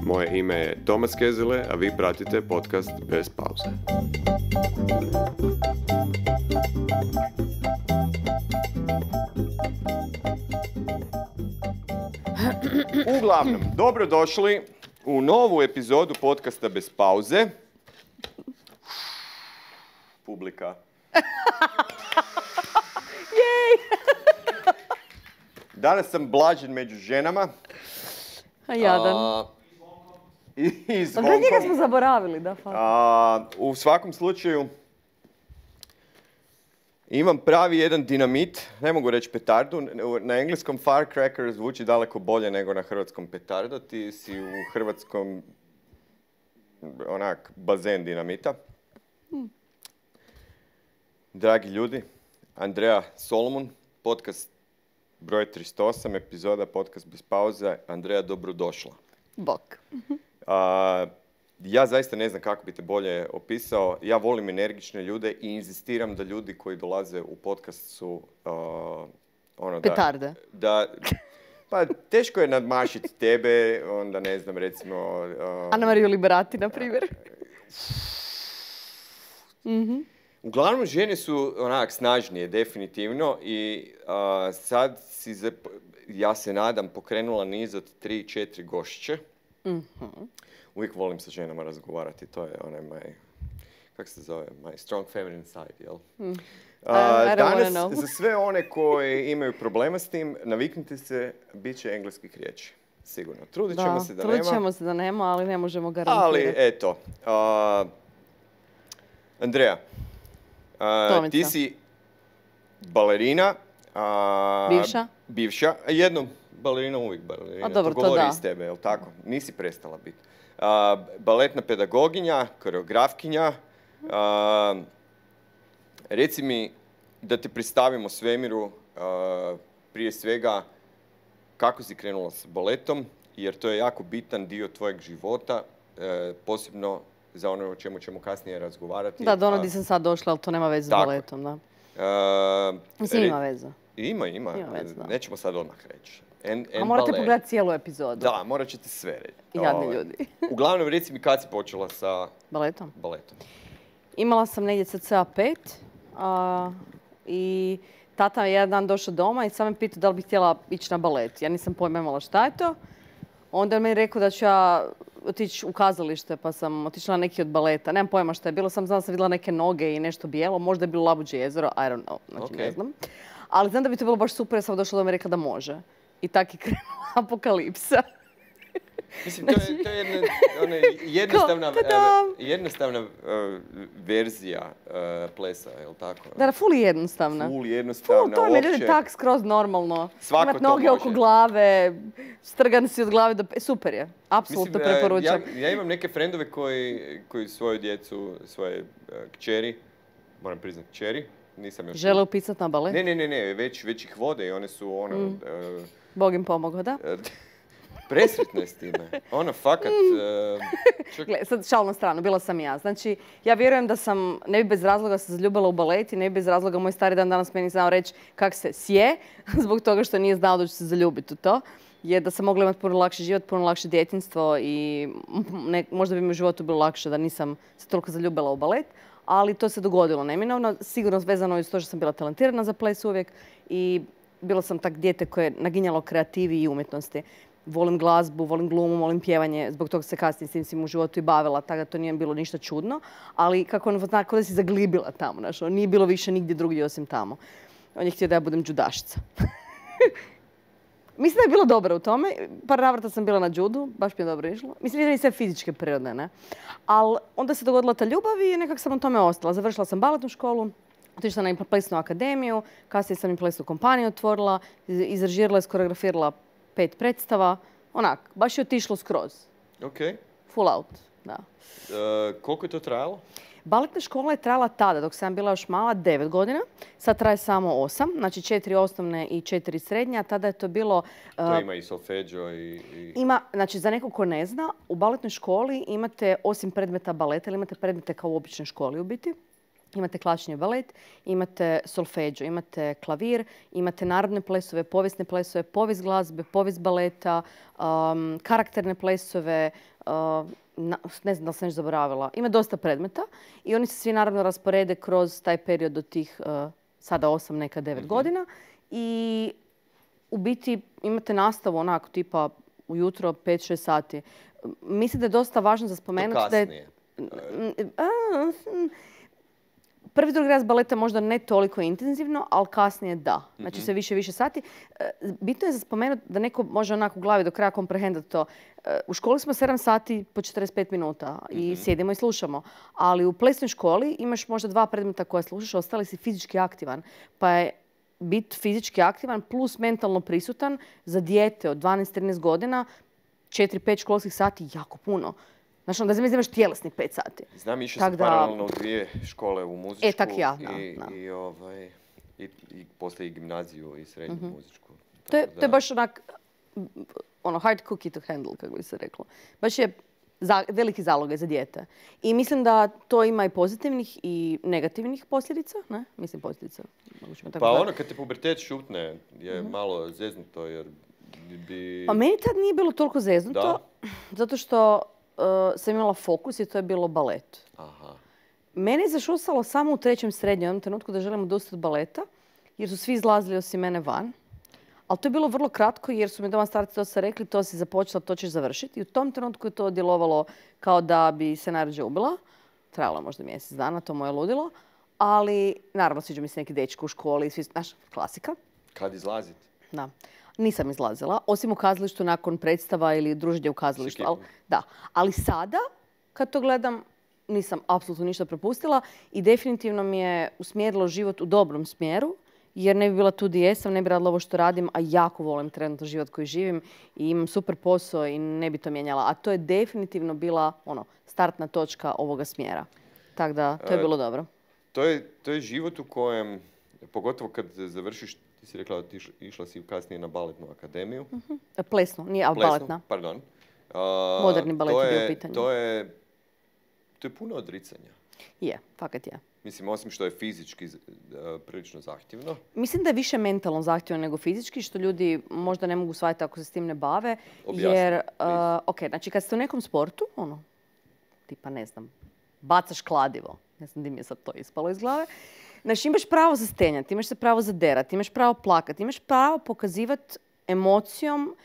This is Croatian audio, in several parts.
Moje ime je Tomas Kezele, a vi pratite podcast Bez pauze. Uglavnom, dobrodošli u novu epizodu podcasta Bez pauze. Publika. Danas sam Blažen među ženama. A jadan. I Pa da njega smo zaboravili, da. U svakom slučaju imam pravi jedan dinamit, ne mogu reći petardu, na engleskom firecracker zvuči daleko bolje nego na hrvatskom petardo, ti si u hrvatskom onak bazen dinamita. Dragi ljudi, Andreja Solomon, podcast broj 308, epizoda podcast bez pauze. Andreja, dobrodošla. Bok. Ja zaista ne znam kako bi te bolje opisao. Ja volim energične ljude i inzistiram da ljudi koji dolaze u podcast su petarde. Pa teško je nadmašiti tebe, onda ne znam, recimo... Ana Mariju Liberati, na primjer. Uglavnom, žene su onak snažnije, definitivno, i sad ja se nadam, pokrenula niz od 3-4 gošće. Uvijek volim sa ženama razgovarati, to je onaj kako se zove, my strong feminine side, jel? Danas, za sve one koji imaju problema s tim, naviknite se, bit će engleskih riječi. Sigurno. Trudit ćemo se da nema, ali ne možemo garantirati. Ali, eto. Andreja, ti si balerina. Bivša. Jednom balerina, uvijek balerina. Dobro, to govori iz tebe, jel tako? Nisi prestala biti. Baletna pedagoginja, koreografkinja. Reci mi da te predstavimo svemiru, prije svega kako si krenula s baletom, jer to je jako bitan dio tvojeg života, posebno za ono o čemu ćemo kasnije razgovarati. Da, do ono di sam sad došla, ali to nema veze s baletom, da. Mislim, ima veze. Ima. Veze, da. Nećemo sad odmah reći. A morate pogledati cijelu epizodu. Da, morat ćete sve reći. Jadni ljudi. Uglavnom, reci mi kad si počela sa baletom. Imala sam negdje cca 5 i tata je jedan dan došao doma i sam me pitao da li bih htjela ići na balet. Ja nisam pojma imala šta je to. Onda je meni rekao da ću ja otići u kazalište, pa sam otišla na neki od baleta. Nemam pojma šta je bilo, znala sam vidjela neke noge i nešto bijelo. Možda je bilo Labuđe jezero, I don't know, znači ne znam. Ali znam da bi to bilo baš super, ja sam došla doma i rekla da može. I tak je krenula apokalipsa. Mislim, to je jednostavna verzija plesa, je li tako? Da, ful jednostavna. To mi ljudi tak skroz normalno. Imat noge oko glave, strgan si od glave do... Super je, apsolutno preporučam. Ja imam neke frendove koji svoju djecu, svoje kćeri, moram priznat kćeri, nisam još... Žele upisat na balet? Ne, već ih vode i one su Bog im pomogao, da? Presretna je s time. Fakat... Gle, sad šal na stranu, bila sam ja. Znači, ja vjerujem da sam, ne bi bez razloga se zaljubila u balet i ne bi bez razloga moj stari dan danas meni znao reći kak se sje, zbog toga što nije znao da ću se zaljubiti u to. Je da sam mogla imati puno lakši život, puno lakše djetinjstvo i možda bi mi u životu bilo lakše da nisam se toliko zaljubila u balet. Ali to se dogodilo neminovno. Sigurno vezano je s to što sam bila talentirana za ples uvijek i bila sam tak dijete koje je naginjalo kreativi i umjetnosti. Volim glazbu, volim glumu, volim pjevanje, zbog toga se kasnije s tim u životu i bavila, tako da to nije bilo ništa čudno. Ali kako da si zaglibila tamo, nije bilo više nigdje drugdje osim tamo. On je htio da ja budem džudašica. Mislim da je bilo dobro u tome. Par navrata sam bila na džudu, baš mi je dobro išlo. Mislim da je sve fizičke prirode, ne. Ali onda se dogodila ta ljubav i nekako sam u tome ostala. Završila sam baletnu školu, otišla na plesnu akademiju, kasnije sam i plesnu kompaniju otvorila, izrežirala i skoreografirala 5 predstava. Baš je otišlo skroz. Ok. Full out, da. Koliko je to trajalo? Baletna škola je trajala tada, dok sam bila još mala, 9 godina. Sad traje samo 8, znači 4 osnovne i 4 srednje, a tada je to bilo... To ima i solfeđo i... Ima, znači za nekog ko ne zna, u baletnoj školi imate, osim predmeta baleta, ili imate predmete kao u običnoj školi u biti, Imate klasični balet, imate solfeđo, imate klavir, imate narodne plesove, povijesne plesove, povijest glazbe, povijest baleta, karakterne plesove, ne znam da li sam još zaboravila. Ima dosta predmeta i oni se svi naravno rasporede kroz taj period do tih sada 8, neka 9 godina. I u biti imate nastavu onako tipa ujutro 5-6 sati. Mislim da je dosta važno za spomenuti da je... Prvi, drugi raz baleta možda ne toliko intenzivno, ali kasnije da. Znači sve više sati. Bitno je za spomenuti da neko može onako u glavi do kraja komprehendati to. U školi smo 7 sati po 45 minuta i sjedimo i slušamo. Ali u plesnoj školi imaš možda 2 predmeta koje slušaš, ostali si fizički aktivan. Pa je biti fizički aktivan plus mentalno prisutan za dijete od 12-13 godina, 4-5 školskih sati jako puno. Znači, onda imaš tjelesnih 5 sati. Znam, išao sam paralelno u 2 škole u muzičku i poslije i gimnaziju i srednju muzičku. To je baš onak, hard cookie to handle, kako bi se reklo. Baš je veliki zalogaj za dijete. I mislim da to ima i pozitivnih i negativnih posljedica. Ne? Mislim posljedica. Pa kad te pubertet šutne je malo zeznuto jer bi... Pa meni tad nije bilo toliko zeznuto, zato što sam imala fokus i to je bilo balet. Aha. Mene je zašusalo samo u 3. srednjem, u jednom trenutku da želim odustati od baleta, jer su svi izlazili osim mene van. Ali to je bilo vrlo kratko jer su mi doma starci to se rekli, to si započela, to ćeš završiti. I u tom trenutku je to djelovalo kao da bi se najrađe ubila. Trajalo možda mjesec dana, to moje ludilo. Ali, naravno, sviđa mi se neki dečki u školi, znaš, klasika. Kad izlaziti? Da. Nisam izlazila, osim u kazalištu nakon predstava ili druženja u kazalištu. Ali sada, kad to gledam, nisam apsolutno ništa propustila i definitivno mi je usmjerilo život u dobrom smjeru, jer ne bi bila tu gdje jesam, ne bi radila ovo što radim, a jako volim trenutno život koji živim i imam super posao i ne bi to mijenjala. A to je definitivno bila startna točka ovoga smjera. Tako da, to je bilo dobro. To je život u kojem, pogotovo kad završiš, ti si rekla da išla si kasnije na baletnu akademiju. Plesnu, nije baletna. Pardon. Moderni balet je bio pitanje. To je puno odricanja. Je, fakat je. Mislim, osim što je fizički prilično zahtjevno. Mislim da je više mentalno zahtjevno nego fizički, što ljudi možda ne mogu shvatiti ako se s tim ne bave. Objasni. Jer, znači kad ste u nekom sportu, tipa ne znam, bacaš kladivo, ne znam di mi je sad to ispalo iz glave, znači imaš pravo za stenjati, imaš se pravo za derati, imaš pravo plakati, imaš pravo pokazivati emocijom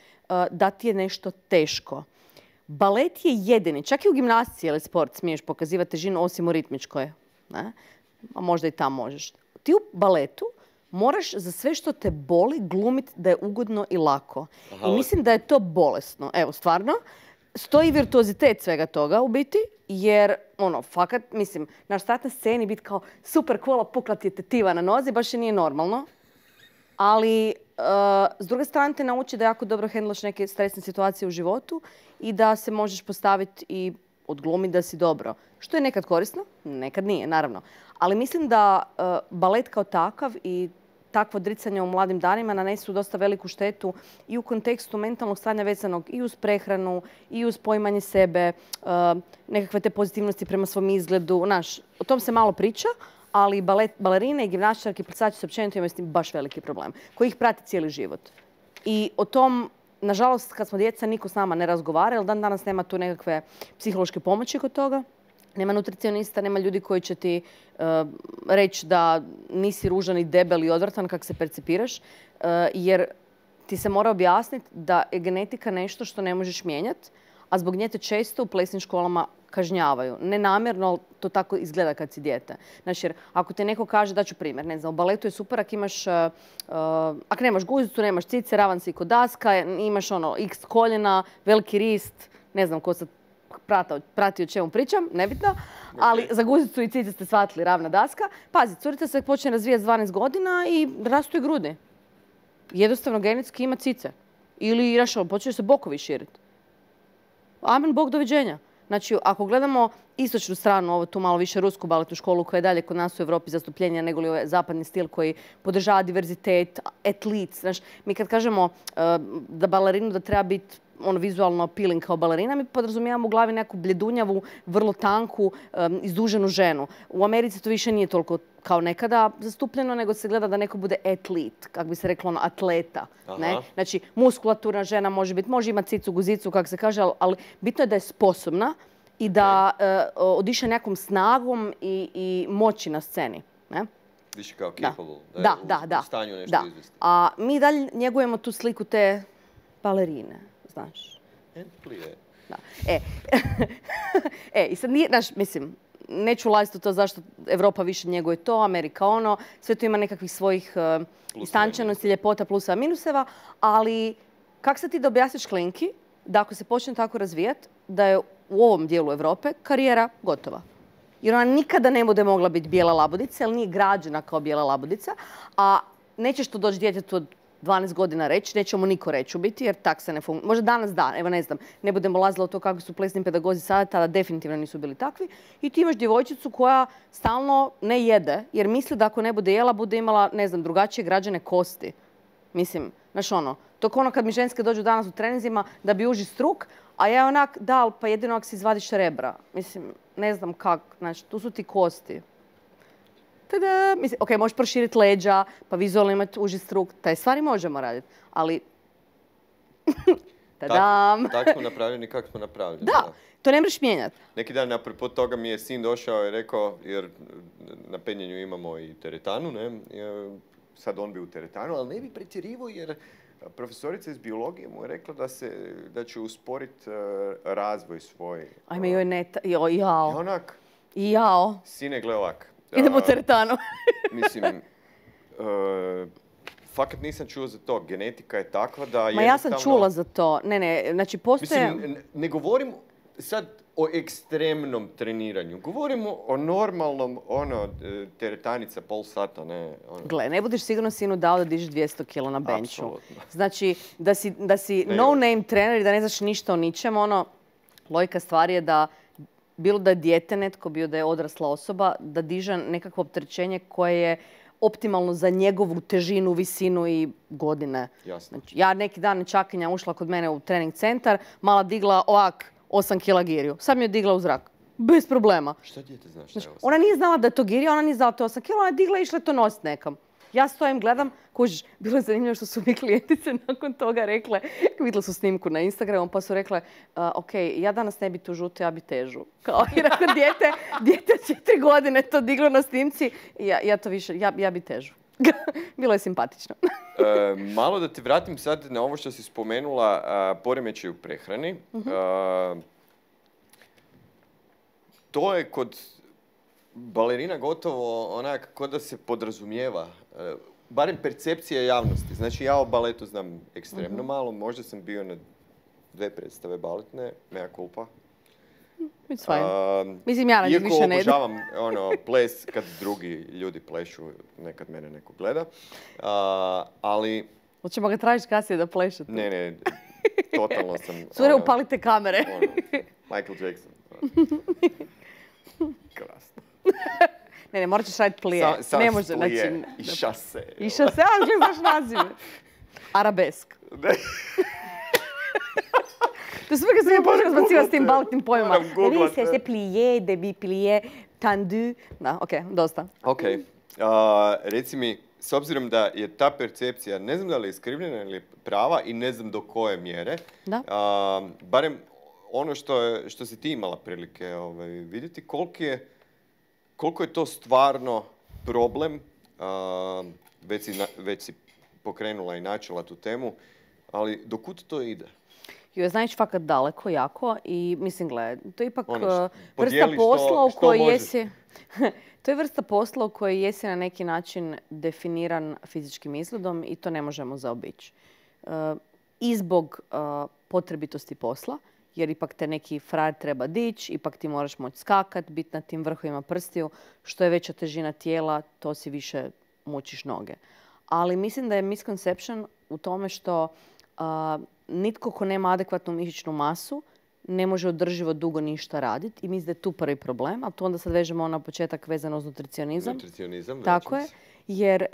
da ti je nešto teško. Balet je jedini, čak i u gimnastici ili sport smiješ pokazivati težinu osim u ritmičkoj. Ne? A možda i tam možeš. Ti u baletu moraš za sve što te boli glumiti da je ugodno i lako. I mislim da je to bolesno. Evo, stvarno, stoji virtuozitet svega toga u biti, jer, fakat, mislim, naš start na sceni biti kao super cool, pukla ti je tetiva na nozi, baš je nije normalno. Ali, s druge strane te nauči da jako dobro hendlaš neke stresne situacije u životu i da se možeš postaviti i odglumiti da si dobro. Što je nekad korisno, nekad nije, naravno. Ali mislim da balet kao takav i takvo odricanje u mladim danima nanesu dosta veliku štetu i u kontekstu mentalnog stanja vezanog i uz prehranu, i uz poimanje sebe, nekakve te pozitivnosti prema svom izgledu. O tom se malo priča, ali balerine i gimnastičarke i plesači su općenito imaju s tim baš veliki problem, koji ih prati cijeli život. I o tom, nažalost, kad smo djeca, niko s nama ne razgovara, jer dan danas nema tu nekakve psihološke pomoći kod toga. Nema nutricionista, nema ljudi koji će ti reći da nisi ružan i debel i odvratan kako se percipiraš, jer ti se mora objasniti da je genetika nešto što ne možeš mijenjati, a zbog nje te često u plesnim školama kažnjavaju. Nenamjerno, ali to tako izgleda kad si dijete. Znači, jer ako te neko kaže, daću primjer, ne znam, u baletu je super ako imaš, ako nemaš guzicu, nemaš cice, ravan si kod daska, imaš x koljena, veliki rist, ne znam ko sad prati o čemu pričam, nebitno, ali za guzicu i cice ste shvatili ravna daska. Pazi, curica se počne razvijati s 12 godina i rastu i grudi. Jednostavno genetski ima cice. Ili počne se bokovi širiti. Amen, Bog, doviđenja. Znači, ako gledamo istočnu stranu, ovo tu malo više rusku baletnu školu koja je dalje kod nas u Europi zastupljenija nego li ovaj zapadni stil koji podržava diverzitet, atlet. Znači, mi kad kažemo da balerinu da treba biti vizualno appealing kao balerina, mi podrazumijevam u glavi neku bljedunjavu, vrlo tanku, izduženu ženu. U Americi to više nije toliko kao nekada zastupljeno, nego se gleda da neko bude atlet, kako bi se reklo, atleta. Ne? Znači, muskulaturna žena može imati cicu, guzicu, kako se kaže, ali bitno je da je sposobna i da odiše nekom snagom i moći na sceni. Ne? Više kao capable, da je u stanju nešto izvesti. A mi dalje njegujemo tu sliku te balerine, znaš. Da. I sad nije, znaš, mislim, neću ulaziti u to zašto Evropa više njeguje to, Amerika ono, sve to ima nekakvih svojih istančanosti, ljepota, pluseva, minuseva, ali kako se ti da objasniš klinki da ako se počne tako razvijati, da je u ovom dijelu Evrope karijera gotova? Jer ona nikada ne bude mogla biti bijela labudica, jer nije građena kao bijela labudica, a nećeš to doći djetetu od 12 godina reći, neće mu niko reći u biti, jer tak se ne funkcionira. Možda danas da, evo ne znam, ne budemo lazila u to kako su plesni pedagozi sada, tada definitivno nisu bili takvi. I ti imaš djevojčicu koja stalno ne jede, jer misli da ako ne bude jela, bude imala, ne znam, drugačije građene kosti. Mislim, znaš ono, to kao ono kad mi ženske dođu danas u treninzima da bi uži struk, a ja onak, da, pa jedino ako si izvadiš rebra. Mislim, ne znam kako, znači, tu su ti kosti. Tada, mislim, ok, možeš proširiti leđa, pa vizualno imati uži struk, taj stvari možemo raditi, ali... Tadam! Tak smo napravljeni kako smo napravljeni. Da, to ne možeš mijenjati. Neki dan, apropos toga, mi je sin došao i rekao, jer na penjenju imamo i teretanu, ne? Sad on bi u teretanu, ali ne bi pretjerivao jer profesorica iz biologije mu je rekla da će usporiti razvoj svoj. Ajme, joj neta, joj, jao. I onak, jao. Sine, gle ovak. Idemo u teretanu. Mislim, fakat nisam čuo za to. Genetika je takva da jednostavno... Ma ja sam čula za to. Ne, znači postoje... Mislim, ne govorim sad o ekstremnom treniranju. Govorimo o normalnom, teretanica pol sata, ne... Gle, ne budeš sigurno sinu dao da dižeš 200 kg na benchu. Znači, da si no-name trener i da ne znaš ništa o ničem, logika stvari je da bilo da je dijete netko, bilo da je odrasla osoba, da diže nekakvo opterećenje koje je optimalno za njegovu težinu, visinu i godine. Jasno. Znači, ja neki dan nečakinja ušla kod mene u trening centar, mala digla ovak 8 kg giriju. Sad mi je digla u zrak. Bez problema. Šta dijete znaš? Znači, ona nije znala da je to girija, ona nije znala da je to 8 kg, ona je digla i išla to nositi nekam. Ja stojim, gledam, kužiš, bilo je zanimljivo što su mi klijentice nakon toga rekle, vidjeli su snimku na Instagramu, pa su rekle, ok, ja danas ne bi tu žuto, ja bi težu. Kao, jer ako dijete 4 godine to diglo na snimci, ja to više, ja bi težu. Bilo je simpatično. Malo da te vratim sad na ovo što si spomenula, poremećaj u prehrani. To je kod balerina gotovo onak kod da se podrazumijeva, barem percepcija javnosti. Znači ja o baletu znam ekstremno malo, možda sam bio na 2 predstave baletne, mea culpa. It's fine. Mislim, ja više ne iako obožavam ples kad drugi ljudi plešu, nekad mene neko gleda, ali... Hoćemo ga tražiti kasnije da plešete? Ne, totalno sam... Cure, upalite kamere. Michael Jackson. Krasno. Ne, morat ćeš raditi plije. Ne može, znači... I šase. I šase, ali gledaš nazive. Arabesk. To je super kad sam ja počela zbacivati s tim baletnim pojmama. Vi se plije, debi plije, tendu. Da, ok, dosta. Ok. Reci mi, s obzirom da je ta percepcija, ne znam da li je iskrivljena ili prava i ne znam do koje mjere, barem ono što si ti imala prilike vidjeti, koliko je to stvarno problem, već si pokrenula i načela tu temu, ali dokud to ide? Joj, znaš fakat daleko, jako i mislim, gledaj, to je ipak vrsta posla u kojoj jesi... To je vrsta posla u kojoj jesi na neki način definiran fizičkim izgledom i to ne možemo zaobići. I zbog potrebitosti posla, jer ipak te neki frajer treba dići, ipak ti moraš moći skakat, biti na tim vrhovima prstiju. Što je veća težina tijela, to si više mučiš noge. Ali mislim da je misconception u tome što nitko ko nema adekvatnu mišićnu masu ne može održivo dugo ništa raditi i mislim da je tu prvi problem, a tu onda sad vežemo na početak vezano uz nutricionizam. Nutricionizam, tako je.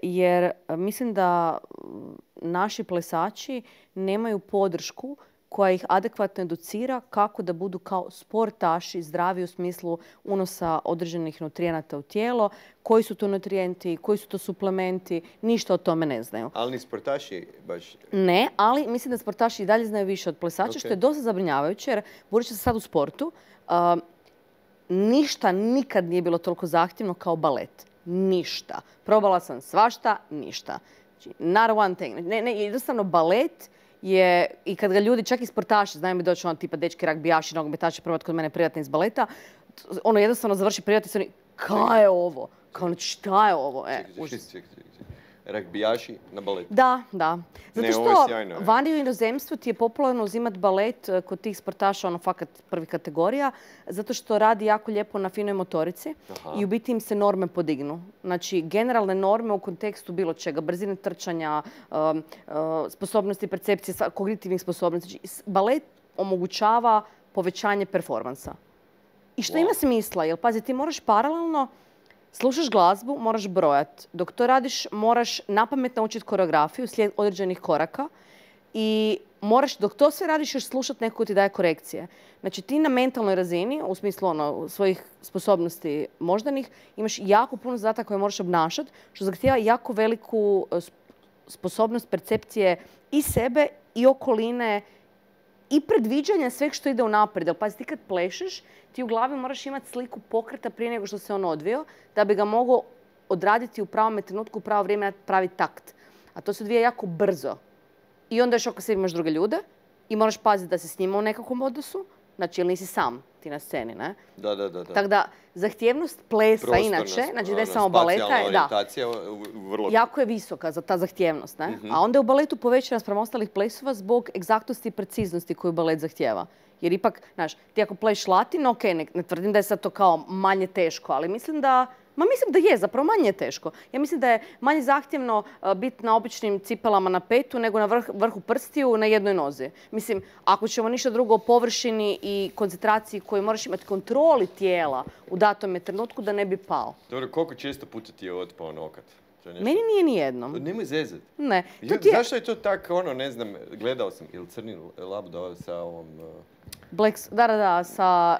Jer mislim da naši plesači nemaju podršku koja ih adekvatno educira kako da budu kao sportaši, zdravi u smislu unosa određenih nutrijenata u tijelo, koji su to nutrijenti, koji su to suplementi, ništa o tome ne znaju. Ali ni sportaši baš... Ne, ali mislim da sportaši i dalje znaju više od plesača, što je dosta zabrinjavajuće, jer budući se sad u sportu, ništa nikad nije bilo toliko zahtjevno kao balet. Ništa. Probala sam svašta, ništa. Znači, not one thing. Jednostavno balet je, i kad ga ljudi, čak i sportaši, znaju mi doći ono tipa dečki ragbijaši, nogometaši probati kod mene privatni iz baleta, ono jednostavno završi privatni i oni, kaj je ovo? Kao, znači, šta je ovo? Čekaj. Ragbijaši na baletu. Da. Zato Ne, ovo je što sjajno, vani u inozemstvu ti je popularno uzimati balet kod tih sportaša, ono fakat prvi kategorija, zato što radi jako lijepo na finoj motorici. Aha. I u biti im se norme podignu. Znači, generalne norme u kontekstu bilo čega, brzine trčanja, sposobnosti percepcije, kognitivnih sposobnosti. Znači, balet omogućava povećanje performansa. I što ima smisla, jer pazi, ti moraš paralelno slušaš glazbu, moraš brojati. Dok to radiš, moraš napamet naučiti koreografiju, slijed određenih koraka i moraš, dok to sve radiš, još slušati neko ko ti daje korekcije. Znači, ti na mentalnoj razini, u smislu svojih sposobnosti moždanih, imaš jako puno zadataka koje moraš obnašati, što zahtijeva jako veliku sposobnost percepcije i sebe i okoline i predviđanja sveg što ide unaprijed. Jer pazi, ti kad plešeš, ti u glavi moraš imati sliku pokreta prije nego što se on odvio, da bi ga mogao odraditi u pravom trenutku, u pravo vrijeme, pravi takt. A to se odvija jako brzo. I onda još oko sebe imaš druge ljude i moraš paziti da se s njima u nekakvom odnosu. Znači, jer nisi sam ti na sceni, ne? Da. Tako da, zahtjevnost plesa inače, znači da je samo baleta, vrlo... jako je visoka za ta zahtjevnost, ne? A onda je u baletu povećana spram ostalih plesova zbog egzaktnosti i preciznosti koju balet zahtjeva. Jer ipak, znaš, ti ako pleš latino, ok, ne tvrdim da je sad to kao manje teško, ali mislim da je, zapravo manje je teško. Ja mislim da je manje zahtjevno biti na običnim cipelama na petu nego na vrhu prstiju na jednoj nozi. Mislim, ako ćemo ništa drugo o površini i koncentraciji koju moraš imati kontroli tijela u datom trenutku da ne bi pao. Dobro, koliko često puta ti je otpao nokat? Meni nije ni jednom. Nemoj zezat. Ne. Zašto je to tako, ne znam, gledao sam, ili Crni labdo sa ovom... Da, sa...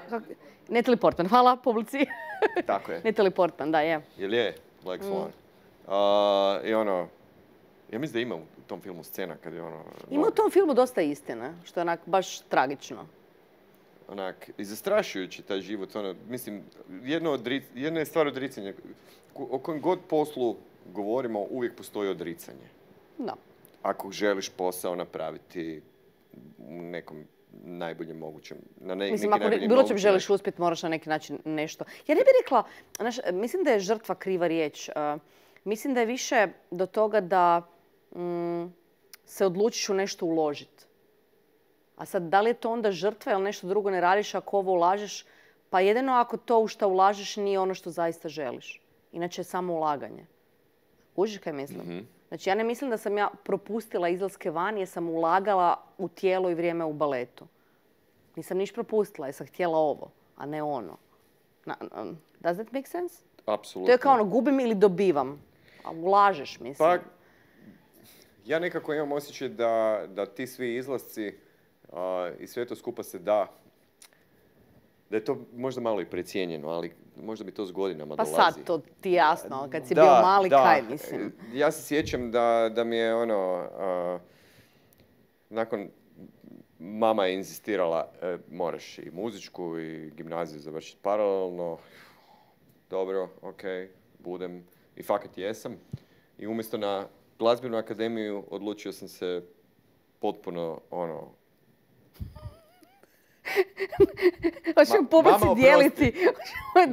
Natalie Portman, hvala publici. Tako je. Natalie Portman, da, je. Jel je? Black Swan. I ja mislim da ima u tom filmu scena kad je Ima u tom filmu dosta istine, što je onak baš tragično. Onak, i zastrašujući taj život, mislim, jedna je stvar odricanja. O kojem god poslu govorimo, uvijek postoji odricanje. Da. Ako želiš posao napraviti u nekom najboljem mogućem, mislim, ako bilo čem želiš uspjeti, moraš na neki način nešto. Ja ne bih rekla, mislim da je žrtva kriva riječ. Mislim da je više do toga da se odlučiš u nešto uložiti. A sad, da li je to onda žrtva ili nešto drugo ne radiš ako ovo ulažeš? Pa jedino ako to u što ulažeš nije ono što zaista želiš. Inače je samo ulaganje. Kužiš kaj mislim? Mm-hmm. Znači, ja ne mislim da sam ja propustila izlaske van jer sam ulagala u tijelo i vrijeme u baletu. Nisam niš propustila jer sam htjela ovo, a ne ono. Does that make sense? Apsolutno. To je kao gubim ili dobivam. A ulažeš, mislim. Pa, ja nekako imam osjećaj da ti svi izlasci i sve to skupa se da je to možda malo i precijenjeno, ali možda bi to s godinama dolazi. Pa sad to ti jasno, kad si bio mali, kaj mislim. Ja se sjećam da mi je nakon mama je inzistirala, moraš i muzičku i gimnaziju završiti paralelno. Dobro, ok, budem. I fakat jesam. I umjesto na glazbenu akademiju odlučio sam se potpuno Hoćemo publici dijeliti.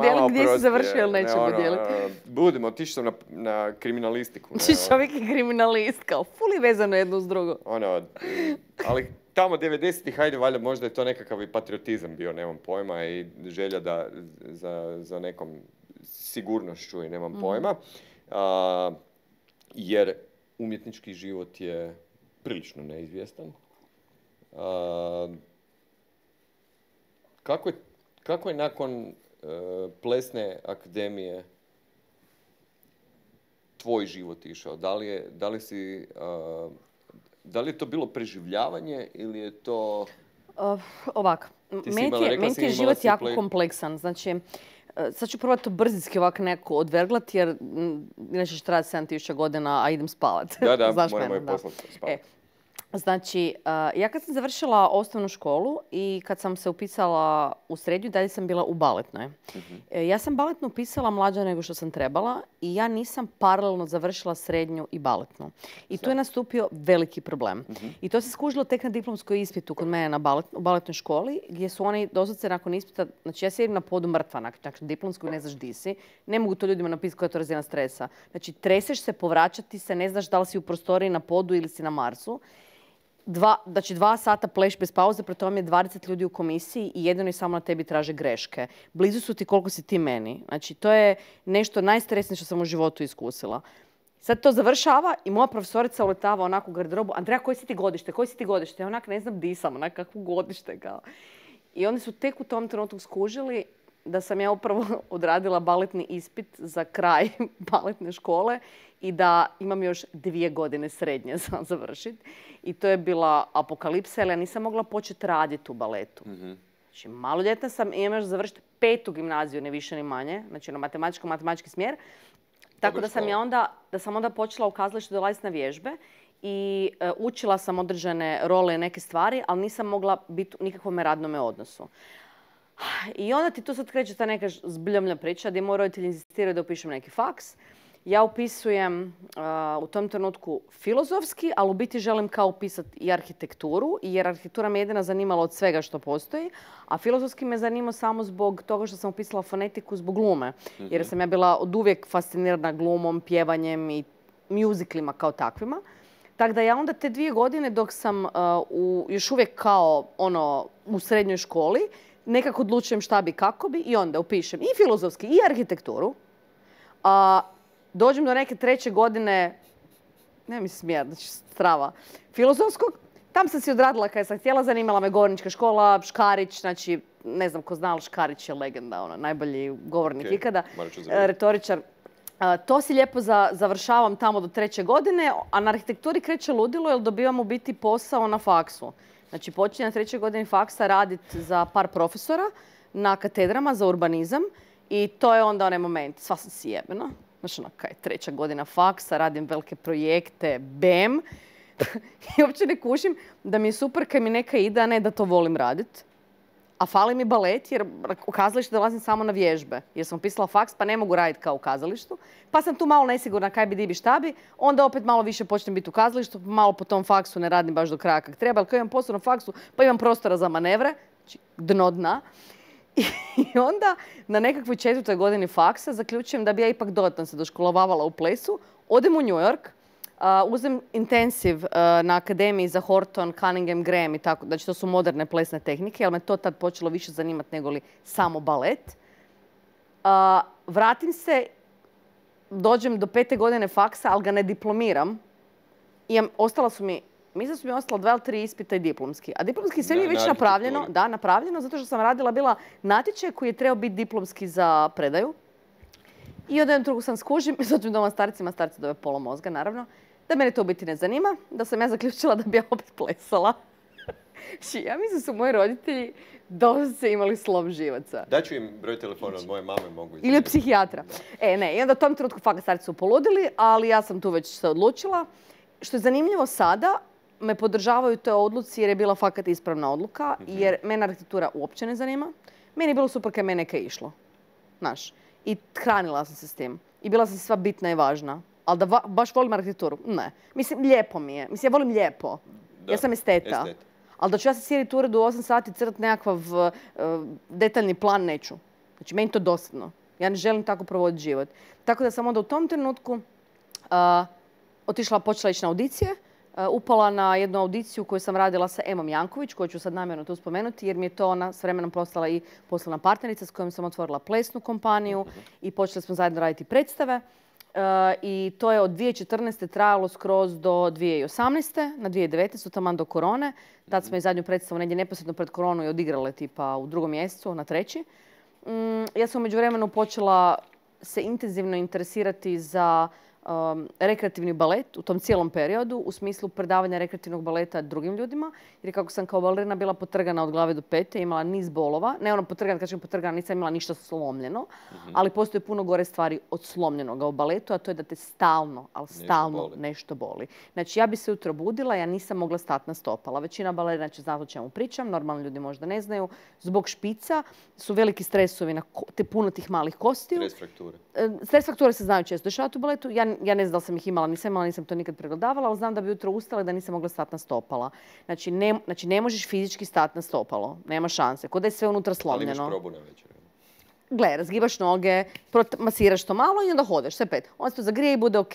Dijeliti gdje si završio ili nećemo dijeliti. Budem, otišao sam na kriminalistiku. Čovjek je kriminalist, kao fuli vezano jedno s drugo. Ali tamo 90-ih, hajde, valjda možda je to nekakav i patriotizam bio, nemam pojma, i želja za nekom sigurnošću i nemam pojma. Jer umjetnički život je prilično neizvjestan. Kako je nakon plesne akademije tvoj život išao? Da li si Da li je to bilo preživljavanje ili je to... Ovako, meni ti je život jako kompleksan. Znači, sad ću probati to brzinski ovako nekako odverglati jer inače će trajati 7000 godina, a idem spavat. Da, moramo je poslati spavat. Znači, ja kad sam završila osnovnu školu i kad sam se upisala u srednju, dalje sam bila u baletnoj. Ja sam baletnu upisala mlađa nego što sam trebala i ja nisam paralelno završila srednju i baletnu. I tu je nastupio veliki problem. I to se skužilo tek na diplomskoj ispitu kod mene u baletnoj školi, gdje su oni doslovce nakon ispita, znači ja sjedim na podu mrtva, nakon diplomskog ne znaš di si, ne mogu to ljudima napisati koja je to razina stresa. Znači, treseš se, povraćati se, ne znaš da li si u prostoriji na podu ili si na Marsu. Znači 2 sata pleš bez pauze, pri tome je 20 ljudi u komisiji i jedino i samo na tebi traže greške. Blizu su ti koliko si ti meni. Znači to je nešto najstresnije što sam u životu iskusila. Sad to završava i moja profesorica uletava onako u garderobu. Andreja, koji si ti godište? Koji si ti godište? Ja onak ne znam di sam, onak kakvo godište. Kao. I oni su tek u tom trenutku skužili da sam ja upravo odradila baletni ispit za kraj baletne škole i da imam još 2 godine srednje za završiti. I to je bila apokalipsa, jer ja nisam mogla početi raditi u baletu. Znači, maloljetna sam i imam još završiti 5. gimnaziju, ne više ni manje. Znači, na matematički smjer. Tako da sam onda počela u kazalištu dolaziti na vježbe i učila sam određene role i neke stvari, ali nisam mogla biti u nikakvom radnome odnosu. I onda ti tu sad kreće ta neka zbljomlja priča gdje moji roditelji inzistiraju da upišem neki faks. Ja upisujem u tom trenutku filozofski, ali u biti želim kao upisati i arhitekturu, jer arhitektura me jedina zanimala od svega što postoji, a filozofski me zanimao samo zbog toga što sam upisala fonetiku zbog glume. Jer sam ja bila od uvijek fascinirana glumom, pjevanjem i muziklima kao takvima. Tako da ja onda te 2 godine dok sam još uvijek kao u srednjoj školi, nekako odlučujem šta bi, kako bi i onda upišem i filozofski i arhitekturu. Dođem do neke 3. godine, ne mi smijat, znači strava, filozofskog. Tam sam si odradila kada sam htjela, zanimala me govornička škola, Škarić, znači ne znam ko zna, ali Škarić je legenda, najbolji govornik ikada, retoričar. To si lijepo završavam tamo do 3. godine, a na arhitekturi kreće ludilo jer dobivam u biti posao na faksu. Znači počinjem na 3. godini faksa raditi za par profesora na katedrama za urbanizam i to je onda onaj moment, sva sam si jebena. Znači, kaj, 3. godina faksa, radim velike projekte, bam. I uopće ne kušim da mi je super kad mi neka ide, a ne da to volim raditi. A fali mi balet jer u kazalište dolazim samo na vježbe. Jer sam upisala faks pa ne mogu raditi kao u kazalištu. Pa sam tu malo nesigurna kaj bi, di bi, šta bi. Onda opet malo više počnem biti u kazalištu, malo po tom faksu ne radim baš do kraja kak treba. Ali kad imam posao na faksu pa imam prostora za manevre, znači dno dna. I onda na nekakvoj 4. godini faksa zaključujem da bi ja ipak dodatno se doškolovala u plesu. Odem u New York, uzem intensiv na akademiji za Horton, Cunningham, Graham i tako. Znači to su moderne plesne tehnike, jer me to tad počelo više zanimati nego li samo balet. Vratim se, dođem do 5. godine faksa, ali ga ne diplomiram. Ostala su mi 2 ili 3 ispita i diplomski. A diplomski sve mi je već napravljeno. Da, napravljeno, zato što sam radila bila natječaj koji je trebao biti diplomski za predaju. I od jednom drugu sam skužim, dođem doma starci dobe pola mozga, naravno, da mene to u biti ne zanima, da sam ja zaključila da bi ja opet plesala. Ja mislim da su moji roditelji dosta imali slom živaca. Daću im broj telefona od moje mame, mogu ili od psihijatra. Ne, i onda u tom trenutku fakat starci su poludili, ali ja sam tu već se odlučila. Što je zanimljivo sada, me podržavaju toj odluci jer je bila fakat ispravna odluka, jer mene arhitektura uopće ne zanima. Meni je bilo super kad me neka išlo. Znaš. I hranila sam se s tim. I bila sam sva bitna i važna. Ali da baš volim arhitekturu? Ne. Mislim, lijepo mi je. Mislim, ja volim lijepo. Ja sam esteta. Ali da ću ja se sjediti u uredu 8 sati crtati nekakav detaljni plan, neću. Znači, meni to dosadno. Ja ne želim tako provoditi život. Tako da sam onda u tom trenutku počela ići na audicije. Upala na jednu audiciju koju sam radila sa Emom Janković, koju ću sad namjerno tu spomenuti, jer mi je to ona s vremenom postala i poslovna partnerica s kojom sam otvorila plesnu kompaniju i počeli smo zajedno raditi predstave. I to je od 2014. trajalo skroz do 2018. Na 2019. taman do korone. Tad smo i zadnju predstavu negdje neposredno pred koronu i odigrale tipa u 2. mjesecu, na 3. Ja sam u međuvremenu počela se intenzivno interesirati za rekreativni balet u tom cijelom periodu u smislu predavanja rekreativnog baleta drugim ljudima. Jer kako sam kao balerina bila potrgana od glave do pete, imala niz bolova. Ne ono potrgana, kažem potrgana, nisam imala ništa slomljeno. Ali postoje puno gore stvari od slomljenoga u baletu, a to je da te stalno, ali stalno nešto boli. Znači ja bi se ujutro budila, ja nisam mogla stati na stopala. Većina balerina će znati o čemu pričam, normalni ljudi možda ne znaju. Zbog špica su veliki stresovi na puno tih malih kostiju. Stres frakture. Stres frakture se znaju često dešavati u baletu. Ja ne znam da li sam ih imala, nisam to nikad pregledavala, ali znam da bi jutro ustala i da nisam mogla stati na stopala. Znači ne možeš fizički stati na stopalo. Nema šanse. Kod da je sve unutra slomljeno. Ali imaš probu na večer. Gle, razgibaš noge, masiraš to malo i onda hodeš, sve 5. Onda se to zagrije i bude ok.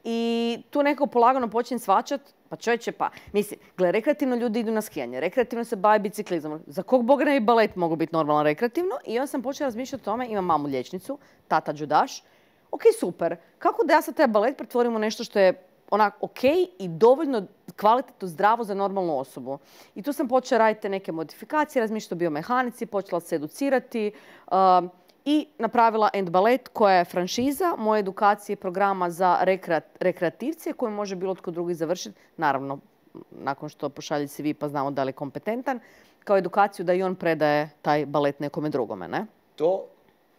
I tu neko polagano počne svačat, pa čovječe pa, mislim, gle, rekreativno ljudi idu na skijanje, rekreativno se bave biciklizmom. Za kog boga ne bi balet mogu biti normalno rekreativno? I onda sam počela razmišljati o tome, imam mamu liječnicu, tata judaš. Ok, super. Kako da ja sad taj balet pretvorim u nešto što je onak ok i dovoljno kvalitetno zdravo za normalnu osobu. I tu sam počela raditi neke modifikacije, razmišljati o biomehanici, počela se educirati i napravila End Ballet koja je franšiza moje edukacije programa za rekreativce koju može bilo tko drugi završiti. Naravno, nakon što pošalje CV pa znamo da li je kompetentan, kao edukaciju da i on predaje taj balet nekome drugome, ne? To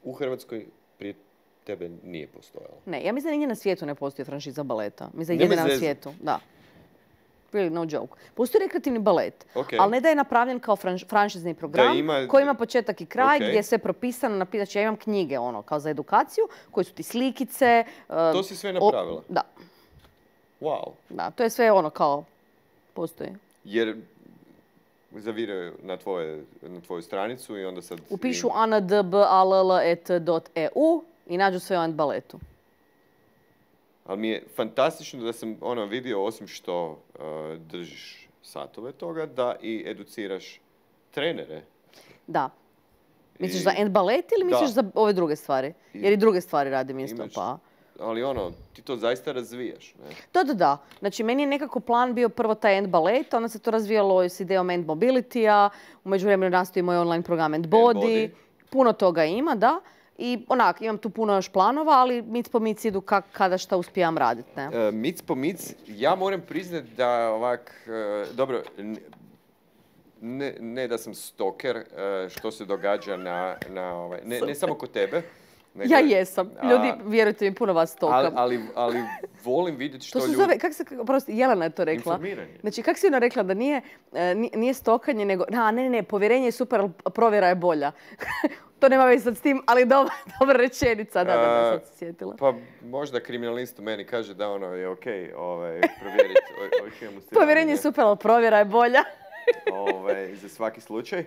u Hrvatskoj prije tebe nije postojalo. Ne, ja mislim da nigdje na svijetu ne postoji franšiza baleta. Mislim da je jedina na svijetu. Da. Really no joke. Postoji rekreativni balet, ali ne da je napravljen kao franšizni program koji ima početak i kraj gdje je sve propisano. Znači ja imam knjige kao za edukaciju koje su ti slikice. To si sve napravila? Da. Wow. Da, to je sve kao postoji. Jer zaviraju na tvoju stranicu i onda sad... Upišu anadballet.eu i nađu sve o End Balletu. Ali mi je fantastično da sam vidio, osim što držiš satove toga, da i educiraš trenere. Da. Misliš za End Ballet ili misliš za ove druge stvari? Jer i druge stvari radim isto, pa... Ali ti to zaista razvijaš, ne? Da. Znači, meni je nekako plan bio prvo taj End Ballet, onda se to razvijalo s idejom End Mobility-a, u međuvremenu nastoji moj online program End Body. Puno toga ima, da. I imam tu puno još planova, ali mic po mic idu kada šta uspijem raditi. Mic po mic, ja moram priznati da dobro, ne da sam stoker, što se događa ne samo kod tebe. Nego, ja jesam. Ljudi, vjerujte mi, puno vas stokam. Ali volim vidjeti što ljudi... To se zove, Jelena je to rekla. Informiranje. Znači, kako si ona rekla da nije stokanje, nego... Ne, povjerenje je super, ali provjera je bolja. To nema veze sad s tim, ali dobra rečenica. Da, sad se sjetila. Pa možda kriminalist u meni kaže da je okej provjeriti o čemu se... Povjerenje je super, ali provjera je bolja. Za svaki slučaj.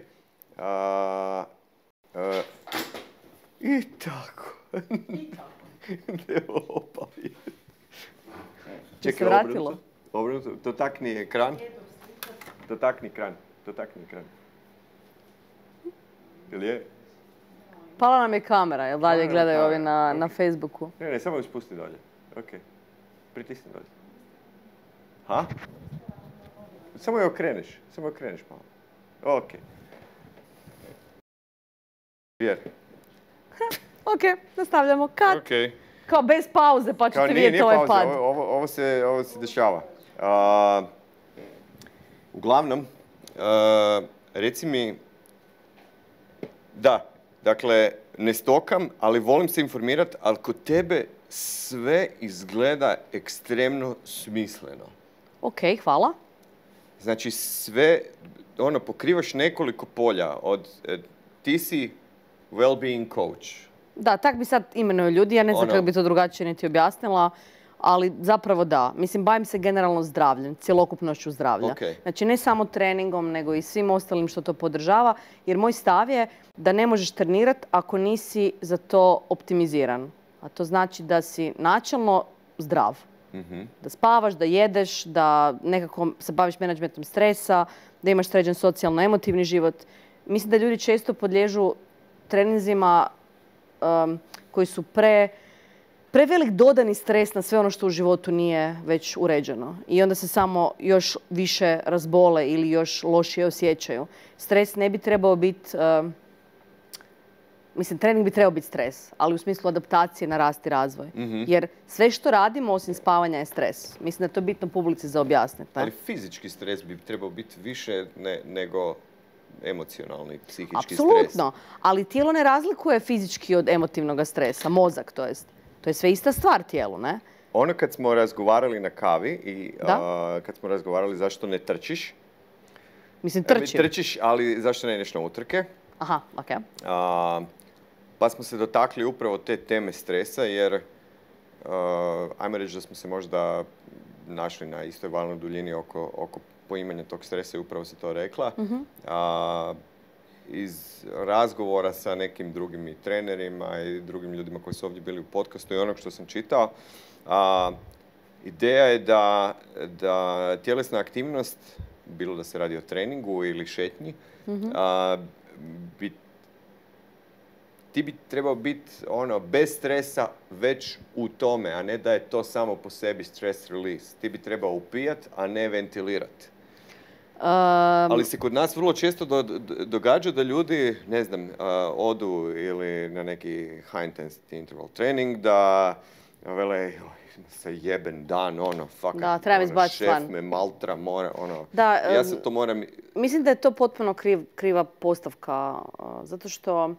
I tako. Čekaj, obrnuto. Dotakni ekran. Dotakni ekran. Jel je? Pala nam je kamera, jel dalje gledaju ovi na Facebooku? Ne, samo ju spusti dolje. Ok. Pritisni dolje. Ha? Samo je okreneš malo. Ok. Vjer. Ok, nastavljamo. Cut. Okay. Kao bez pauze, pa ćete vidjeti ovaj pad. Ovo se dešava. Uglavnom, reci mi, dakle, ne stokam, ali volim se informirati, ali kod tebe sve izgleda ekstremno smisleno. Ok, hvala. Znači, sve, pokrivaš nekoliko polja. Ti si well-being coach. Da, tak bi sad imenuju ljudi, ja ne znam kako bi to drugačije niti objasnila, ali zapravo da. Mislim, bavim se generalno zdravljem, cjelokupnošću zdravlja. Znači, ne samo treningom, nego i svim ostalim što to podržava, jer moj stav je da ne možeš trenirati ako nisi za to optimiziran. A to znači da si načelno zdrav. Da spavaš, da jedeš, da nekako se baviš menadžmentom stresa, da imaš sređen socijalno-emotivni život. Mislim da ljudi često podliježu treninzima koji su prevelik dodani stres na sve ono što u životu nije već uređeno. I onda se samo još više razbole ili još lošije osjećaju. Stres ne bi trebao biti mislim, trening bi trebao biti stres, ali u smislu adaptacije na rast i razvoj. Jer sve što radimo osim spavanja je stres. Mislim da je to bitno publici za objasniti. Ali fizički stres bi trebao biti više nego emocionalni, psihički stres. Apsolutno, ali tijelo ne razlikuje fizički od emotivnog stresa, mozak to jest. To je sve ista stvar tijelu, ne? Ono kad smo razgovarali na kavi i kad smo razgovarali zašto ne trčiš. Mislim, trčim. Trčiš, ali zašto ne ideš na utrke? Aha, okej. Pa smo se dotakli upravo te teme stresa, jer ajmo reći da smo se možda našli na istoj valnoj duljini oko poimanja tog stresa i upravo si to rekla. Iz razgovora sa nekim drugim i trenerima i drugim ljudima koji su ovdje bili u podcastu i onog što sam čitao, ideja je da tjelesna aktivnost, bilo da se radi o treningu ili šetnji, ti bi trebao biti bez stresa već u tome, a ne da je to samo po sebi stress release. Ti bi trebao upijat, a ne ventilirati. Ali se kod nas vrlo često događa da ljudi, ne znam, odu ili na neki high intensity interval trening, da vele, se jeben dan, fakat, šef me maltra, mora, ja se to moram... Mislim da je to potpuno kriva postavka, zato što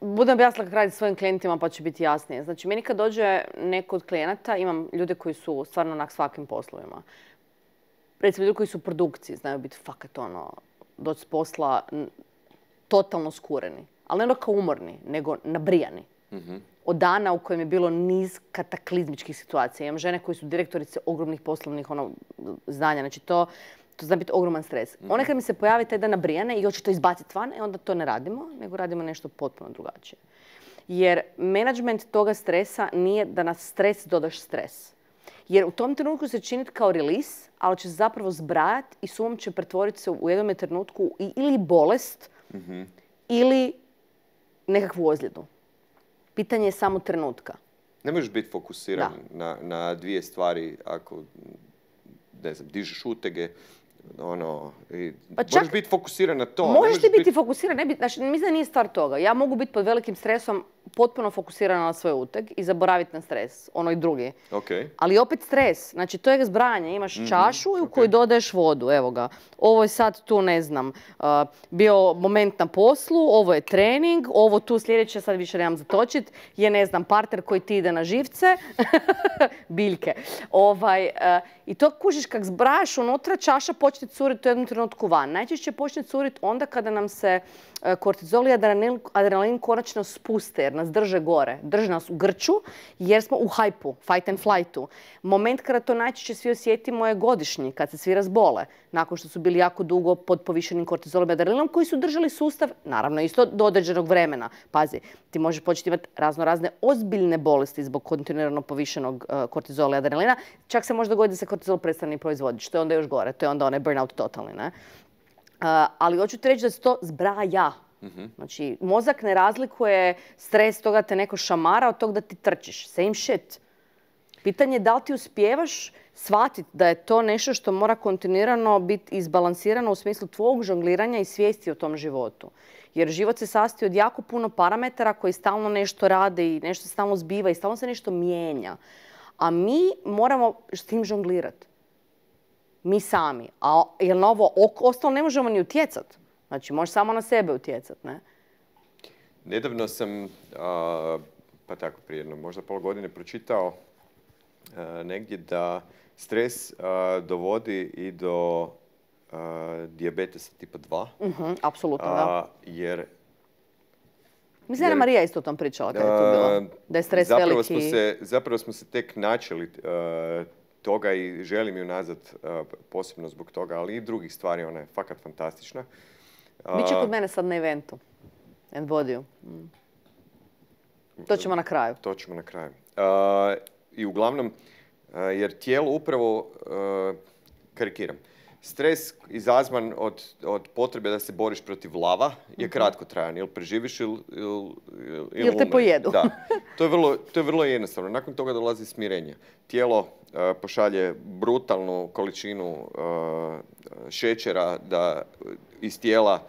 budem objasnila kako raditi svojim klijentima pa će biti jasnije. Znači, meni kad dođe neko od klijenata, imam ljude koji su stvarno na svakim poslovima. Recimo, ljudi koji su u produkciji, znaju biti fakat doći s posla totalno skureni. Ali ne kao umorni, nego nabrijani. Od dana u kojem je bilo niz kataklizmičkih situacija. Imam žene koji su direktorice ogromnih poslovnih zdanja. Znači, to zna biti ogroman stres. One kad mi se pojavi taj dan nabrijane i hoće to izbaciti van, onda to ne radimo, nego radimo nešto potpuno drugačije. Jer menadžment toga stresa nije da na stres dodaš stres. Jer u tom trenutku se čini kao release, ali će se zapravo zbrajati i sumom će pretvoriti se u jednom trenutku ili bolest, ili nekakvu ozljedu. Pitanje je samo trenutka. Ne možeš biti fokusiran na dvije stvari ako, ne znam, dižeš utege, moraš biti fokusiran na to. Možeš ti biti fokusiran, znači mislim da nije stvar toga. Ja mogu biti pod velikim stresom potpuno fokusirana na svoj uteg i zaboraviti na stres, ono i drugi. Ali opet stres, znači to je zbrajanje. Imaš čašu u kojoj dodaješ vodu, evo ga. Ovo je sad tu, ne znam, bio moment na poslu, ovo je trening, ovo tu sljedeće, sad više nemam zatočit, je, ne znam, partner koji ti ide na živce, biljke. I to kužiš kak zbrajaš unutra, čaša počne curiti u jednom trenutku van. Najčešće počne curiti onda kada nam se kortizol i adrenalin konačno spuste, jer nas drže gore. Drže nas u grču jer smo u hajpu, fight and flightu. Moment kada to najčešće svi osjetimo je godišnji, kad se svi razbole. Nakon što su bili jako dugo pod povišenim kortizolom i adrenalinom koji su držali sustav, naravno isto do određenog vremena. Pazi, ti možeš početi imati razne ozbiljne bolesti zbog kontinuirano povišenog kortizola i adrenalina. Čak se može dogoditi da se kortizol prestane proizvoditi, što je onda još gore. To je onda onaj burnout totalni, ne? Ali hoću ti reći da se to zbraja. Znači, mozak ne razlikuje stres toga da te neko šamara od toga da ti trčiš. Same shit. Pitanje je da li ti uspijevaš shvatiti da je to nešto što mora kontinuirano biti izbalansirano u smislu tvojeg žongliranja i svijesti o tom životu. Jer život se sastoji od jako puno parametara koji stalno nešto rade i nešto se stalno zbiva i stalno se nešto mijenja. A mi moramo s tim žonglirati. Mi sami. Jer na ovo ostalo ne možemo ni utjecati. Znači, možeš samo na sebe utjecati, ne? Nedavno sam, pa tako prije možda pola godine, pročitao negdje da stres dovodi i do dijabetesa tipa 2. Apsolutno, da. Jer... Mislim da je Marija isto o tom pričala kada je to bilo. Da je stres veliki... Zapravo smo se tek načeli toga i želim ju nazad posebno zbog toga, ali i drugih stvari, ona je fakat fantastična. Biće kod mene sad na eventu. And Bodiju. To ćemo na kraju. To ćemo na kraju. I uglavnom, jer tijelo upravo, karikiram, stres izazvan od potrebe da se boriš protiv lava je kratkotrajan. Ili preživiš ili te pojedu. Da. To je vrlo jednostavno. Nakon toga dolazi smirenje. Tijelo pošalje brutalnu količinu šećera da iz tijela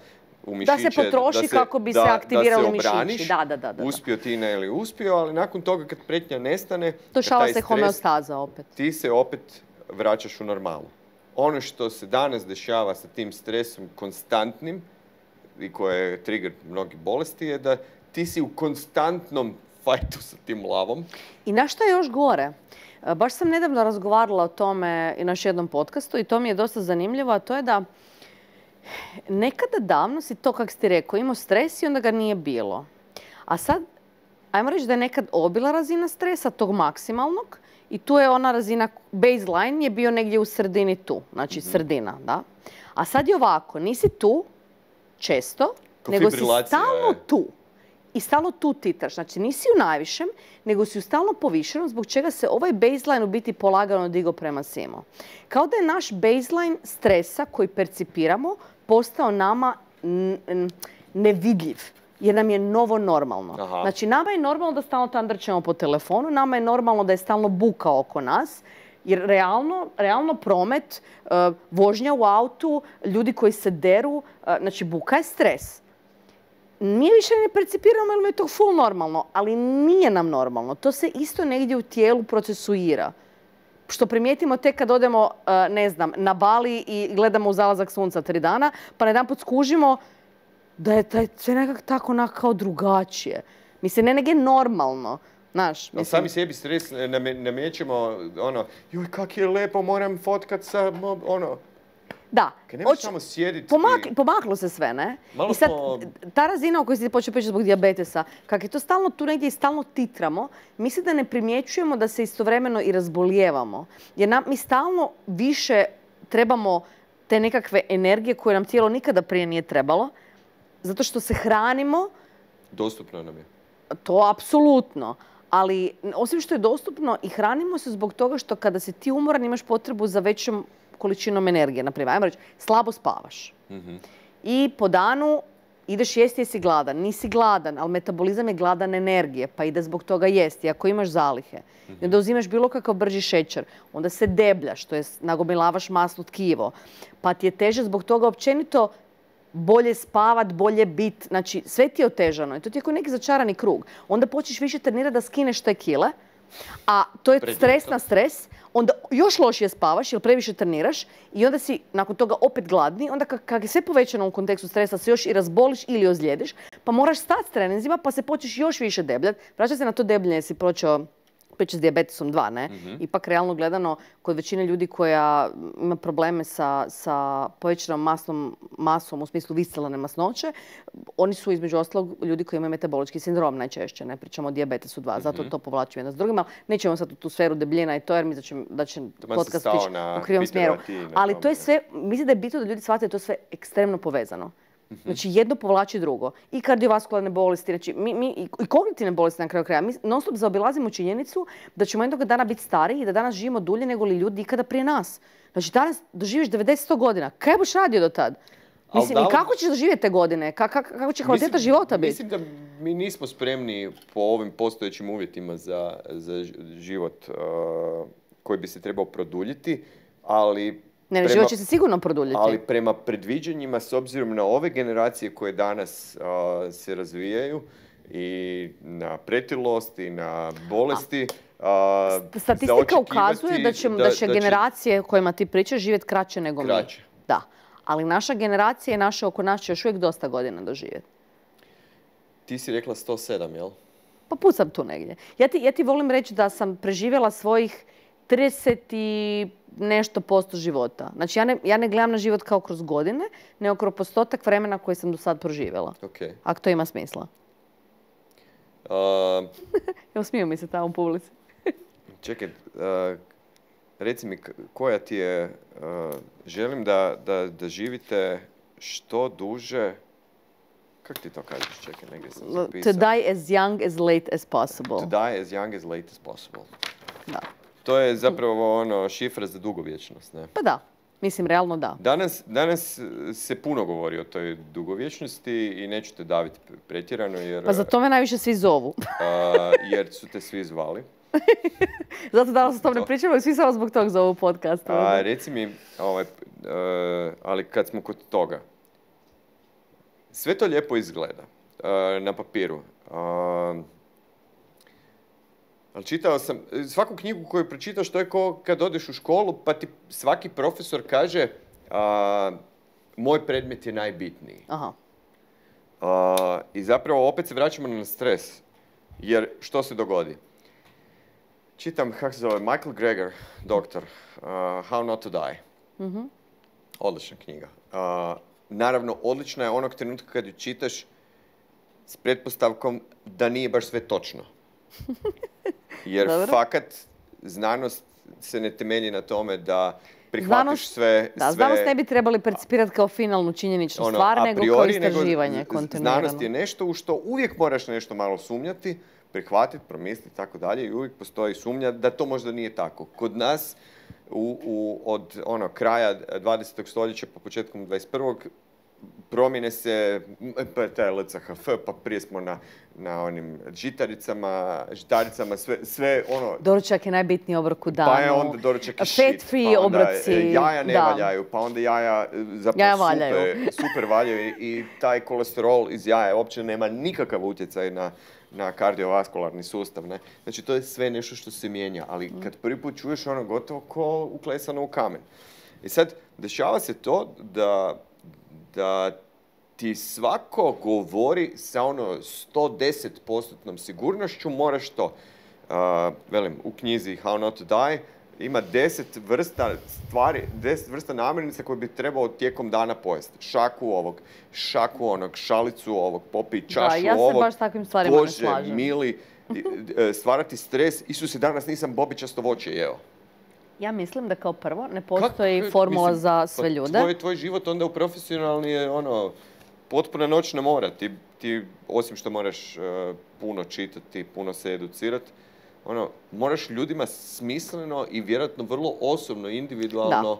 u mišiće. Da se potroši kako bi se aktivirali mišići. Da se obraniš, uspio ti ne ili uspio, ali nakon toga kad prijetnja nestane, dešava se homeostaza opet. Ti se opet vraćaš u normalu. Ono što se danas dešava sa tim stresom konstantnim i koje je trigger mnogih bolesti je da ti si u konstantnom fajtu sa tim lavom. I na što je još gore? Baš sam nedavno razgovarala o tome i na još jednom podcastu i to mi je dosta zanimljivo, a to je da nekada davno si to, kako si ti rekao, imao stres i onda ga nije bilo. A sad, ajmo reći da je nekad obila razina stresa, tog maksimalnog, i tu je ona razina, baseline je bio negdje u sredini tu, znači sredina, da. A sad je ovako, nisi tu često, nego si stalno tu. I stalno tu titaš. Znači nisi u najvišem, nego si u stalno povišenom, zbog čega se ovaj baseline u biti polagano digo prema svima. Kao da je naš baseline stresa koji percipiramo postao nama nevidljiv. Jer nam je novo normalno. Aha. Znači nama je normalno da stalno tandrčemo po telefonu, nama je normalno da je stalno buka oko nas, jer realno promet, vožnja u autu, ljudi koji se deru, znači buka je stres. Nije više ne percipiramo jer mi je to full normalno, ali nije nam normalno. To se isto negdje u tijelu procesuira. Što primijetimo tek kad odemo, ne znam, na Bali i gledamo u zalazak sunca 3 dana, pa jedanput skužimo da je sve nekako tako kao drugačije. Mislim, ne negdje normalno. Znaš, mislim. Sami sebi stres namjećemo, joj kak je lepo, moram fotkat sa, Da. Kad nemaš samo sjediti... Pomaklo se sve, ne? I sad, ta razina o kojoj si počeo pričati zbog dijabetesa, kako je to stalno tu negdje i stalno titramo, mislim da ne primjećujemo da se istovremeno i razbolijevamo. Jer mi stalno više trebamo te nekakve energije koje nam tijelo nikada prije nije trebalo, zato što se hranimo... Dostupno nam je. To apsolutno. Ali osim što je dostupno i hranimo se zbog toga što kada si ti umoran imaš potrebu za većom količinom energije. Naprimjer, ajmo reći, slabo spavaš. I po danu ideš jesti jer si gladan. Nisi gladan, ali metabolizam je gladan energije, pa ide zbog toga jesti. Ako imaš zalihe, i onda uzimaš bilo kakav brži šećer, onda se debljaš, to je nagomilavaš masno tkivo, pa ti je teže zbog toga općenito bolje spavat, bolje bit. Znači, sve ti je otežano. I to ti je kao neki začarani krug. Onda počneš više trenirati da skineš te kile, a to je stres na stres. Onda još lošije spavaš jer previše treniraš i onda si nakon toga opet gladni. Onda kad je sve povećano u kontekstu stresa se još i razboliš ili ozlijediš, pa moraš stati s treninzima pa se počneš još više debljati. Vraća se na to debljenje jer si počeo s dijabetesom 2, ne? Ipak realno gledano, kod većine ljudi koja ima probleme sa povećanom masom u smislu viscelarne masnoće, oni su između ostalog ljudi koji imaju metabolički sindrom najčešće, ne pričamo o dijabetesu 2, zato to povlačimo jedno s drugim, ali nećemo sad u tu sferu debljina i to jer mislim da će podcast ići u krivom smjeru. Ali to je sve, mislim da je bitno da ljudi shvate da je to sve ekstremno povezano. Znači, jedno povlači drugo. I kardiovaskularne bolesti, znači, i kognitivne bolesti na kraju kraja. Mi non stop zaobilazimo činjenicu da ćemo jednog dana biti stariji i da danas živimo dulje nego li ljudi ikada prije nas. Znači, danas doživiš 90-100 godina. Kaj boš radio do tad? Mislim, i kako ćeš doživjeti te godine? Kako će kvaliteta života biti? Mislim da mi nismo spremni po ovim postojećim uvjetima za život koji bi se trebao produljiti, ali... život će se sigurno produljiti. Ali prema predviđanjima, s obzirom na ove generacije koje danas se razvijaju i na pretilost i na bolesti, statistika ukazuje da će generacije kojima ti pričaš živjeti kraće nego mi. Da. Ali naša generacija i naše oko nas će još uvijek dosta godina doživjeti. Ti si rekla 107, jel? Pa pucam tu negdje. Ja ti volim reći da sam preživjela svojih 30 i nešto % života. Znači, ja ne gledam na život kao kroz godine, nego kroz postotak vremena koji sam do sad proživjela. Okay. Ako to ima smisla. Evo, smiju mi se tamo u publici. Čekaj, reci mi koja ti je... želim da živite što duže... Kako ti to kažeš? Čekaj, negdje sam zapisao. To die as young as late as possible. To die as young as late as possible. Da. To je zapravo šifra za dugovječnost, ne? Pa da, mislim, realno da. Danas se puno govori o toj dugovječnosti i neću te daviti pretjerano jer... Pa za to me najviše svi zovu. Jer su te svi zvali. Zato danas o tom ne pričamo i svi samo zbog tog zovu podcasta. Reci mi, ali kad smo kod toga, sve to lijepo izgleda na papiru. Ali čitao sam, svaku knjigu koju pročitaš, to je kao kad odeš u školu, pa ti svaki profesor kaže moj predmet je najbitniji. Aha. I zapravo opet se vraćamo na stres. Jer što se dogodi? Čitam, kako se zove, Michael Greger, doktor, How Not to Die. Mm-hmm. Odlična knjiga. Naravno, odlična je onog trenutka kad ju čitaš s pretpostavkom da nije baš sve točno. Jer fakat znanost se ne temelji na tome da prihvatiš sve... Da, znanost ne bi trebali percipirati kao finalnu činjeničnu stvar, nego kao istraživanje kontinuirano. Znanost je nešto u što uvijek moraš nešto malo sumnjati, prihvatiti, promisliti i tako dalje, i uvijek postoji sumnja da to možda nije tako. Kod nas od kraja 20. stoljeća pa početkom 21. promjene se, pa taj LCHF, pa prije smo na onim žitaricama, sve ono... Doručak je najbitniji obrok u danu. Pa je onda doručak i shit. Fat free pa obroci. Jaja ne valjaju, pa onda jaja zapravo super valjaju i taj kolesterol iz jaja uopće nema nikakav utjecaj na kardiovaskularni sustav. Ne? Znači, to je sve nešto što se mijenja, ali kad prvi put čuješ ono gotovo ko uklesano u kamen. I sad, dešava se to da ti svako govori sa 110% sigurnošću, moraš to. Velim, u knjizi How Not to Die ima 10 vrsta stvari, 10 vrsta namirnica koje bi trebao tijekom dana pojesti. Šaku ovog, šaku onog, šalicu ovog, popij čašu ovog. Da, ja se baš takvim stvarima ne slažem. Bože, mili, stvarati stres. Isuse, danas nisam bobičasto voće jeo. Ja mislim da kao prvo ne postoji formula za sve ljude. Tvoj život onda u profesionalni je potpuna noćna mora. Ti osim što moraš puno čitati, puno se educirati, moraš ljudima smisleno i vjerojatno vrlo osobno, individualno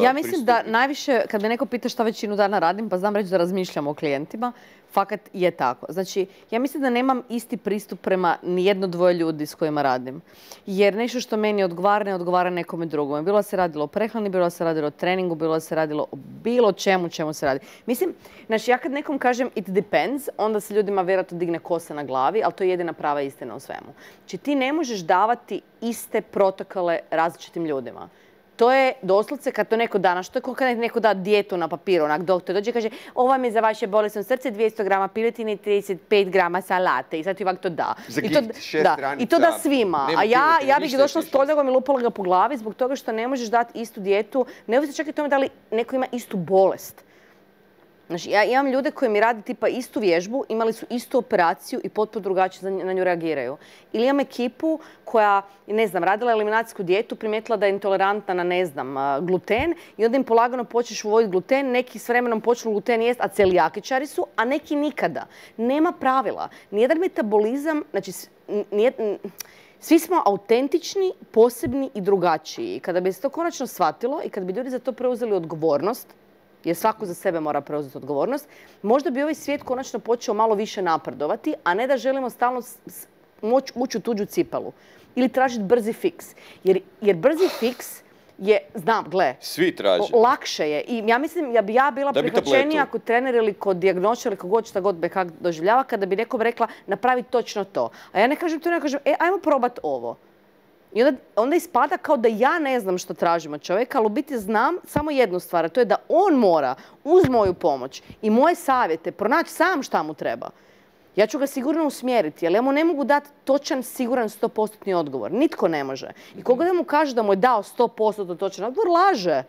ja mislim da najviše, kad me neko pita šta većinu dana radim, pa znam reći da razmišljam o klijentima, fakat je tako. Znači, ja mislim da nemam isti pristup prema nijedno dvoje ljudi s kojima radim. Jer nešto što meni odgovara, ne odgovara nekome drugome. Bilo da se radilo o prehrani, bilo da se radilo o treningu, bilo da se radilo o bilo čemu se radi. Mislim, znači, ja kad nekom kažem it depends, onda se ljudima vjerojatno digne kosa na glavi, ali to je jedina prava istina u svemu. Znači, ti ne možeš davati iste protokole različitim ljudima. To je doslovce kad to neko da, što je kad neko da dijetu na papiru, onak doktor dođe i kaže ovo vam je za vaše bolesno srce 200 grama piletine i 35 grama salate i sad ti ovak to da. I to da svima. A ja bih došla s kolegom i lupala ga po glavi zbog toga što ne možeš dati istu dijetu, neovisno čak i tome da li neko ima istu bolest. Znači, ja imam ljude koji mi rade tipa istu vježbu, imali su istu operaciju i potpuno drugačije na nju reagiraju. Ili imam ekipu koja, ne znam, radila eliminacijsku dijetu, primijetila da je intolerantna na, ne znam, gluten i onda im polagano počneš uvoditi gluten, neki s vremenom počnu gluten jest, a celijakičari su, a neki nikada. Nema pravila. Nijedan metabolizam, znači, svi smo autentični, posebni i drugačiji. Kada bi se to konačno shvatilo i kada bi ljudi za to preuzeli odgovornost, jer svako za sebe mora preuzeti odgovornost, možda bi ovaj svijet konačno počeo malo više napredovati, a ne da želimo stalno ući u tuđu cipelu. Ili tražiti brzi fiks. Jer brzi fiks je, znam, gle, svi traže. Lakše je. I ja mislim, ja bila prihvaćenija ako trener ili kod dijagnostičara ili kogod šta god kak doživljava, kada bi nekom rekla napravi točno to. A ja ne kažem to, ne kažem, ajmo probat ovo. I onda ispada kao da ja ne znam što tražim od čovjeka, ali u biti znam samo jednu stvar, a to je da on mora uz moju pomoć i moje savjete pronaći sam šta mu treba. Ja ću ga sigurno usmjeriti, ali ja mu ne mogu dati točan, siguran 100% odgovor. Nitko ne može. I koga da mu kaže da mu je dao 100% točan odgovor, laže.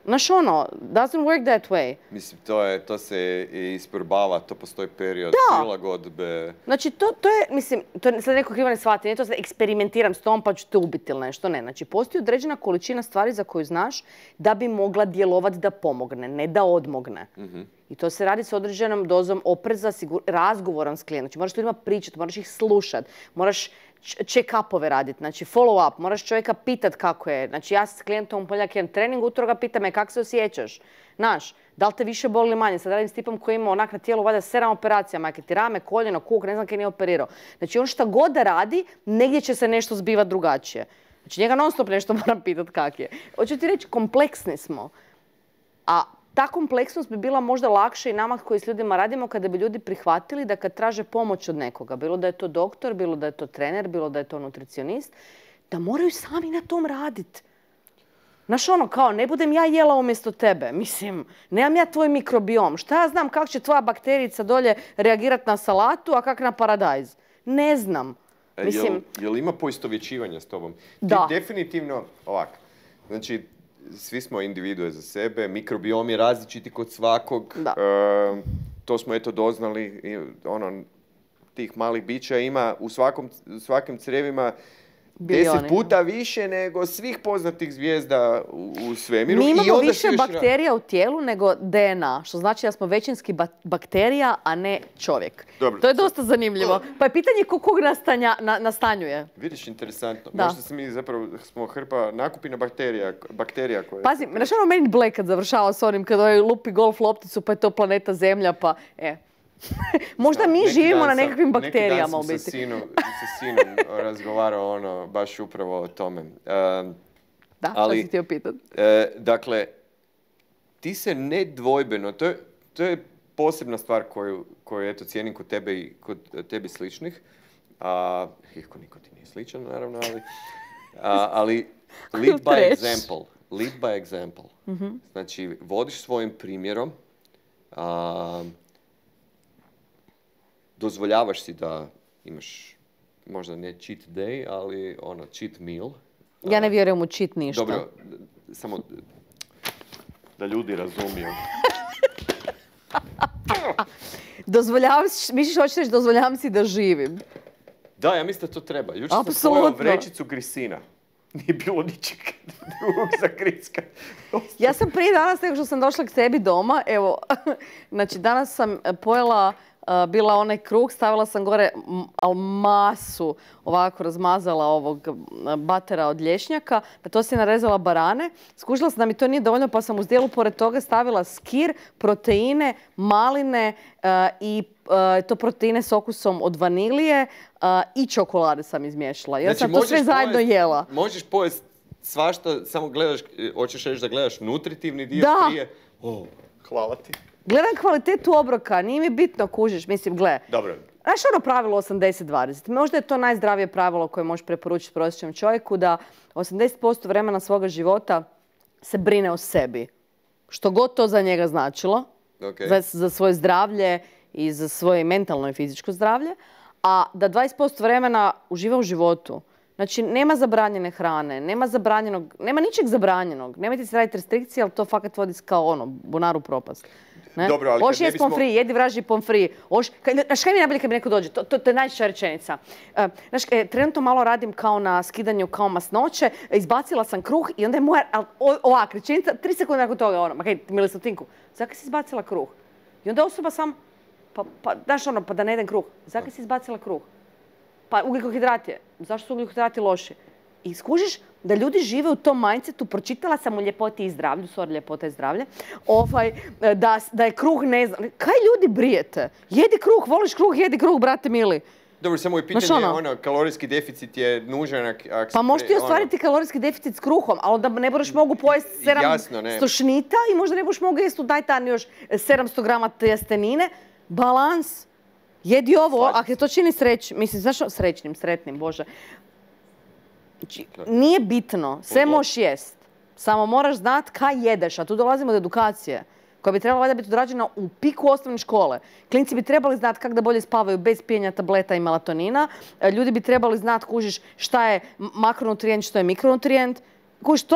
Znaš doesn't work that way. Mislim, to se isprobava, to postoji period prilagodbe. Znači, to je, mislim, to sad neko krivo ne shvati, nije to sad eksperimentiram s tom pa ću te ubiti ili nešto, ne. Znači, postoji određena količina stvari za koju znaš da bi mogla djelovati da pomogne, ne da odmogne. I to se radi s određenom dozom opreza, razgovorom s klijentom. Znači, moraš ljudima pričati, moraš ih slušati, moraš check-upove raditi, znači follow-up, moraš čovjeka pitat kako je. Znači ja s klijentom u ponedjeljak jedan trening, utorak ga pitam kako se osjećaš. Znaš, da li te više boli ili manje? Sad radim s tipom koji ima onak na tijelu valjda 7 operacija, majke ti rame, koljeno, kuk, ne znam kaj nije operirao. Znači on šta god da radi, negdje će se nešto zbivati drugačije. Znači njega non stop nešto moram pitat kak je. Hoću ti reći, kompleksni smo. A ta kompleksnost bi bila možda lakše i nama koji s ljudima radimo kada bi ljudi prihvatili da kad traže pomoć od nekoga, bilo da je to doktor, bilo da je to trener, bilo da je to nutricionist, da moraju sami na tom raditi. Znaš ono, kao, ne budem ja jela umjesto tebe. Mislim, nemam ja tvoj mikrobiom. Šta ja znam kako će tvoja bakterijica dolje reagirati na salatu, a kak na paradajz? Ne znam. Mislim... Jel ima poistovjećivanja s tobom? Da. Ti definitivno, ovako, znači, svi smo individue za sebe, mikrobiom je različiti kod svakog. Da. To smo eto doznali, tih malih bića ima u svakim crijevima 10 puta više nego svih poznatih zvijezda u svemiru. Mi imamo više bakterija u tijelu nego DNA, što znači da smo većinski bakterija, a ne čovjek. Dobro. To je dosta zanimljivo. Pa je pitanje kog nastanjuje. Vidiš, interesantno. Da. Možda se mi zapravo smo hrpa nakupina bakterija koje... Pazi, znaš ono Men in Black kad završava s onim, kad ovaj lupi golf lopticu, pa je to planeta Zemlja, pa... Možda mi živimo na nekakvim bakterijama u biti. Neki dan sam sa sinom razgovarao baš upravo o tome. Da, ali, sam htio pitati. Dakle, ti se nedvojbeno, to je posebna stvar koju eto cijenim kod tebe i kod tebi sličnih. Iako niko ti nije sličan, naravno, ali lead by example. Lead by example. Mm-hmm. Znači, vodiš svojim primjerom, dozvoljavaš si da imaš možda ne cheat day, ali cheat meal. Ja ne vjerujem u cheat ništa. Dobro, samo da ljudi razumiju. Misliš hoćeš reći dozvoljavam si da živim? Da, ja mislim da to treba. Jučer sam pojao vrećicu grisina. Nije bilo ničeg drugog za griska. Ja sam prije danas, nego što sam došla k tebi doma, evo, znači danas sam pojela bila onaj kruh, stavila sam gore masu, ovako razmazala ovog batera od lješnjaka, na to si narezala barane. Skužila sam da mi to nije dovoljno, pa sam uz dijelu pored toga stavila skir, proteine, maline i to proteine s okusom od vanilije i čokolade sam izmiješala. Jer sam to sve zajedno jela. Možeš pojesti svašta, samo gledaš, hoćeš reći da gledaš nutritivni dio prije. Hvala ti. Gledam kvalitetu obroka, nije mi bitno, kužiš, mislim, gle. Dobro. Znaš ono pravilo 80-20? Možda je to najzdravije pravilo koje možeš preporučiti prosječnom čovjeku, da 80% vremena svoga života se brine o sebi. Što god to za njega značilo, za svoje zdravlje i za svoje mentalno i fizičko zdravlje, a da 20% vremena uživa u životu. Znači, nema zabranjene hrane, nema ničeg zabranjenog. Nemojte se raditi restrikcije, ali to fakat vodi kao bunaru propast. Dobro, ali Oš jest pomfri, jedi vražji pomfri. Znaš kaj mi najbolje kad mi neko dođe? To je najčešća rečenica. Znaš, trenutno malo radim kao na skidanju kao masnoće, izbacila sam kruh i onda je moja ovak rečenica, 3 sekunde nakon toga ma kaj, mili Slatinku, zakaj si izbacila kruh? I onda osoba sam, znaš pa da ne jedem kruh, zakaj si izbacila kruh? Pa ugljikohidrat je. Zašto su ugljikohidrati loši? I skužiš da ljudi žive u tom mindsetu, pročitala sam u Ljepoti i zdravlju, ljepota i zdravlje, da je kruh ne znam. Kaj ljudi brijete? Jedi kruh, voliš kruh, jedi kruh, brate mili. Dobro, samo je pitanje, kalorijski deficit je nužan. Pa možeš ti ostvariti kalorijski deficit s kruhom, ali onda ne budeš mogu pojesti 700 stošnita i možda ne budeš mogu jesti u dajtan još 700 grama tjestenine. Balans. Jedi ovo, ako je to čini sretnim, Bože. Znači, nije bitno, sve možeš jest. Samo moraš znati kaj jedeš, a tu dolazimo do edukacije, koja bi trebala valjda biti odrađena u piku osnovne škole. Klinci bi trebali znati kako da bolje spavaju bez pijenja tableta i melatonina. Ljudi bi trebali znati, kužiš, šta je makronutrijent, što je mikronutrijent. Kužiš,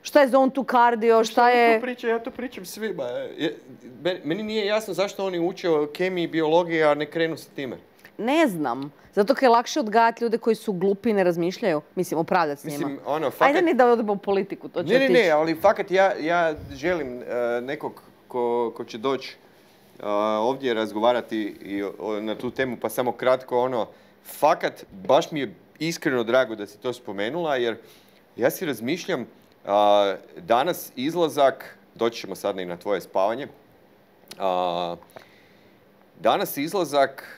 šta je zone to cardio, šta je... Ja to pričam svima. Meni nije jasno zašto oni uče o kemiji i biologiji, a ne krenu sa time. Ne znam. Zato kad je lakše odgajati ljude koji su glupi i ne razmišljaju. Mislim, upravljati s njima. Ajde ne da odemo u politiku, to će otići. Ne, ali fakat ja želim nekog ko će doći ovdje razgovarati na tu temu, pa samo kratko fakat, baš mi je iskreno drago da si to spomenula, jer ja si razmišljam danas izlazak, doći ćemo sad i na tvoje spavanje, danas izlazak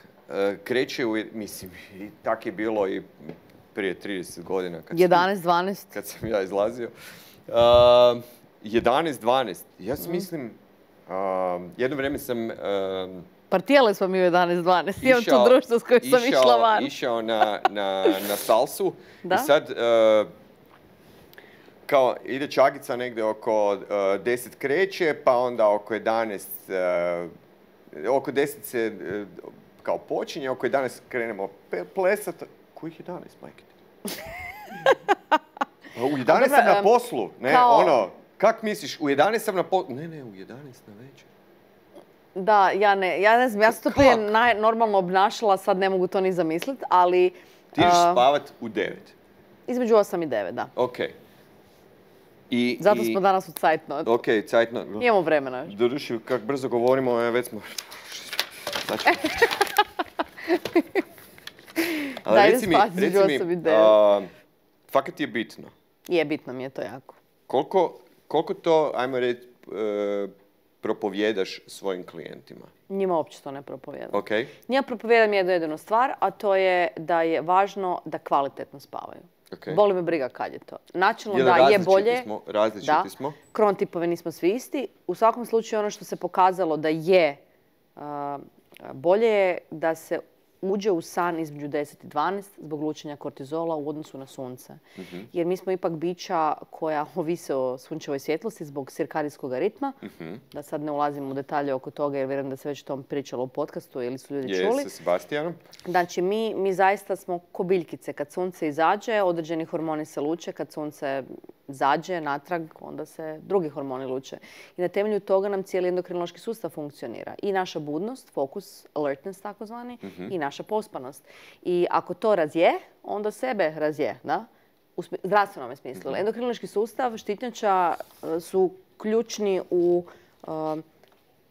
kreće mislim, i tak je bilo i prije 30 godina. 11-12. Kad sam ja izlazio. 11-12. Ja si mislim, jedno vrijeme sam partijale smo mi u 11-12. Imam tu društvo s kojim sam išla van. Išao na salsu. Da? I sad, kao ide čagica negdje oko 10 kreće, pa onda oko 11, oko 10 se kao počinje, oko 11 krenemo plesat. Kojih 11, majke? U 11 sam na poslu, ne, ono, kak misliš, u 11 sam na poslu, ne, u 11 na večer. Da, ja ne znam, ja sam to prije normalno obnašala, sad ne mogu to ni zamisliti, ali... Ti ideš spavat u 9? Između 8 i 9, da. Okej. Zato smo danas u cajtnot. Okej, cajtnot. Imamo vremena. Doduši, kak brzo govorimo, već smo... Da, idem spati između 8 i 9. Fakat je bitno. Je, bitno mi je to jako. Koliko to, ajmo reći, propovjedaš svojim klijentima? Njima uopće to ne propovijedam. Okay. Njima propovijedam jednu stvar, a to je da je važno da kvalitetno spavaju. Okay. Boli me briga kad je to. Načelno da je bolje. Različiti smo. Kronotipove nismo svi isti. U svakom slučaju ono što se pokazalo da je bolje je da se uđe u san između 10 i 12 zbog lučenja kortizola u odnosu na sunce. Jer mi smo ipak bića koja ovise o sunčevoj svjetlosti zbog cirkadijskog ritma. Da sad ne ulazim u detalje oko toga jer vjerujem da se već tom pričalo u podcastu ili su ljudi čuli. Sa Sebastianom. Znači, mi zaista smo ko biljkice. Kad sunce izađe, određeni hormoni se luče. Kad sunce zađe natrag, onda se drugi hormoni luče. I na temelju toga nam cijeli endokrinološki sustav funkcionira. I naša budnost, fokus, alertness takozvani, i naša pospanost. I ako to razje, onda sebe razje, da? U zdravstvenom smislu. Endokrinološki sustav, štitnjača su ključni u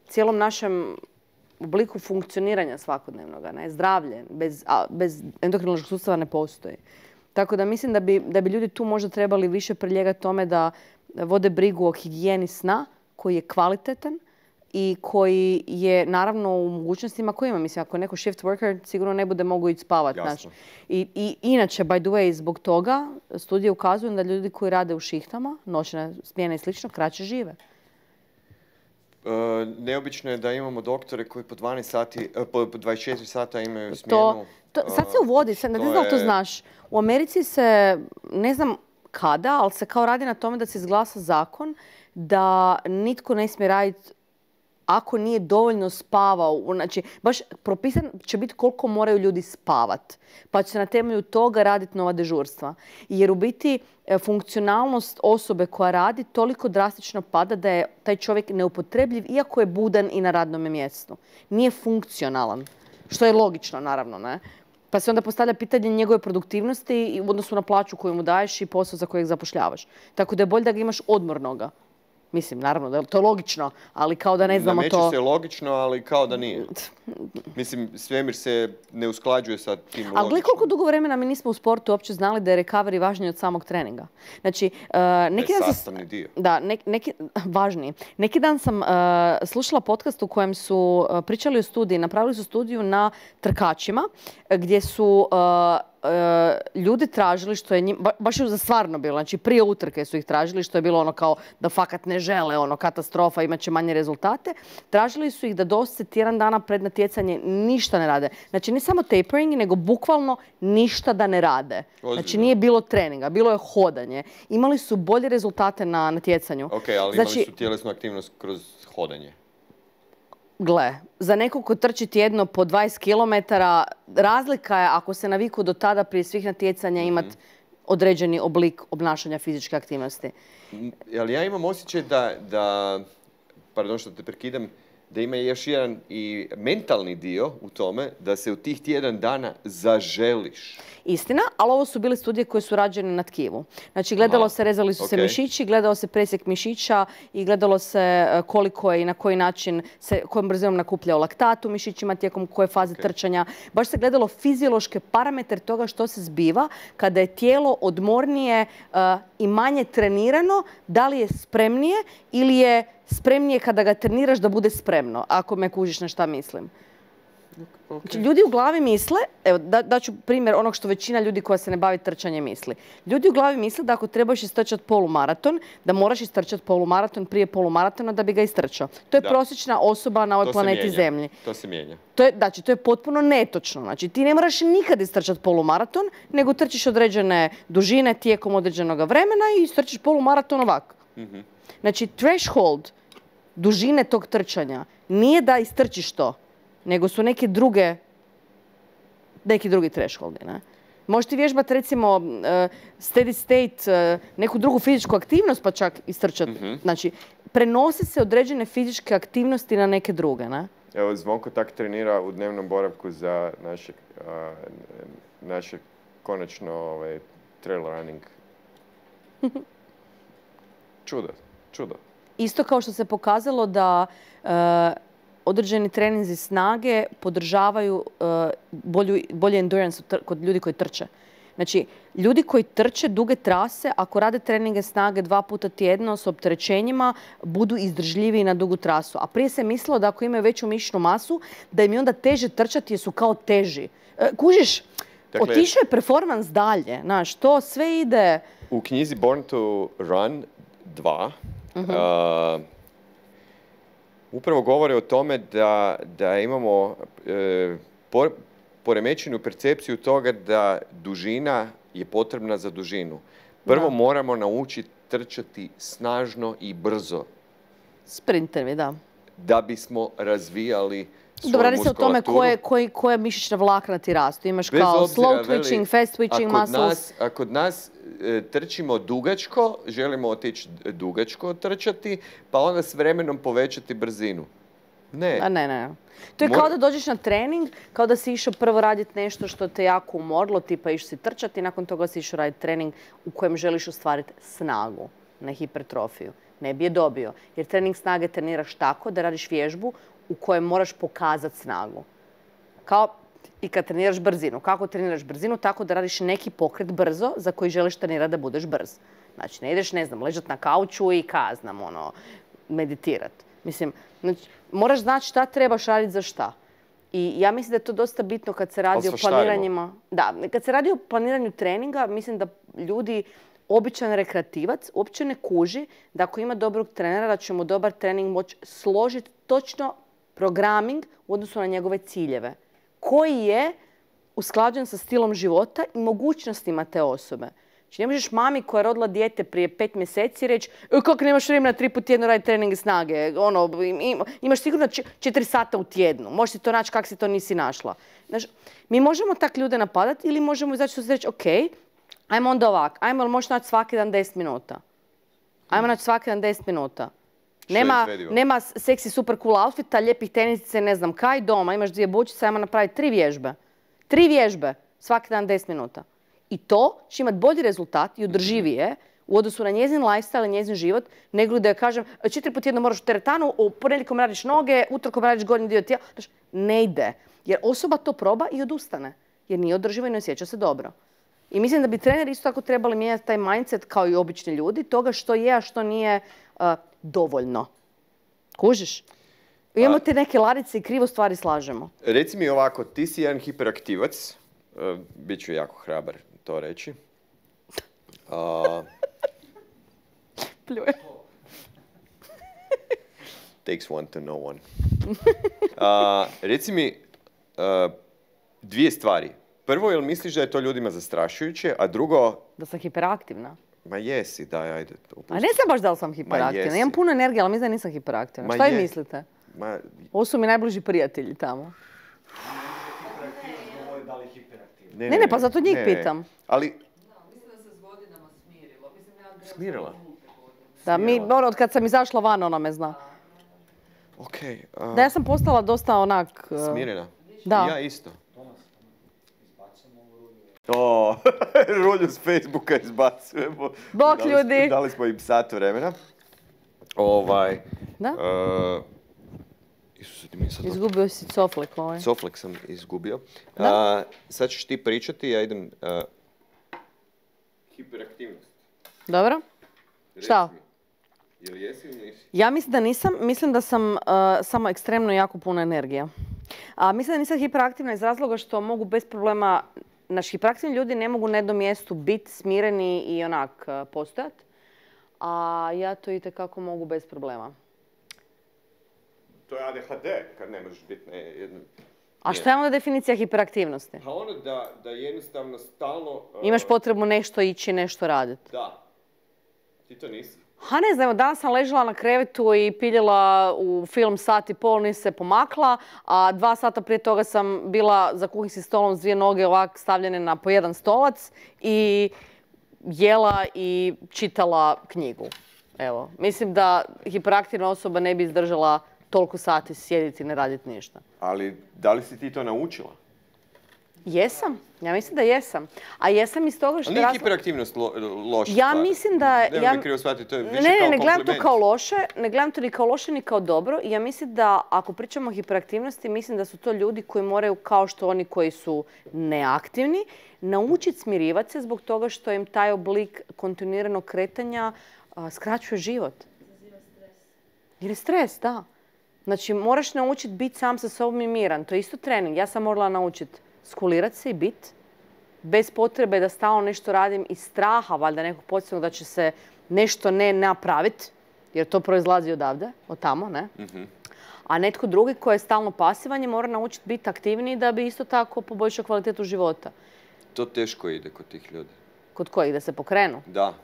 cijelom našem obliku funkcioniranja svakodnevnog. Zdravlje bez endokrinološkog sustava ne postoji. Tako da mislim da bi ljudi tu možda trebali više priljegati tome da vode brigu o higijeni sna koji je kvalitetan i koji je naravno u mogućnostima koje ima. Mislim, ako je neko shift worker, sigurno ne bude mogu ići spavati. I inače, by the way, zbog toga studije ukazuju da ljudi koji rade u šihtama, noćne smjene i slično, kraće žive. Neobično je da imamo doktore koji po 12 sati, po 24 sata imaju smjenu. Sad se uvodi, ne znam da li to znaš. U Americi se, ne znam kada, ali se kao radi na tome da se izglasa zakon da nitko ne smije raditi ako nije dovoljno spavao. Znači, baš propisan će biti koliko moraju ljudi spavat. Pa će se na temelju toga raditi nova dežurstva. Jer u biti funkcionalnost osobe koja radi toliko drastično pada da je taj čovjek neupotrebljiv iako je budan i na radnom mjestu. Nije funkcionalan. Što je logično, naravno, ne? Pa se onda postavlja pitanje njegove produktivnosti u odnosu na plaću koju mu daješ i posao za kojeg zapošljavaš. Tako da je bolje da ga imaš odmornoga. Mislim, naravno, da je to logično, ali kao da ne znamo to... Nameće se logično, ali kao da nije. Mislim, svemir se ne usklađuje sa tim logičnom. Ali gledaj koliko dugo vremena mi nismo u sportu uopće znali da je recovery važniji od samog treninga. Znači, neki dan sastavni dio. Da, važniji. Neki dan sam slušala podcast u kojem su pričali o studiji, napravili su studiju na trkačima, gdje su ljudi tražili, što je njim, baš je za stvarno bilo, znači prije utrke su ih tražili, što je bilo ono kao da fakat ne žele, ono katastrofa, imat će manje rezultate. Tražili su ih da doslovce tjedan dana pred natjecanje ništa ne rade. Znači ne samo tapering, nego bukvalno ništa da ne rade. Znači nije bilo treninga, bilo je hodanje. Imali su bolje rezultate na natjecanju. Ok, ali imali su tjelesnu aktivnost kroz hodanje. Gle, za nekog ko trči tjedno po 20 km, razlika je ako se naviku do tada prije svih natjecanja imati određeni oblik obnašanja fizičke aktivnosti. Ali ja imam osjećaj da, pardon što te prekidam, da ima još jedan i mentalni dio u tome da se u tih tjedan dana zaželiš. Istina, ali ovo su bile studije koje su rađene na tkivu. Znači, gledalo se, rezali su se mišići, gledalo se presjek mišića i gledalo se koliko je i na koji način se, kojom brzinom nakupljao laktat u mišićima tijekom koje faze trčanja. Baš se gledalo fiziološke parametre toga što se zbiva kada je tijelo odmornije i manje trenirano, da li je spremnije ili je spremnije kada ga treniraš da bude spremno, ako me kužiš na šta mislim. Znači, ljudi u glavi misle, evo daću primjer onog što većina ljudi koja se ne bavi trčanjem misli. Ljudi u glavi misle da ako trebaš istrčati polumaraton, da moraš istrčati polumaraton prije polumaratona da bi ga istrčao. To je prosječna osoba na ovoj planeti Zemlji. To se mijenja. Znači, to je potpuno netočno. Znači, ti ne moraš nikad istrčati polumaraton, nego trčiš određene dužine tijekom određenog vremena i istrčiš polumaraton ovako. Znači, threshold dužine tog trčanja nije da istrčiš to, nego su neki drugi thresholdi. Ne? Možeš ti vježbati recimo steady state, neku drugu fizičku aktivnost pa čak istrčati. Znači, prenose se određene fizičke aktivnosti na neke druge. Ne? Evo, Zvonko tak trenira u dnevnom boravku za naše konačno trail running. Čudo. Isto kao što se pokazalo da određeni treninzi snage podržavaju bolji endurance kod ljudi koji trče. Znači, ljudi koji trče duge trase, ako rade treninge snage 2 puta tjedno s opterećenjima, budu izdržljiviji na dugu trasu. A prije se mislilo da ako imaju veću mišićnu masu, da im je onda teže trčati jer su kao teži. Kužiš, dakle, otišao je performans dalje. Znaš, to sve ide... U knjizi Born to Run 2 upravo govore o tome da imamo poremećenu percepciju toga da dužina je potrebna za dužinu. Prvo moramo naučiti trčati snažno i brzo. Sprintevi, da. Da bismo razvijali svoju Dobro, radi se o tome muskulaturu. koje mišićna vlakna ti rastu. Imaš kao slow twitching, fast twitching muscles. A kod nas trčimo dugačko, želimo otići dugačko trčati, pa onda s vremenom povećati brzinu. Ne. To je kao da dođeš na trening, kao da si išao prvo raditi nešto što te jako umorilo, tipa išao si trčati i nakon toga si išao raditi trening u kojem želiš ostvariti snagu, ne hipertrofiju. Ne bi je dobio. Jer trening snage treniraš tako da radiš vježbu u kojem moraš pokazati snagu. Kao i kad treniraš brzinu. Kako treniraš brzinu? Tako da radiš neki pokret brzo za koji želiš trenirati da budeš brz. Znači, ne ideš, ležati na kauču i meditirati. Mislim, znači, moraš znati šta trebaš raditi za šta. I ja mislim da je to dosta bitno kad se radi o planiranjima. Da, kad se radi o planiranju treninga, mislim da ljudi, običan rekreativac, uopće ne kuži da ako ima dobrog trenera, da će mu dobar trening moći složiti točno programming u odnosu na njegove ciljeve. Koji je usklađen sa stilom života i mogućnostima te osobe. Znači, ne možeš mami koja je rodila dijete prije 5 mjeseci reći kako nemaš vremena 3 puta tjedno raditi treninge snage. Imaš sigurno 4 sata u tjednu. Možeš si to naći kako si to nisi našla. Znači, mi možemo tak ljude napadati ili možemo izaći i reći ok, ajmo onda ovak. Ajmo, ali možeš naći svaki dan 10 minuta. Ajmo naći svaki dan 10 minuta. Nema seksi super cool outfita, lijepih tenisice, ne znam kaj, doma. Imaš 2 bučice, ajmo napraviti 3 vježbe. 3 vježbe, svaki dan 10 minuta. I to će imati bolji rezultat i održivije u odnosu na njezin lifestyle i njezin život, nego da joj kažem 4 puta tjedno moraš u teretanu, u ponedjeljkom radiš noge, utorkom radiš gornji dio tijela. Znači, ne ide. Jer osoba to proba i odustane. Jer nije održivo i ne osjeća se dobro. I mislim da bi treneri isto tako trebali mijenjati taj mindset kao i obični ljudi, toga što je, a što nije dovoljno. Kužiš? Imamo te neke ladice i krivo stvari slažemo. Reci mi ovako, ti si jedan hiperaktivac, bit ću jako hrabar to reći. Pljuje. Takes one to know one. Reci mi 2 stvari. Prvo, jel misliš da je to ljudima zastrašujuće, a drugo... Da sam hiperaktivna. Ma jesi, daj, ajde. A ne znam baš da li sam hiperaktivna. Imam puno energije, ali mislim da nisam hiperaktivna. Šta vi mislite? Ovo su mi najbliži prijatelji tamo. Ne, pa zato njih pitam. Ali... Mislim da se s godinama smirilo. Smirila? Da, od kad sam izašla van, ona me zna. Okej. Da, ja sam postala dosta onak... Smirena? Da. Ja isto. Rulju s Facebooka izbacujemo. Bok ljudi! Dali smo im sat vremena. Da? Isuse, ti mi sad... Izgubio si coflek ovaj. Coflek sam izgubio. Sad ćeš ti pričati, ja idem... Hiperaktivnost. Dobro. Šta? Jel jesi ili nisi? Ja mislim da nisam. Mislim da sam samo ekstremno jako puno energija. A mislim da nisam hiperaktivna iz razloga što mogu bez problema, naši hiperaktivni ljudi ne mogu na jednom mjestu biti smireni i onak postojat, a ja to itekako mogu bez problema. To je ADHD, kad ne možeš biti na jednom... A šta je onda definicija hiperaktivnosti? Pa ono da jednostavno stalno... Imaš potrebu nešto ići, nešto raditi. Da. Ti to nisi. Ha ne znam, danas sam ležala na krevetu i piljala u film sat i pol, nisi se pomakla, a 2 sata prije toga sam bila za kuhinskim stolom s 2 noge ovak stavljene na po jedan stolac i jela i čitala knjigu. Evo, mislim da hiperaktivna osoba ne bi izdržala toliko sati sjediti i ne raditi ništa. Ali da li si ti to naučila? Jesam. Ja mislim da jesam. A jesam iz toga što... Nije hiperaktivnost loša Ja stvar. mislim da... Nemoj me krivo shvatiti, to je više kao Ne kompliment. gledam to kao loše. Ne gledam to ni kao loše, ni kao dobro. I ja mislim da ako pričamo o hiperaktivnosti, mislim da su to ljudi koji moraju, kao što oni koji su neaktivni, naučiti smirivati se zbog toga što im taj oblik kontinuiranog kretanja skraćuje život. Jer je stres, da. Znači, moraš naučiti biti sam sa sobom i miran. To je isto trening. Ja sam morala naučiti skulirati se i biti bez potrebe da stalno nešto radim iz straha, valjda nekog podsjetnog da će se nešto ne napraviti, jer to proizlazi odavde, od tamo, ne? A netko drugi koji je stalno pasivan je mora naučiti biti aktivniji da bi isto tako poboljšao kvalitetu života. To teško ide kod tih ljudi. Kod kojih? Da se pokrenu? Da.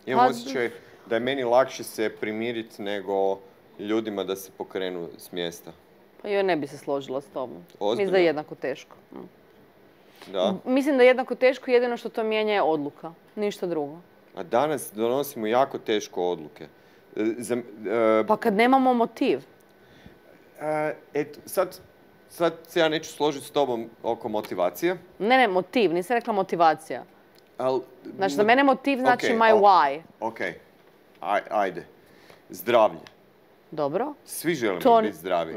Imam osjećaj da je meni lakše se primiriti nego ljudima da se pokrenu s mjesta. Pa joj ne bi se složila s tobom. Ozbiljno? Mislim da je jednako teško. Da. Mislim da je jednako teško, jedino što to mijenja je odluka. Ništa drugo. A danas donosimo jako teško odluke. Pa kad nemamo motiv. Eto, sad se ja neću složiti s tobom oko motivacije. Ne, motiv. Nisam rekla motivacija. Znači, za mene motiv znači my why. Ok. Ajde. Zdravlje. Dobro. Svi želimo biti zdravi.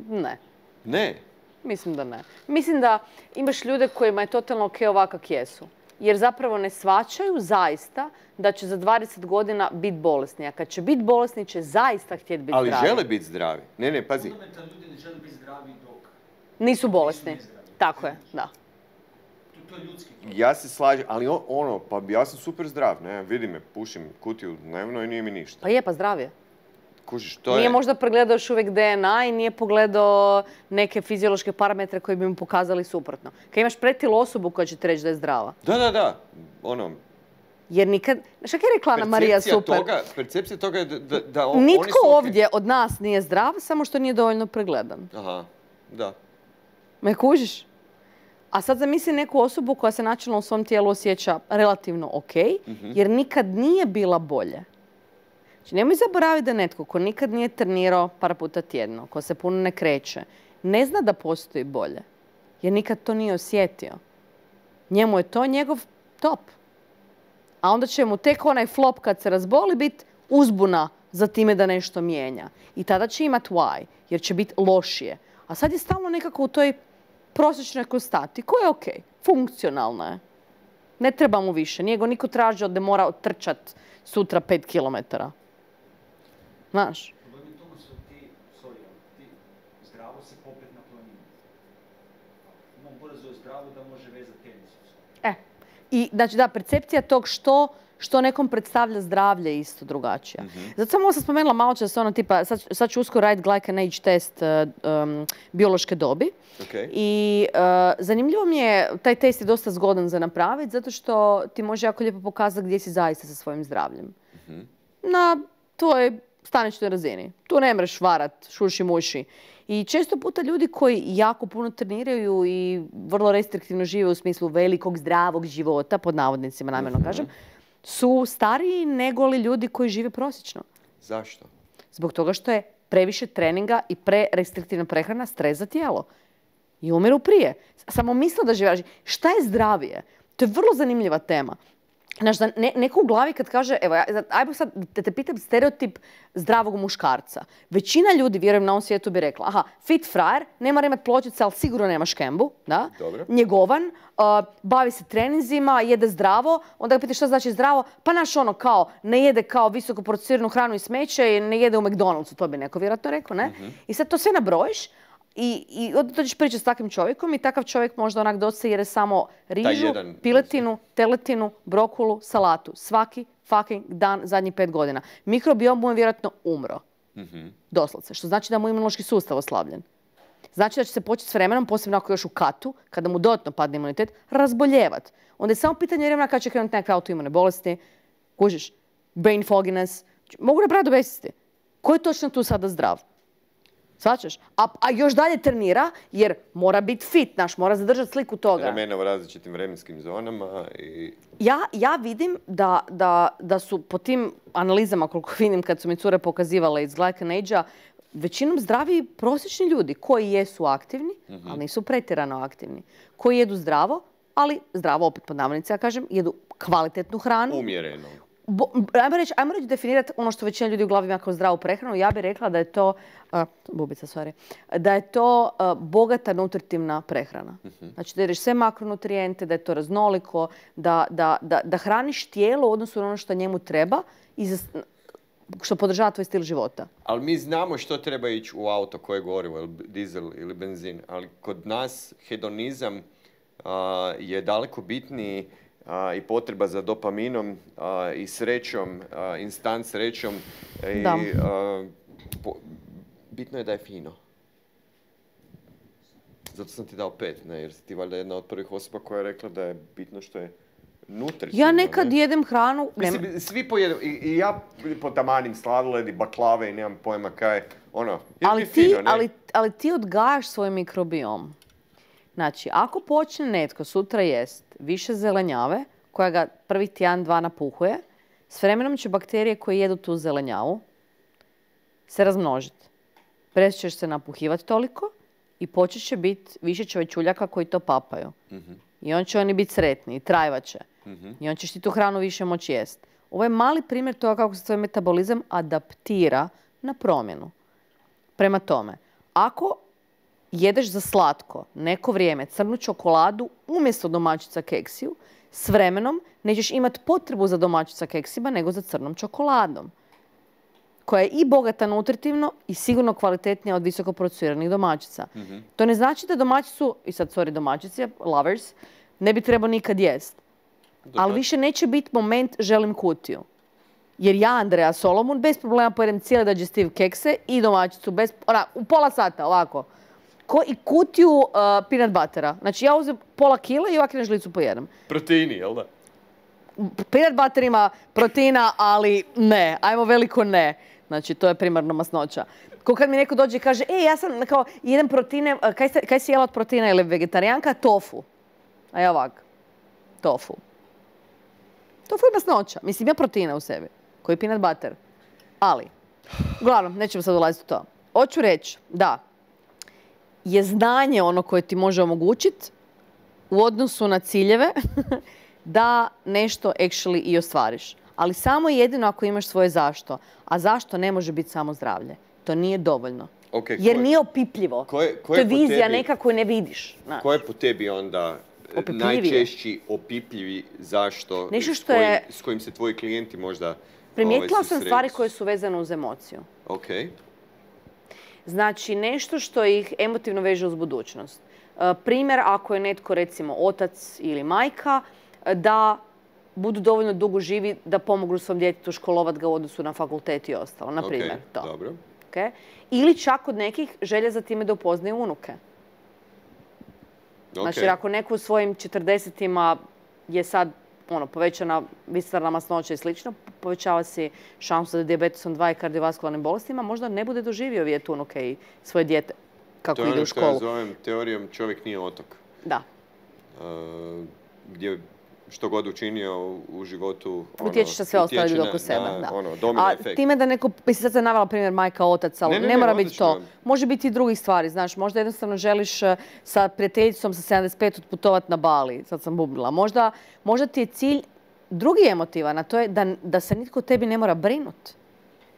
Ne. Ne? Mislim da ne. Mislim da imaš ljude kojima je totalno ok ovako kak jesu. Jer zapravo ne shvaćaju zaista da će za 20 godina biti bolesni. A kad će biti bolesni će zaista htjeti biti zdravi. Ali žele biti zdravi. Ne, pazi. Fundamentalno ljudi ne žele biti zdravi dok nisu bolesni. Tako je, da. To je ljudski. Ja se slažem, ali pa ja sam super zdrav, ne, vidi me, pušim kutiju dnevno i nije mi ništa. Pa je, pa zdrav je. Kužiš, to Nije možda pregledao još uvijek DNA i nije pogledao neke fiziološke parametre koji bi mu pokazali suprotno. Kad imaš pretilu osobu koja će ti reći da je zdrava. Da. Jer nikad... Šta je rekla Ana Marija super? Percepcija toga je da oni su... Nitko ovdje od nas nije zdrav, samo što nije dovoljno pregledan. Aha, da. Me kužiš? A sad zamisli neku osobu koja se načelno u svom tijelu osjeća relativno ok, jer nikad nije bila bolje. Znači, nemoj zaboraviti da netko ko nikad nije trenirao par puta tjedno, ko se puno ne kreće, ne zna da postoji bolje. Jer nikad to nije osjetio. Njemu je to njegov top. A onda će mu tek onaj flop kad se razboli biti uzbuna za time da nešto mijenja. I tada će imati why, jer će biti lošije. A sad je stalno nekako u toj prosječnoj konstanti, koja je ok, funkcionalna je. Ne treba mu više, nije go niko tražio da mora trčati sutra 5 kilometara. Znaš? Problem je tome su ti zdravo se popet na planinu. Imam brzo zdravo da može vezati tenis. I znači da, percepcija tog što nekom predstavlja zdravlje isto drugačija. Zato sam ovo sam spomenula malo čas ono tipa, sad ću uskoro raditi glycan age test biološke dobi. I zanimljivo mi je, taj test je dosta zgodan za napraviti, zato što ti može jako lijepo pokazati gdje si zaista sa svojim zdravljem. Na tvojoj staničnoj razini. Tu ne mreš varat, šuši muši. I često puta ljudi koji jako puno treniraju i vrlo restriktivno žive u smislu velikog zdravog života, pod navodnicima namjerno kažem, su stariji nego li ljudi koji žive prosječno. Zašto? Zbog toga što je previše treninga i prerestriktivna prehrana stres za tijelo. I umiru prije. Samo misle da žive. Šta je zdravije? To je vrlo zanimljiva tema. Znaš, da neko u glavi kad kaže, evo, ajmo sad te pitam stereotip zdravog muškarca. Većina ljudi, vjerujem na ovom svijetu, bi rekla, aha, fit frajer, ne mora imati pločice, ali sigurno nema škembu, da? Dobro. Njegovan, bavi se treninzima, jede zdravo, onda ga pitaš šta znači zdravo, pa naš ono kao, ne jede kao visoko procesiranu hranu i smeće i ne jede u McDonald'su, to bi neko vjerojatno rekao, ne? I sad to sve nabrojiš i onda dođeš pričati s takvim čovjekom i takav čovjek možda onak dosta jede samo rižu, jedan- piletinu, teletinu, brokulu, salatu. Svaki fucking dan zadnjih 5 godina. Mikrobiom mu je vjerojatno umro. Doslovce. Što znači da mu je imunološki sustav oslabljen. Znači da će se početi s vremenom, posebno ako je još u katu, kada mu dodatno padne imunitet, razboljevat. Onda je samo pitanje vremena kada će krenuti neke autoimune bolesti, kužiš, brain fogginess, mogu napraviti do besvijesti. Ko je točno tu sada zdrav? Svačaš? A još dalje trenira jer mora biti fit, mora zadržati sliku toga. Ramena u različitim vremenskim zonama i... Ja vidim da su po tim analizama, koliko vidim kad su mi cure pokazivale iz Glycan Age-a, većinom zdravi prosječni ljudi koji jesu aktivni, ali nisu pretjerano aktivni. Koji jedu zdravo, ali zdravo, opet pod navodnicima ja kažem, jedu kvalitetnu hranu. Umjereno. Ajmo reći definirati ono što većina ljudi u glavi ima kao zdravu prehranu. Ja bih rekla da je to, da je to bogata nutritivna prehrana. Znači da jedeš sve makronutrijente, da je to raznoliko, da hraniš tijelo u odnosu na ono što njemu treba i što podržava tvoj stil života. Ali mi znamo što treba ići u auto, koje gorivo, dizel ili benzin. Ali kod nas hedonizam je daleko bitniji i potreba za dopaminom i srećom, instant srećom. Bitno je da je fino. Zato sam ti dao 5, ne? Jer si ti valjda jedna od prvih osoba koja je rekla da je bitno što je nutritivno. Ja nekad jedem hranu... Mislim, svi pojedu, i ja potamanim sladoled i baklave i nemam pojma kaj, ono, ali ti odgajaš svoj mikrobiom. Znači, ako počne netko sutra jest više zelenjave, koja ga prvih tjedan, 2 napuhuje, s vremenom će bakterije koje jedu tu zelenjavu se razmnožiti. Ćeš se napuhivati toliko i počet će biti više čovječuljaka koji to papaju. I on će oni biti sretni i trajvat će. I on ćeš ti tu hranu više moći jest. Ovo je mali primjer toga kako se tvoj metabolizam adaptira na promjenu. Prema tome, ako jedeš za slatko neko vrijeme crnu čokoladu umjesto domaćica keksiju, s vremenom nećeš imati potrebu za domaćica keksima nego za crnom čokoladom, koja je i bogata nutritivno i sigurno kvalitetnija od visoko procesiranih domaćica. To ne znači da domaćicu, i sad sorry domaćici, lovers, ne bi trebao nikad jest. Ali više neće biti moment želim kutiju. Jer ja, Andrea Solomon, bez problema pojedem cijele digestive kekse i domaćicu u pola sata, ovako. I kutiju peanut buttera. Znači ja uzem pola kila i ovako na žlicu pojedem. Proteini, jel da? Peanut butter ima proteina, ali ne. Ajmo veliko ne. Znači to je primarno masnoća. Ko kad mi neko dođe i kaže, ja sam kao jedem proteine, kaj si jela od proteina ili vegetarijanka? Tofu. A ja ovak. Tofu. Tofu je masnoća. Mislim, ima proteina u sebi. Koji je peanut butter. Ali, uglavnom, nećemo sad ulaziti u to. Hoću reći da je znanje ono koje ti može omogućiti u odnosu na ciljeve da nešto actually i ostvariš. Ali samo jedino ako imaš svoje zašto. A zašto ne može biti samo zdravlje. To nije dovoljno. Jer nije opipljivo. To je vizija neka koju ne vidiš. Ko je po tebi onda najčešći opipljivi zašto s kojim se tvoji klijenti možda primijetila sam stvari koje su vezane uz emociju. Znači, nešto što ih emotivno veže uz budućnost. Primjer, ako je netko, recimo, otac ili majka, da budu dovoljno dugo živi da pomognu svom djetetu školovat ga u odnosu na fakultet i ostalo. Na primjer, to. Dobro. Ili čak od nekih želje za time da upoznaju unuke. Znači, ako neko u svojim 40-ima je sad povećana visceralna masnoća i slično, povećava si šansu za dijabetesom 2 i kardiovaskularnim bolestima, možda ne bude doživio vidjeti unuke i svoje dijete kako ide u školu. To je ono što ja zovem teorijom čovjek nije otok. Da. Gdje što god učinio u životu... Utječeš na sve ostale ljude oko sebe. Domino efekt. Time da neko, mislim sad sam navela primjer majka, otac, ali ne mora biti to. Može biti i drugih stvari, znaš. Možda jednostavno želiš sa prijateljicom sa 75 otputovati na Bali. Sad sam bubnila. Možda ti je cilj drugi emotivan, a to je da se nitko tebi ne mora brinuti.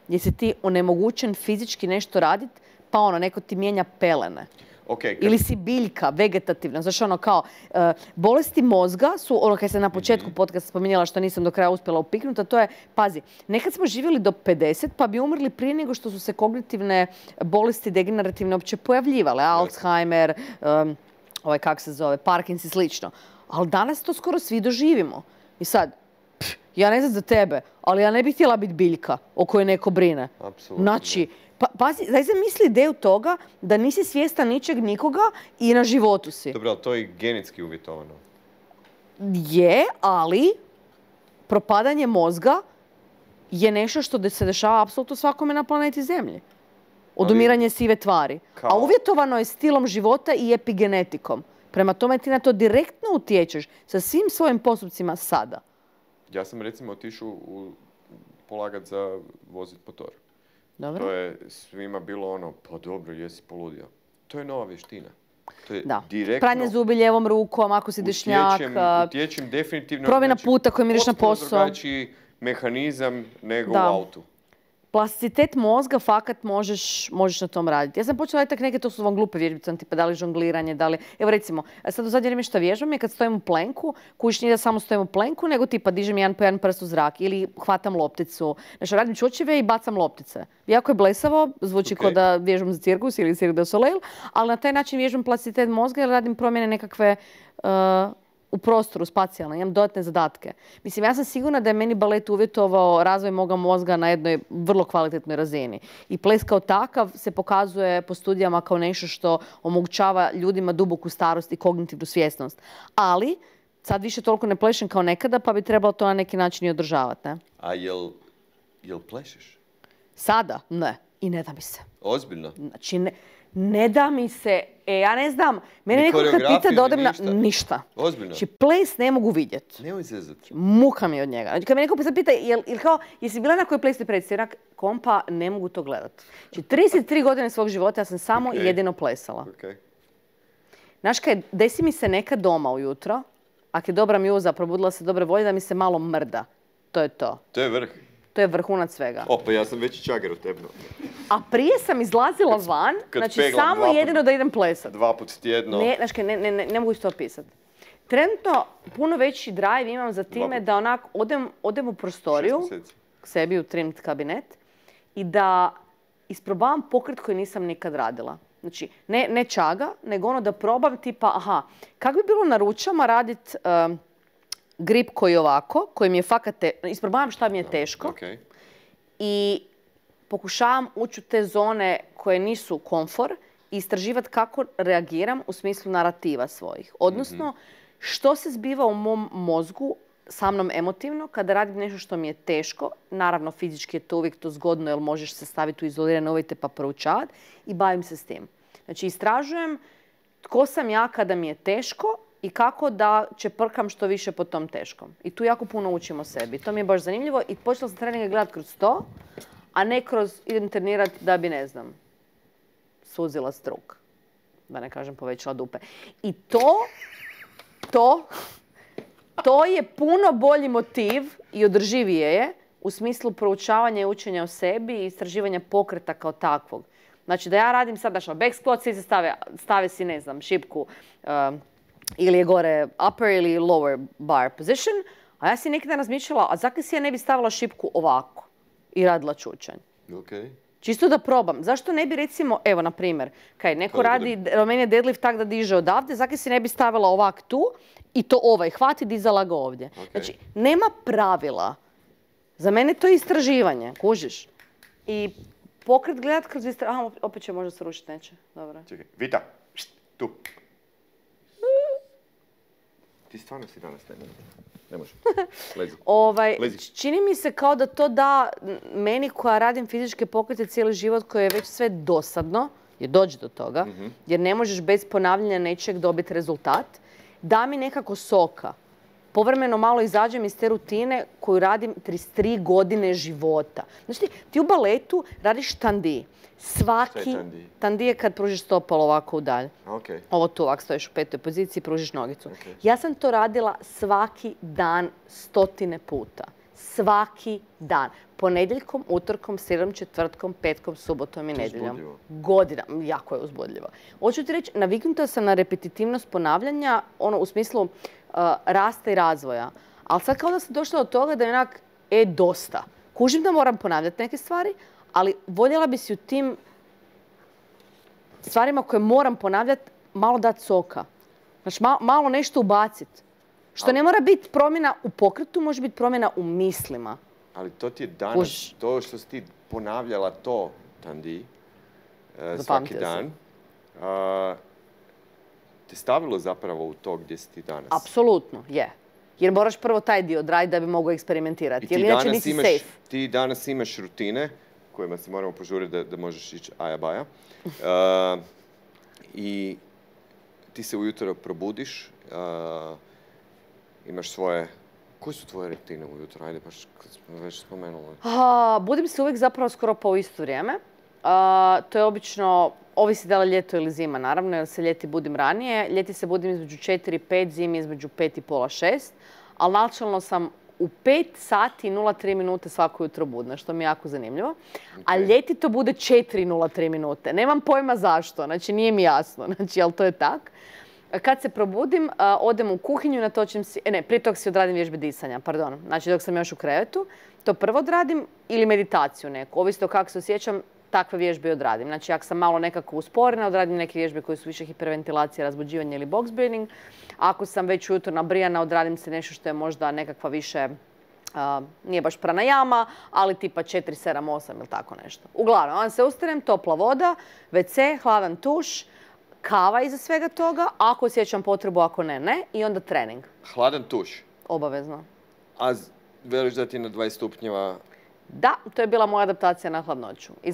Jer si ti onemogućen fizički nešto raditi, pa neko ti mijenja pelene. Ili si biljka, vegetativna. Znaš, ono kao, bolesti mozga su, ono kad sam na početku podcasta spominjala što nisam do kraja uspjela upiknuti, a to je, pazi, nekad smo živjeli do 50 pa bi umrli prije nego što su se kognitivne bolesti degenerativne uopće pojavljivale. Alzheimer, Parkinson i slično. Ali danas to skoro svi doživimo. I sad, ja ne znam za tebe, ali ja ne bih htjela biti biljka o kojoj neko brine. Apsolutno. Znači, pazi, zaista misli ideju toga da nisi svjestan ničeg nikoga i na životu si. Dobro, ali to je genetski uvjetovano. Je, ali propadanje mozga je nešto što se dešava apsolutno svakome na planeti Zemlji. Odumiranje sive tvari. A uvjetovano je stilom života i epigenetikom. Prema tome ti na to direktno utječeš sa svim svojim postupcima sada. Ja sam recimo otišao polagat za vozit motor. Dobro. To je svima bilo ono, pa dobro, jesi poludio. To je nova vještina. To je Da. direktno... Pranje zubi lijevom rukom, ako si dešnjak. Utječem definitivno... Promjena puta kojim ideš na posao. Potpuno drugačiji mehanizam nego u autu. Plasticitet mozga, fakat možeš na tom raditi. Ja sam počela raditi neke, to su vam glupe vježbice, tipa da li žongliranje, da li... Evo recimo, sad u zadnje vrijeme što vježbam je kad stojim u plenku, kužiš nije da samo stojim u plenku, nego tipa dižem jedan po jedan prst u zrak ili hvatam lopticu. Znači, radim čučeve i bacam loptice. Jako je blesavo, zvuči kao da vježbam za cirkus ili Cirque du Soleil, ali na taj način vježbam plasticitet mozga jer radim promjene nekakve u prostoru, spacijalno, imam dodatne zadatke. Mislim, ja sam sigurna da je meni balet uvjetovao razvoj moga mozga na jednoj vrlo kvalitetnoj razini. I ples kao takav se pokazuje po studijama kao nešto što omogućava ljudima duboku starost i kognitivnu svjesnost. Ali, sad više toliko ne plešem kao nekada, pa bi trebalo to na neki način i održavati, ne? A jel plešeš? Sada? Ne. I ne da mi se. Ozbiljno? Znači, ne da mi se, ja ne znam, mene neko kad pita da odem na... Ništa. Ozbiljno? Znači, ples ne mogu vidjeti. Nemoj zezati. Muka mi od njega. Znači, kad me neko pita, jesi bila na kojoj plesnoj predstavi? Kompa, ne mogu to gledati. Znači, 33 godine svog života ja sam samo i jedino plesala. Znaš kaj, desi mi se nekad doma ujutro, ako je dobra mjuza, probudila se dobre volje, da mi se malo mrda. To je to. To je vrh. To je vrhunac svega. Pa ja sam veći čagar od tebno. A prije sam izlazila van, znači samo jedino da idem plesati. 2 put tjedno. Ne mogu isto opisati. Trenutno puno veći drive imam za time da onak odem u prostoriju, k sebi u trimmed kabinet, i da isprobavam pokret koji nisam nikad radila. Znači, ne čaga, nego ono da probam tipa, kako bi bilo na ručama raditi grip koji je ovako, koji mi je fakat, isprobavam šta mi je teško i pokušavam ući u te zone koje nisu komfor i istraživati kako reagiram u smislu narativa svojih. Odnosno, što se zbiva u mom mozgu sa mnom emotivno kada radim nešto što mi je teško. Naravno, fizički je to uvijek to zgodno jer možeš se staviti u izolirane uvjete pa proučavati i bavim se s tim. Znači, istražujem tko sam ja kada mi je teško i kako da čeprkam što više po tom teškom. I tu jako puno učim o sebi. To mi je baš zanimljivo i počela sam treninge gledati kroz to, a ne kroz idem trenirati da bi, ne znam, suzila struk. Da ne kažem povećala dupe. I to je puno bolji motiv i održivije je u smislu proučavanja i učenja o sebi i istraživanja pokreta kao takvog. Znači da ja radim sad, back squat, svi se stave si, ne znam, šipku, ili je gore upper ili lower bar position, a ja si neki dan razmišljala, a zakaj si ja ne bi stavila šipku ovako i radila čučanj? Čisto da probam. Zašto ne bi recimo, evo na primjer, neko radi Romanian deadlift tak da diže odavde, zakaj si ne bi stavila ovak tu i to hvati, dizala ga ovdje. Znači, nema pravila. Za mene to je istraživanje, kužiš? I pokret gledat kroz istraživanje, opet će možda se rušiti, neće. Dobro. Čekaj, Vita, tu. Ti stvarno si danas ne može. Lezi. Čini mi se kao da to da meni koja radim fizičke pokrete cijeli život, koji je već sve dosadno, jer dođe do toga, jer ne možeš bez ponavljanja nečeg dobiti rezultat, da mi nekako soka. Povremeno malo izađem iz te rutine koju radim 33 godine života. Znači ti u baletu radiš tandi. Svaki tandi je kad pružiš stopalo ovako udalje. Ovo tu ovako stojiš u 5. poziciji i pružiš nogicu. Ja sam to radila svaki dan 100 puta. svaki dan. Ponedjeljkom, utorkom, srijedom, četvrtkom, petkom, subotom i nedjeljom. Godina. Jako je uzbudljivo. Hoću ti reći, naviknuta sam na repetitivnost ponavljanja, u smislu rasta i razvoja. Ali sad kao da sam došla do toga da je onak, dosta. Kužim da moram ponavljati neke stvari, ali voljela bi si u tim stvarima koje moram ponavljati malo dati soka. Znači, malo nešto ubaciti. Što ne mora biti promjena u pokretu, može biti promjena u mislima. Ali to ti je danas, to što si ti ponavljala to, Tandi, svaki dan, te stavilo zapravo u to gdje si ti danas. Apsolutno, je. Jer moraš prvo taj dio odraditi da bi mogao eksperimentirati. Jer inače nisi safe. Ti danas imaš rutine kojima se moramo požuriti da možeš ići aja-baja. I ti se ujutro probudiš, imaš svoje... Koje su tvoje rutine ujutro? Ajde, baš kad smo već spomenuli. Budim se uvijek zapravo skoro pa u isto vrijeme. To je obično, ovisi da li ljeto ili zima, naravno, jer se ljeti budim ranije. Ljeti se budim između 4 i 5, zimi između 5 i pola 6. Ali načelno sam u 5 sati i 0,3 minute svako jutro budna, što mi je jako zanimljivo. A ljeti to bude 4,03 minute. Nemam pojma zašto, znači nije mi jasno, znači, ali to je tak. Kad se probudim, odem u kuhinju, natočim si, prije toga si odradim vježbe disanja, pardon. Znači dok sam još u krevetu, to prvo odradim ili meditaciju neku. Ovisno kako se osjećam, takve vježbe odradim. Znači ako sam malo nekako usporena, odradim neke vježbe koje su više hiperventilacija, razbuđivanje ili box breathing. Ako sam već ujutro nabrijana, odradim se nešto što je možda nekakva više, nije baš pranajama, ali tipa 4, 7, 8 ili tako nešto. Uglavnom, onda se ustanem, topla voda, WC, hladan tuš, kava iza svega toga, ako osjećam potrebu, ako ne, ne. I onda trening. Hladan tuš? Obavezno. A veliš da ti na 20 stupnjeva? Da, to je bila moja adaptacija na hladnoću. I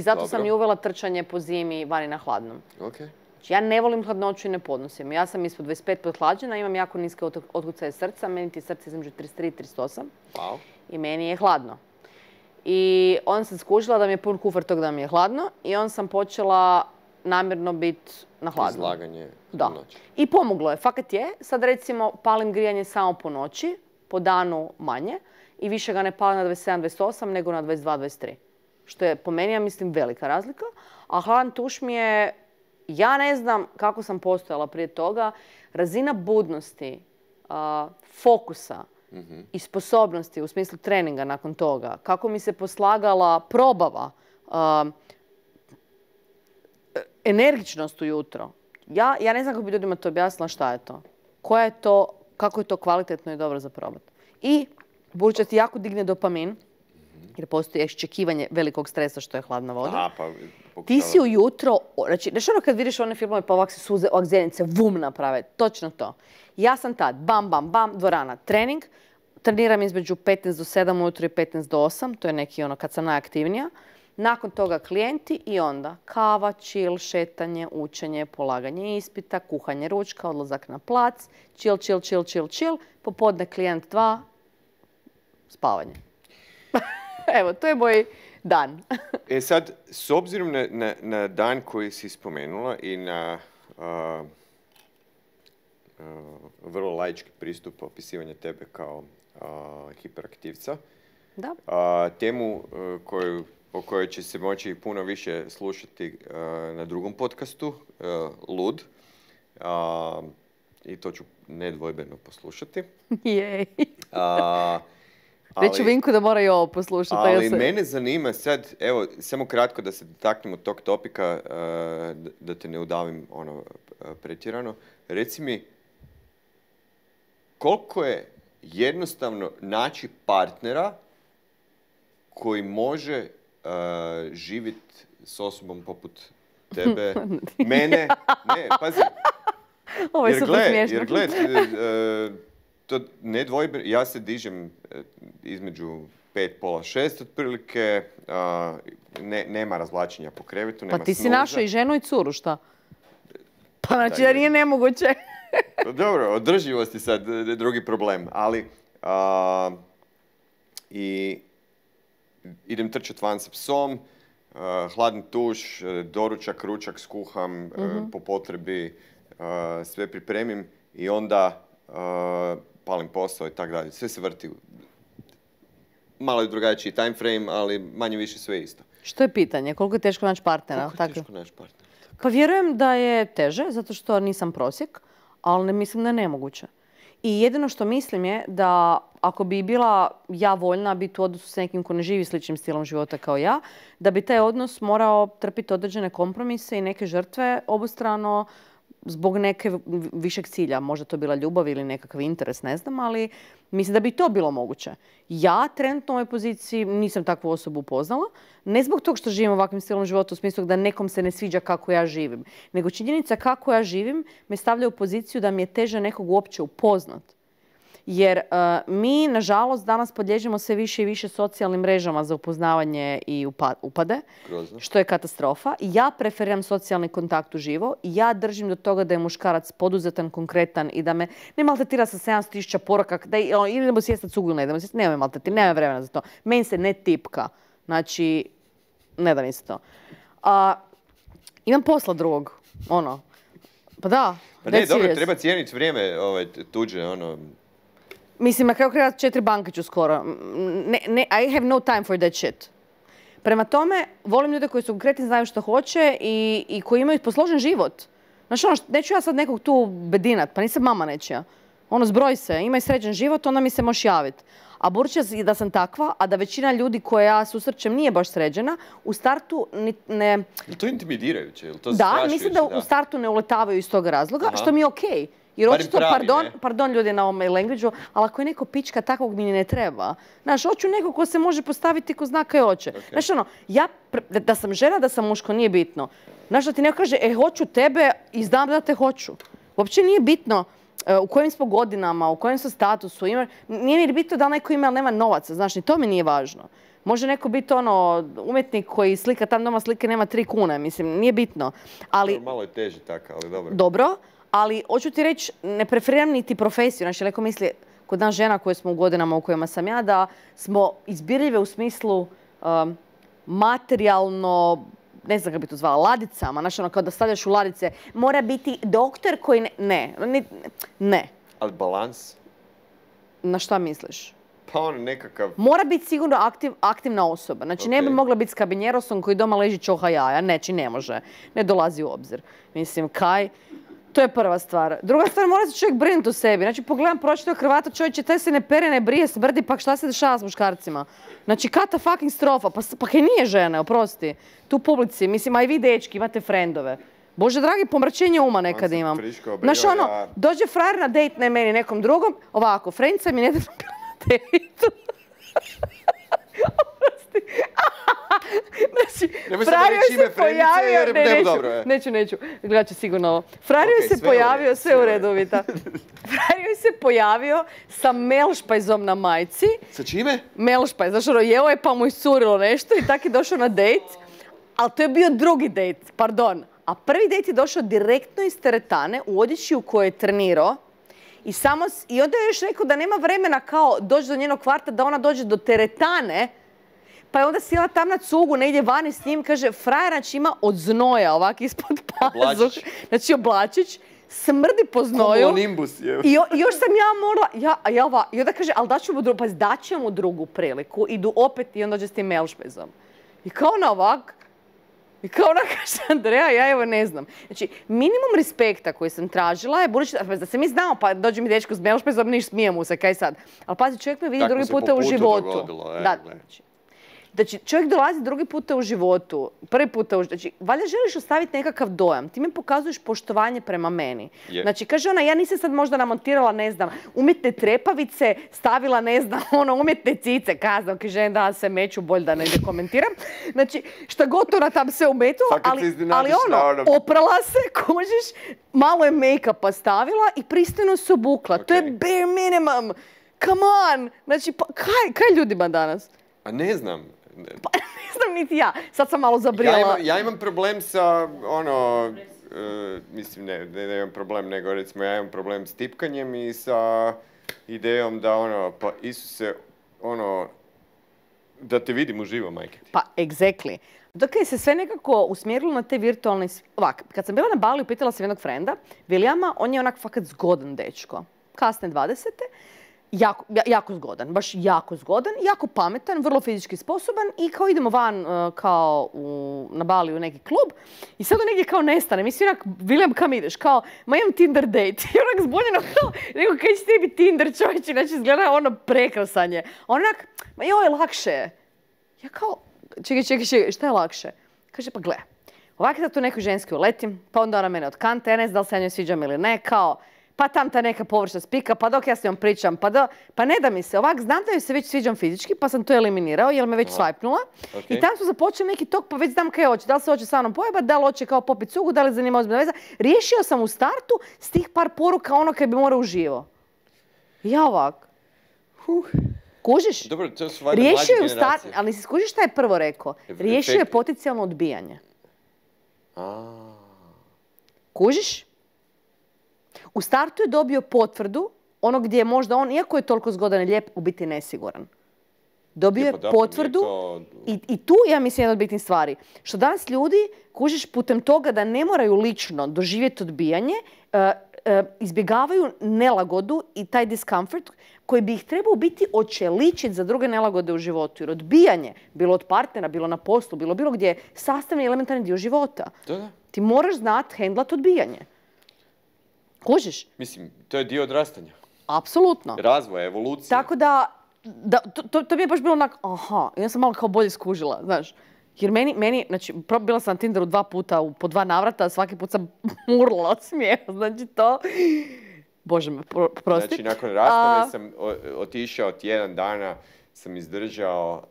zato sam i uvela trčanje po zimi vani na hladnom. Okay. Znači, ja ne volim hladnoću i ne podnosim. Ja sam ispod 25 podhlađena, imam jako niske otkucaje srca. Meni ti srce između 33 i 38. Wow. I meni je hladno. I onda sam skužila da mi je pun kufer tog da mi je hladno. I onda sam počela namjerno biti na hladno. Izlaganje da. noći. I pomoglo je. Fakat je. Sad recimo palim grijanje samo po noći, po danu manje i više ga ne palim na 27-28 nego na 22-23. Što je po meni, ja mislim, velika razlika. A hladan tuš mi je, ja ne znam kako sam postojala prije toga, razina budnosti, fokusa i sposobnosti u smislu treninga nakon toga, kako mi se poslagala probava, energičnost ujutro. Ja ne znam kako bi ljudima to objasnila šta je to. Koja je to, kako je to kvalitetno i dobro za probati. I budući da ti jako digne dopamin, jer postoji iščekivanje velikog stresa što je hladna voda. Ti si ujutro, znači, znaš ono kad vidiš one filmove pa ovak se suze, ovak zenice, vum naprave, točno to. Ja sam tad, bam, bam, bam, dvorana, trening, treniram između 15 do 7 ujutro i 15 do 8, to je neki ono kad sam najaktivnija. Nakon toga klijenti i onda kava, chill, šetanje, učenje, polaganje ispita, kuhanje ručka, odlazak na plac, chill, popodne klijent 2, spavanje. Evo, to je moj dan. Sad, s obzirom na dan koji si spomenula i na vrlo laički pristup opisivanja tebe kao hiperaktivca, da. Temu o kojoj će se moći puno više slušati na drugom podcastu, Lud. I to ću nedvojbeno poslušati. Jej. Reću Vinku da mora i ovo poslušati. Ali mene zanima sad, evo, samo kratko da se dotaknemo tog topika, da te ne udavim pretjerano. Reci mi, koliko je jednostavno naći partnera koji može živjeti s osobom poput tebe, mene, ne, pazi. Ovo je super smiješno. Jer gled, to nedvojbeno, ja se dižem između 5, pola 6 otprilike, nema razvlačenja po krevetu, nema Pa ti si snoza. našao i ženu i curu, šta? Pa znači da nije nemoguće. Dobro, održivost je sad drugi problem, ali i idem trčati van sa psom, hladni tuš, doručak, ručak skuham, po potrebi sve pripremim i onda palim posao i tako dalje. Sve se vrti malo je drugačiji time frame, ali manje više sve isto. Što je pitanje? Koliko je teško naći partnera? Koliko je teško naći partnera? Pa vjerujem da je teže, zato što nisam prosjek, ali ne mislim da je nemoguće. I jedino što mislim je da ako bi bila ja voljna biti u odnosu s nekim ko ne živi sličnim stilom života kao ja, da bi taj odnos morao trpiti određene kompromise i neke žrtve obostrano zbog neke višeg cilja. Možda to bila ljubav ili nekakav interes, ne znam, ali mislim da bi to bilo moguće. Ja trenutno u ovoj poziciji nisam takvu osobu upoznala, ne zbog toga što živim ovakvim stilom života u smislu da nekom se ne sviđa kako ja živim, nego činjenica kako ja živim me stavlja u poziciju da mi je teže nekog uopće upoznat. Jer mi, nažalost, danas podliježemo sve više i više socijalnim mrežama za upoznavanje i upade, Grozno. što je katastrofa. Ja preferiram socijalni kontakt uživo i ja držim do toga da je muškarac poduzetan, konkretan i da me ne maltretira sa 700.000 poruka, da idemo sjesti na cugu ili ne idemo sjesti, nema maltretira, nema vremena za to. Meni se ne tipka. Znači, ne da mi se to. Imam posla drugog, ono. Pa da. Pa ne, dobro, treba cijeniti vrijeme tuđe, ono. Mislim, na kraju kraja 4 banke ću skoro. I have no time for that shit. Prema tome, volim ljude koji su konkretni, znaju što hoće i koji imaju posložen život. Znaš, ono, neću ja sad nekog tu bedinat, pa nisam mama nečija. Ono, zbroj se, imaj sređen život, onda mi se možeš javiti. A budući da sam takva, a da većina ljudi koje ja susrećem nije baš sređena, u startu ne... Je to intimidirajuće? Je to strašujuće? Da, mislim da u startu ne uletavaju iz tog razloga, što mi je okej. Jer očito, pardon ljudi na ovom language-u, ali ako je neko pička, takvog mi ne treba. Znaš, hoću neko ko se može postaviti ko zna kaj hoće. Okay. Znaš, ono, ja, da sam žena, da sam muško, nije bitno. Znaš, da ti neko kaže, hoću tebe i znam da te hoću. Uopće nije bitno u kojim smo godinama, u kojem smo statusu. Nije mi bitno da li neko ima ili nema novaca, znaš, ni to mi nije važno. Može neko biti ono, umjetnik koji slika tam doma slike, nema 3 kune, mislim, nije bitno. Ali, malo je teže tako, ali dobro. Dobro. Ali, hoću ti reći, ne preferiram niti profesiju. Znači, neko misli, kod nas žena koje smo u godinama u kojima sam ja, da smo izbirljive u smislu materijalno, ne znam kako bi to zvala, ladicama. Znači, ono, kao da stavljaš u ladice, mora biti doktor koji ne. Ali balans? Na šta misliš? Pa on nekakav... Mora biti sigurno aktivna osoba. Znači, ne bi mogla biti s kabinjerosom koji doma leži čoha jaja. Neći, ne može. Ne dolazi u obzir. Mislim, kaj... To je prva stvar. Druga stvar, mora se čovjek brinuti o sebi. Znači, pogledam pročitao Hrvata, čovječe, taj se ne pere, ne brije, smrdi, pa šta se dešava s muškarcima? Znači, kata fucking strofa. Pa kaj nije žene, oprosti. Tu publici, mislim, a i vi dečki, imate frendove. Bože dragi, pomračenje uma nekad imam. Znaš, ono, dođe frajer na dejt, ne meni, nekom drugom, ovako, friendica mi nedavno bila na dejtu. Znači, frajer se pojavio... Neću, gledat ću sigurno ovo. Frajer se pojavio, sve u redu, Vita. Frajer se pojavio sa melšpajzom na majci. Sa čime? Melšpajz, znači ono, jeo je pa mu iscurilo nešto i tako je došao na dejt. Ali to je bio drugi dejt, pardon. A prvi dejt je došao direktno iz teretane u odjeći u kojoj je trenirao. I onda je još rekao da nema vremena kao doći do njenog kvarta, da ona dođe do teretane. Pa je onda sjela tam na cugu, negdje vani s njim, kaže, frajer, znači ima od znoja ovak ispod pazuh. Znači oblačić, smrdi po znoju. I još sam ja morala, i onda kaže, ali daću mu drugu priliku. Idu opet i onda dođe s tim melšpezom. I kao ona ovak, i kao ona kaže, Andreja, ja evo ne znam. Znači, minimum respekta koji sam tražila je, budući da se mi znamo, pa dođe mi dečko s melšpezom, niš smijemo se, kaj sad. Ali pazi, čovjek me vidi drugi puta u životu. Znači, čovjek dolazi drugi puta u životu, prvi puta u životu. Znači, valjda želiš ostaviti nekakav dojam. Ti mi pokazuješ poštovanje prema meni. Znači, kaže ona, ja nisam sad možda namontirala, ne znam, umjetne trepavice, stavila, ne znam, umjetne cice, kazam, kaže, da se meću, bolj da ne komentiram. Znači, šta god ona tam sve umetula, ali oprala se, kužiš, malo je make-upa stavila i pristojno se obukla. To je bare minimum. Come on! Znači, kaj ljudima danas? A ne znam. Pa ne znam niti ja. Sad sam malo zabrijala. Ja imam problem sa, mislim, ne imam problem, nego recimo ja imam problem s tipkanjem i sa idejom da, pa Isuse, da te vidim uživo, majke ti. Pa, exactly. Dok je se sve nekako usmjerilo na te virtualne... Ovak, kad sam bila na Baliju, pitala sam jednog frenda, Vilijama, on je onak fakat zgodan dečko. Kasne 20. jako zgodan, baš jako zgodan, jako pametan, vrlo fizički sposoban i kao idemo van kao na Bali u neki klub i sad on negdje kao nestane. Mislim, onak, William, kam ideš? Kao, ma imam Tinder date. I onak zbunjeno kao, rekao, kaj će tebi Tinder, čovječe, znači izgleda ono prekrasan je. Onak, ma joj, lakše je. Ja kao, čekaj, šta je lakše? Kaže, pa gle, ovako sad tu nekoj ženski uletim, pa onda ona mene otkanta, ja ne znam da li se ja njoj sviđam ili ne, kao, pa tam ta neka površna spika, pa dok ja s njom pričam, pa ne da mi se. Ovak, znam da joj se već sviđam fizički, pa sam to eliminirao jer me već swipnula. I tam su započeli neki tok, pa već znam kaj hoće. Da li se hoće sa mnom pojebat, da li hoće kao popit cugu, da li zanima ozbiljna veza. Riješio sam u startu s tih par poruka ono kaj bi morao uživo. Ja ovak. Kužiš? Dobro, to su valjda Riješio je mlađe u startu, generacije. ali si skužiš šta je prvo rekao? Riješio je Efekt. potencijalno odbijanje. A, Kužiš? U startu je dobio potvrdu, ono gdje je možda on, iako je toliko zgodan i lijep, u biti nesiguran. Dobio je pa da, potvrdu nije i tu ja mislim jedna od bitnih stvari. Što danas ljudi, kužiš, putem toga da ne moraju lično doživjeti odbijanje, izbjegavaju nelagodu i taj discomfort koji bi ih trebao biti očeličiti za druge nelagode u životu. Jer odbijanje, bilo od partnera, bilo na poslu, bilo gdje je sastavni elementarni dio života. Da. Ti moraš znati hendlat odbijanje. Kužiš? Mislim, to je dio odrastanja. Apsolutno. Razvoja, evolucije. Tako da to mi je baš bilo onak, aha, ja sam malo kao bolje skužila, znaš. Jer meni, znači, bila sam na Tinderu 2 puta, po 2 navrata, svaki put sam urlala od smijeha, znači to... Bože me, prosti. Znači, nakon rastave sam otišao tjedan dana, sam izdržao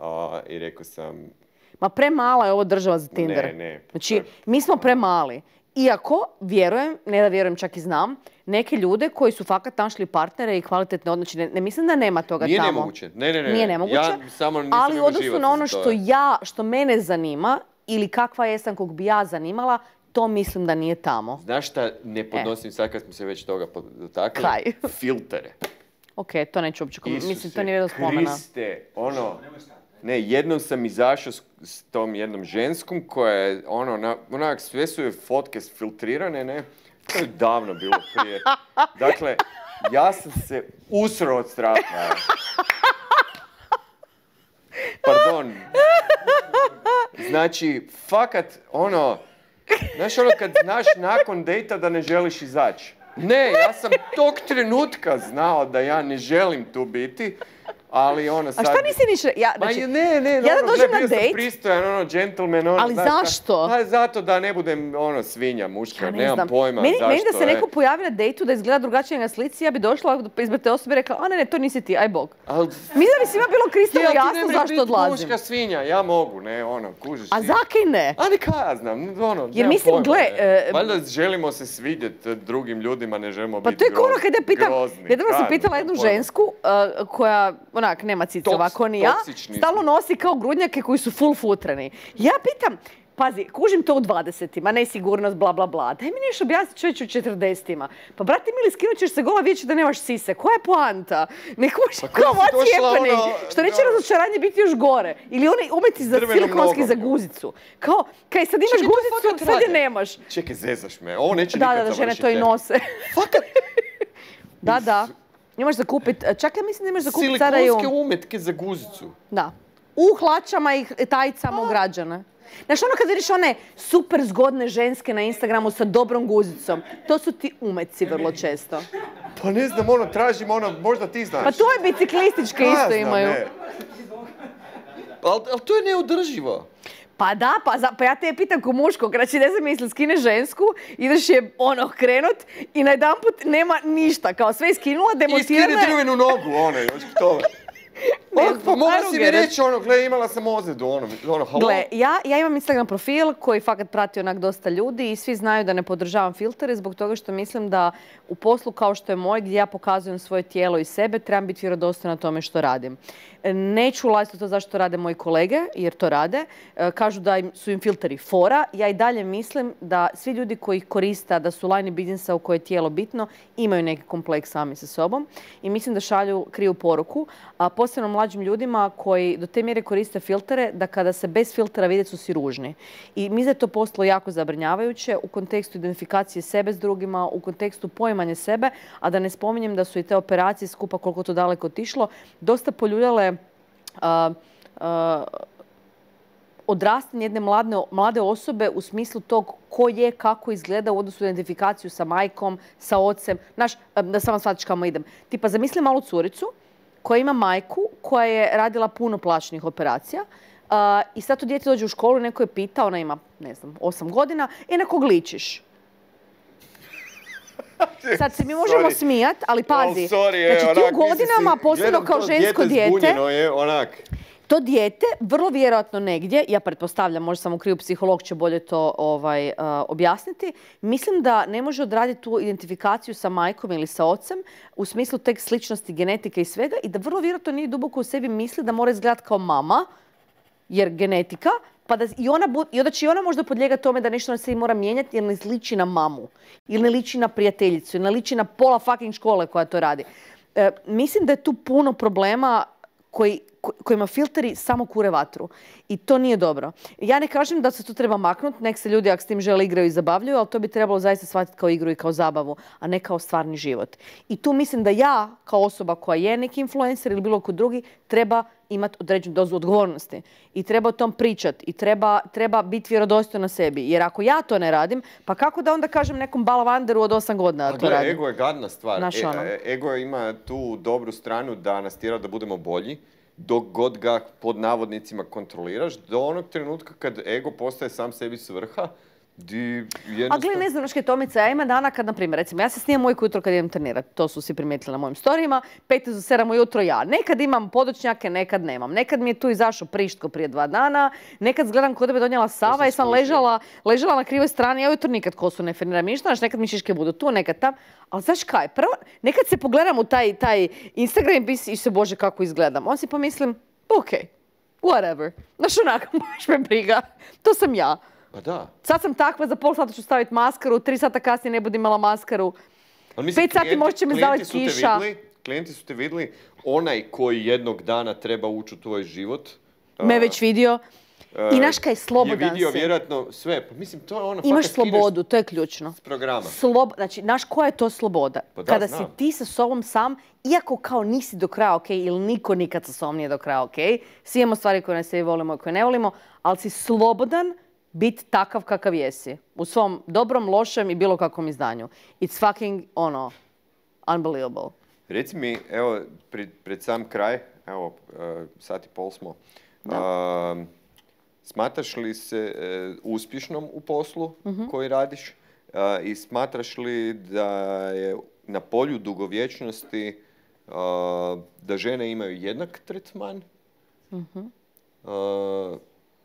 i rekao sam... Ma premala je ovo država za Tinder. Ne. Znači, mi smo premali. Iako, vjerujem, ne da vjerujem, čak i znam, neke ljude koji su fakat našli partnere i kvalitetne odnosi. Ne mislim da nema toga Nije tamo. nemoguće. Ne. Nije nemoguće. Ja samo nisam ali u imao odnosu život na ono za to. što mene zanima ili kakva jesam kog bi ja zanimala, to mislim da nije tamo. Znaš šta ne podnosim sad kad smo se već toga dotakli? Kaj? Filtere. Ok, to neću uopće komentirati. Mislim, Isuse to nije vrijedno spomena. Kriste, ne, jednom sam izašao s tom jednom ženskom koja je, onak, sve su joj fotke filtrirane, ne? To je davno bilo prije. Dakle, ja sam se usrao od straha. Pardon. Znači, fakat, znaš kad znaš nakon dejta da ne želiš izaći. Ne, ja sam tog trenutka znao da ja ne želim tu biti, ali sad... A šta nisi niš... Ja da dođem na bio dejt... sam pristojan, gentleman, Ali zašto? Pa zato da ne budem, svinja muška, Ja ne nemam znam. pojma Meni zašto. da se neko pojavi na dejtu da izgleda drugačije na slici, ja bi došla ispred te osobe i rekla, a ne, to nisi ti, aj bog. Mislim da bi svima bilo kristalno jasno zašto odlazim. Muška svinja, ja mogu, ne, kužiš ti. A zakaj ne? A neka ja znam, Jer nemam mislim, pojma, gle, ne. Valjda želimo se svidjeti drugim ljudima, ne želimo Pa biti to je kao ono kad ja pitam, grozni. jednom sam pitala jednu žensku koja, nema cice ovako ni ja, toksični stalno nosi kao grudnjake koji su full futreni. Ja pitam, pazi, kužim to u 20-ima, nesigurnost, bla, bla, bla. Daj mi nešto objasniti čovječ u 40-ima. Pa, brate mili, skinut ćeš se gola vidjeći da nemaš sise. Koja je poanta? Ne kužim, kao what's happening? Što neće razočaranje biti još gore. Ili oni umeti za silikonski za guzicu. Kao, kaj sad imaš guzicu, sad je nemaš. Čekaj, zezaš me, ovo neće nikad Da, završiti. žene to i nose. Da. Imaš za kupit, čak ja mislim da imaš za kupit sada i Silikonske umetke za guzicu. Da. U hlačama i tajicama ugrađene. Znaš, ono kad vidiš one super zgodne ženske na Instagramu sa dobrom guzicom, to su ti umeci vrlo često. Pa ne znam, tražim možda ti znaš. Pa to je biciklističke isto imaju. Ali to je neodrživo. Pa da, pa ja te pitam ko muškog, znači ne znam misli, skine žensku, ideš je krenut i najedanput nema ništa, kao sve iskinula, demontirana. I skine drvenu nogu, još k tome. Pa mogla si mi reći, gle, imala sam ozljedu, halo. Gle, ja imam Instagram profil koji fakat prati onak dosta ljudi i svi znaju da ne podržavam filtere zbog toga što mislim da u poslu kao što je moj, gdje ja pokazujem svoje tijelo i sebe, trebam biti vjerodostojna na tome što radim. Neću ulaziti u to zašto rade moji kolege, jer to rade. Kažu da su im filteri fora. Ja i dalje mislim da svi ljudi koji ih koriste, da su line biznisa u kojoj je tijelo bitno, imaju neki kompleks sami sa sobom. I mislim da šalju krivu poruku. posebno mlađim ljudima koji do te mjere koriste filtere da kada se bez filtera vide su si ružni. I mi je to postalo jako zabrinjavajuće u kontekstu identifikacije sebe s drugima, u kontekstu poimanja sebe, a da ne spominjem da su i te operacije skupa koliko to daleko otišlo, dosta poljuljale odrastanje jedne mlade osobe u smislu tog ko je, kako izgleda u odnosu na identifikaciju sa majkom, sa ocem. Znaš, da samo shvatiš kamo idem. Tipa, zamisli malu curicu koja ima majku koja je radila puno plaćenih operacija i sad to dijete dođe u školu i neko je pita, ona ima, ne znam, 8 godina, na kog ličiš? Sad se mi možemo smijat, ali pazi. Znači ti u godinama, posebno kao žensko dijete, to dijete, vrlo vjerojatno negdje, ja pretpostavljam, možda sam u krivu, psiholog će bolje to objasniti, mislim da ne može odraditi tu identifikaciju sa majkom ili sa ocem u smislu tek sličnosti, genetike i svega i da vrlo vjerojatno nije duboko u sebi misli da mora izgledati kao mama, jer genetika, pa da i onda će i ona možda podlijegati tome da nešto na sebi mora mijenjati jer ne liči na mamu, ili ne liči na prijateljicu, ili ne liči na pola fucking škole koja to radi. Mislim da je tu puno problema kojima filteri samo kure vatru. I to nije dobro. Ja ne kažem da se to treba maknuti, nek se ljudi ako s tim žele igraju i zabavljaju, ali to bi trebalo zaista shvatiti kao igru i kao zabavu, a ne kao stvarni život. I tu mislim da ja, kao osoba koja je neki influencer ili bilo ko drugi, treba imati određenu dozu odgovornosti. I treba o tom pričati. I treba biti vjerodostojna sebi. Jer ako ja to ne radim, pa kako da onda kažem nekom balavanderu od 8 godina da to radim? Ego je gadna stvar. Ego ima tu dobru stranu da nas tjera da budemo bolji, dok god ga pod navodnicima kontroliraš, do onog trenutka kad ego postaje sam sebi svrha, A gle, ne znam, naške Tomice, ja ima dana kad, na primjer, recimo, ja se snimam ujutro kad idem trenirati, to su si primijetili na mojim storijima, 5 do 7 ujutro ja. Nekad imam podočnjake, nekad nemam. Nekad mi je tu izašao Prištko prije 2 dana, nekad gledam kod tebe donijela Sava i sam ležala na krivoj strani, ja ujutro nikad kosu ne feniram ništa, znaš, nekad mi šiške budu tu, nekad tam. Ali znaš kaj, prvo, nekad se pogledam u taj Instagram i se, Bože, kako izgledam. On si pomislim, ok, whatever. Znaš, onako, baš me briga. To sam ja. Pa da. Sad sam takva, za pol sata ću staviti maskaru, 3 sata kasnije ne budem imala maskaru. 5 sati možda će me zaviti kiša. Klijenti su te vidjeli, onaj koji jednog dana treba ući u tvoj život. Me već vidio. I naš kaj, slobodan si. Je vidio vjerojatno sve. Pa mislim, to je ono... Imaš slobodu, to je ključno. S programa. Znači, znaš koja je to sloboda? Pa da, kada si ti sa sobom sam, iako kao nisi do kraja ok, ili niko nikad sa sobom nije do kraja ok, svi imamo stvari koje ne sebi volimo i koje ne volimo, ali si slobodan biti takav kakav jesi. U svom dobrom, lošem i bilo kakvom izdanju. It's fucking, unbelievable. Reci mi, evo, pred sam kraj, evo, sat i pol smo, smatraš li se uspješnom u poslu koji radiš i smatraš li da je na polju dugovječnosti da žene imaju jednak tretman,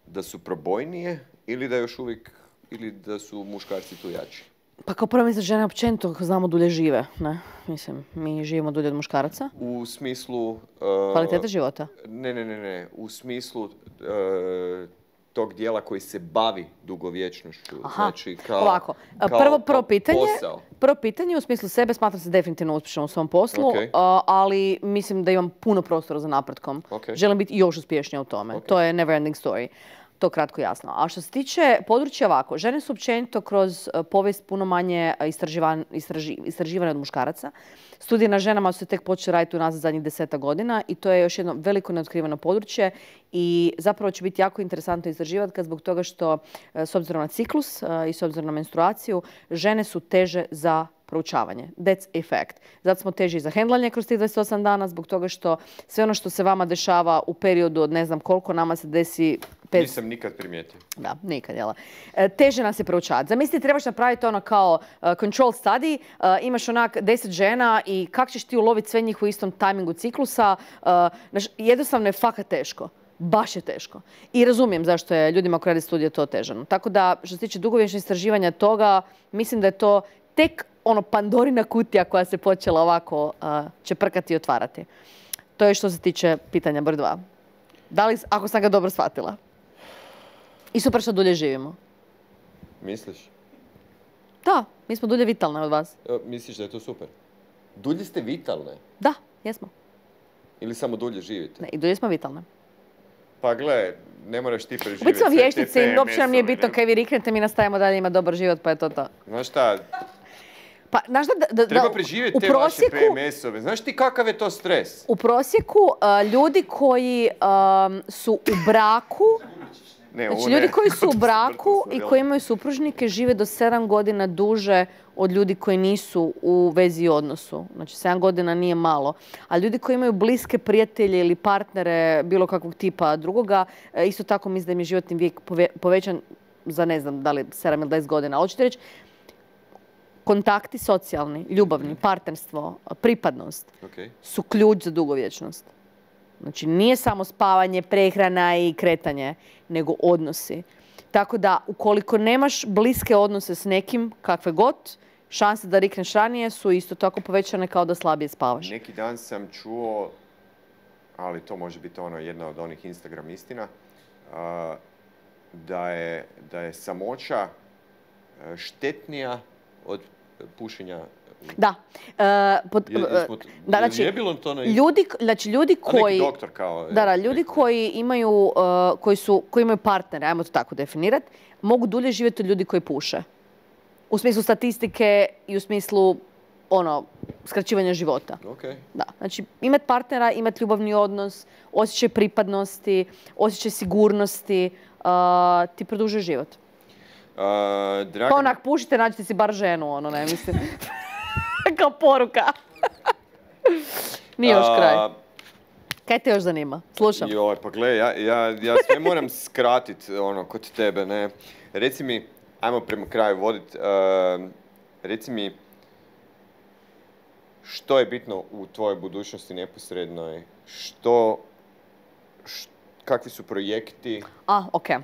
da su probojnije ili da još uvijek, ili da su muškarci tu jači? Pa kao prvo mislim, žene općenito znamo dulje žive, ne? Mislim, mi živimo dulje od muškaraca. U smislu... kvalitete života? Ne. U smislu tog dijela koji se bavi dugovječnošću. Aha, znači, ovako. Prvo pitanje u smislu sebe, smatram se definitivno uspješnom u svom poslu, ali mislim da imam puno prostora za napretkom. Želim biti još uspješnija u tome. To je never ending story. To kratko jasno. A što se tiče područja ovako, žene su općenito kroz povijest puno manje istraživane od muškaraca. Studije na ženama su se tek počeli raditi unazad zadnjih 10 godina i to je još jedno veliko neotkriveno područje i zapravo će biti jako interesantno istraživati zbog toga što s obzirom na ciklus i s obzirom na menstruaciju, žene su teže za proučavanje. That's a fact. Zato smo teži za hendlanje kroz tih 28 dana, zbog toga što sve ono što se vama dešava u periodu od ne znam koliko, nama se desi... Nisam nikad primijetio. Da, nikad, jela. Teže nas je proučavati. Zamisli, trebaš napraviti ono kao control study, imaš onak 10 žena i kako ćeš ti uloviti sve njih u istom tajmingu ciklusa. Jednostavno je fakat teško. Baš je teško. I razumijem zašto je ljudima koji rade studije to otežano. Tako da, što se tiče dugovječnog istraživanja toga, mislim da je to tek Pandorina kutija koja se počela ovako čeprkati i otvarati. To je što se tiče pitanja broj 2. Da li, ako sam ga dobro shvatila? I super što dulje živimo. Misliš? Da, mi smo dulje vitalne od vas. Misliš da je to super? Dulje ste vitalne? Da, jesmo. Ili samo dulje živite? Ne, i dulje smo vitalne. Pa gle, ne moraš ti preživjeti. Biti smo sve te vještice i uopće nam nije PMS-ove, bitno ne? kaj vi riknete, mi nastavimo dalje ima dobar život, pa je to to. Znaš šta, Pa, znaš da treba preživjeti u te vaše PMS-ove. Znaš ti kakav je to stres? U prosjeku ljudi koji su u braku, Ne, znači ovo ljudi ne. koji su u braku Mrtvo i sam, koji jel? imaju supružnike žive do 7 godina duže od ljudi koji nisu u vezi i odnosu. Znači 7 godina nije malo. A ljudi koji imaju bliske prijatelje ili partnere bilo kakvog tipa drugoga, isto tako mislim da im je životni vijek povećan za ne znam da li 7 ili 10 godina. Ali hoćete reći, kontakti socijalni, ljubavni, partnerstvo, pripadnost Okej. su ključ za dugovječnost. Znači nije samo spavanje, prehrana i kretanje, nego odnosi. Tako da ukoliko nemaš bliske odnose s nekim, kakve god, šanse da rikneš ranije su isto tako povećane kao da slabije spavaš. Neki dan sam čuo, ali to može biti jedna od onih Instagram istina, da je samoća štetnija od pušenja. Da. Znači, je bilo to na ljudi koji... neki doktor kao... Ljudi koji imaju, koji imaju partnere, ajmo to tako definirati, mogu dulje živjeti od ljudi koji puše. U smislu statistike i u smislu skraćivanja života. Okay. Da. Znači, imati partnera, imati ljubavni odnos, osjećaj pripadnosti, osjećaj sigurnosti, ti produžuje život. Dragan... Pa onak, pušite, nađite si bar ženu, ne mislim. Kao poruka. Nije još kraj. Kaj te još zanima? Slušam. Joj, pa gle, ja sve moram skratit kod tebe, ne. Reci mi, ajmo prema kraju vodit, reci mi što je bitno u tvojoj budućnosti neposrednoj, kakvi su projekti, okej.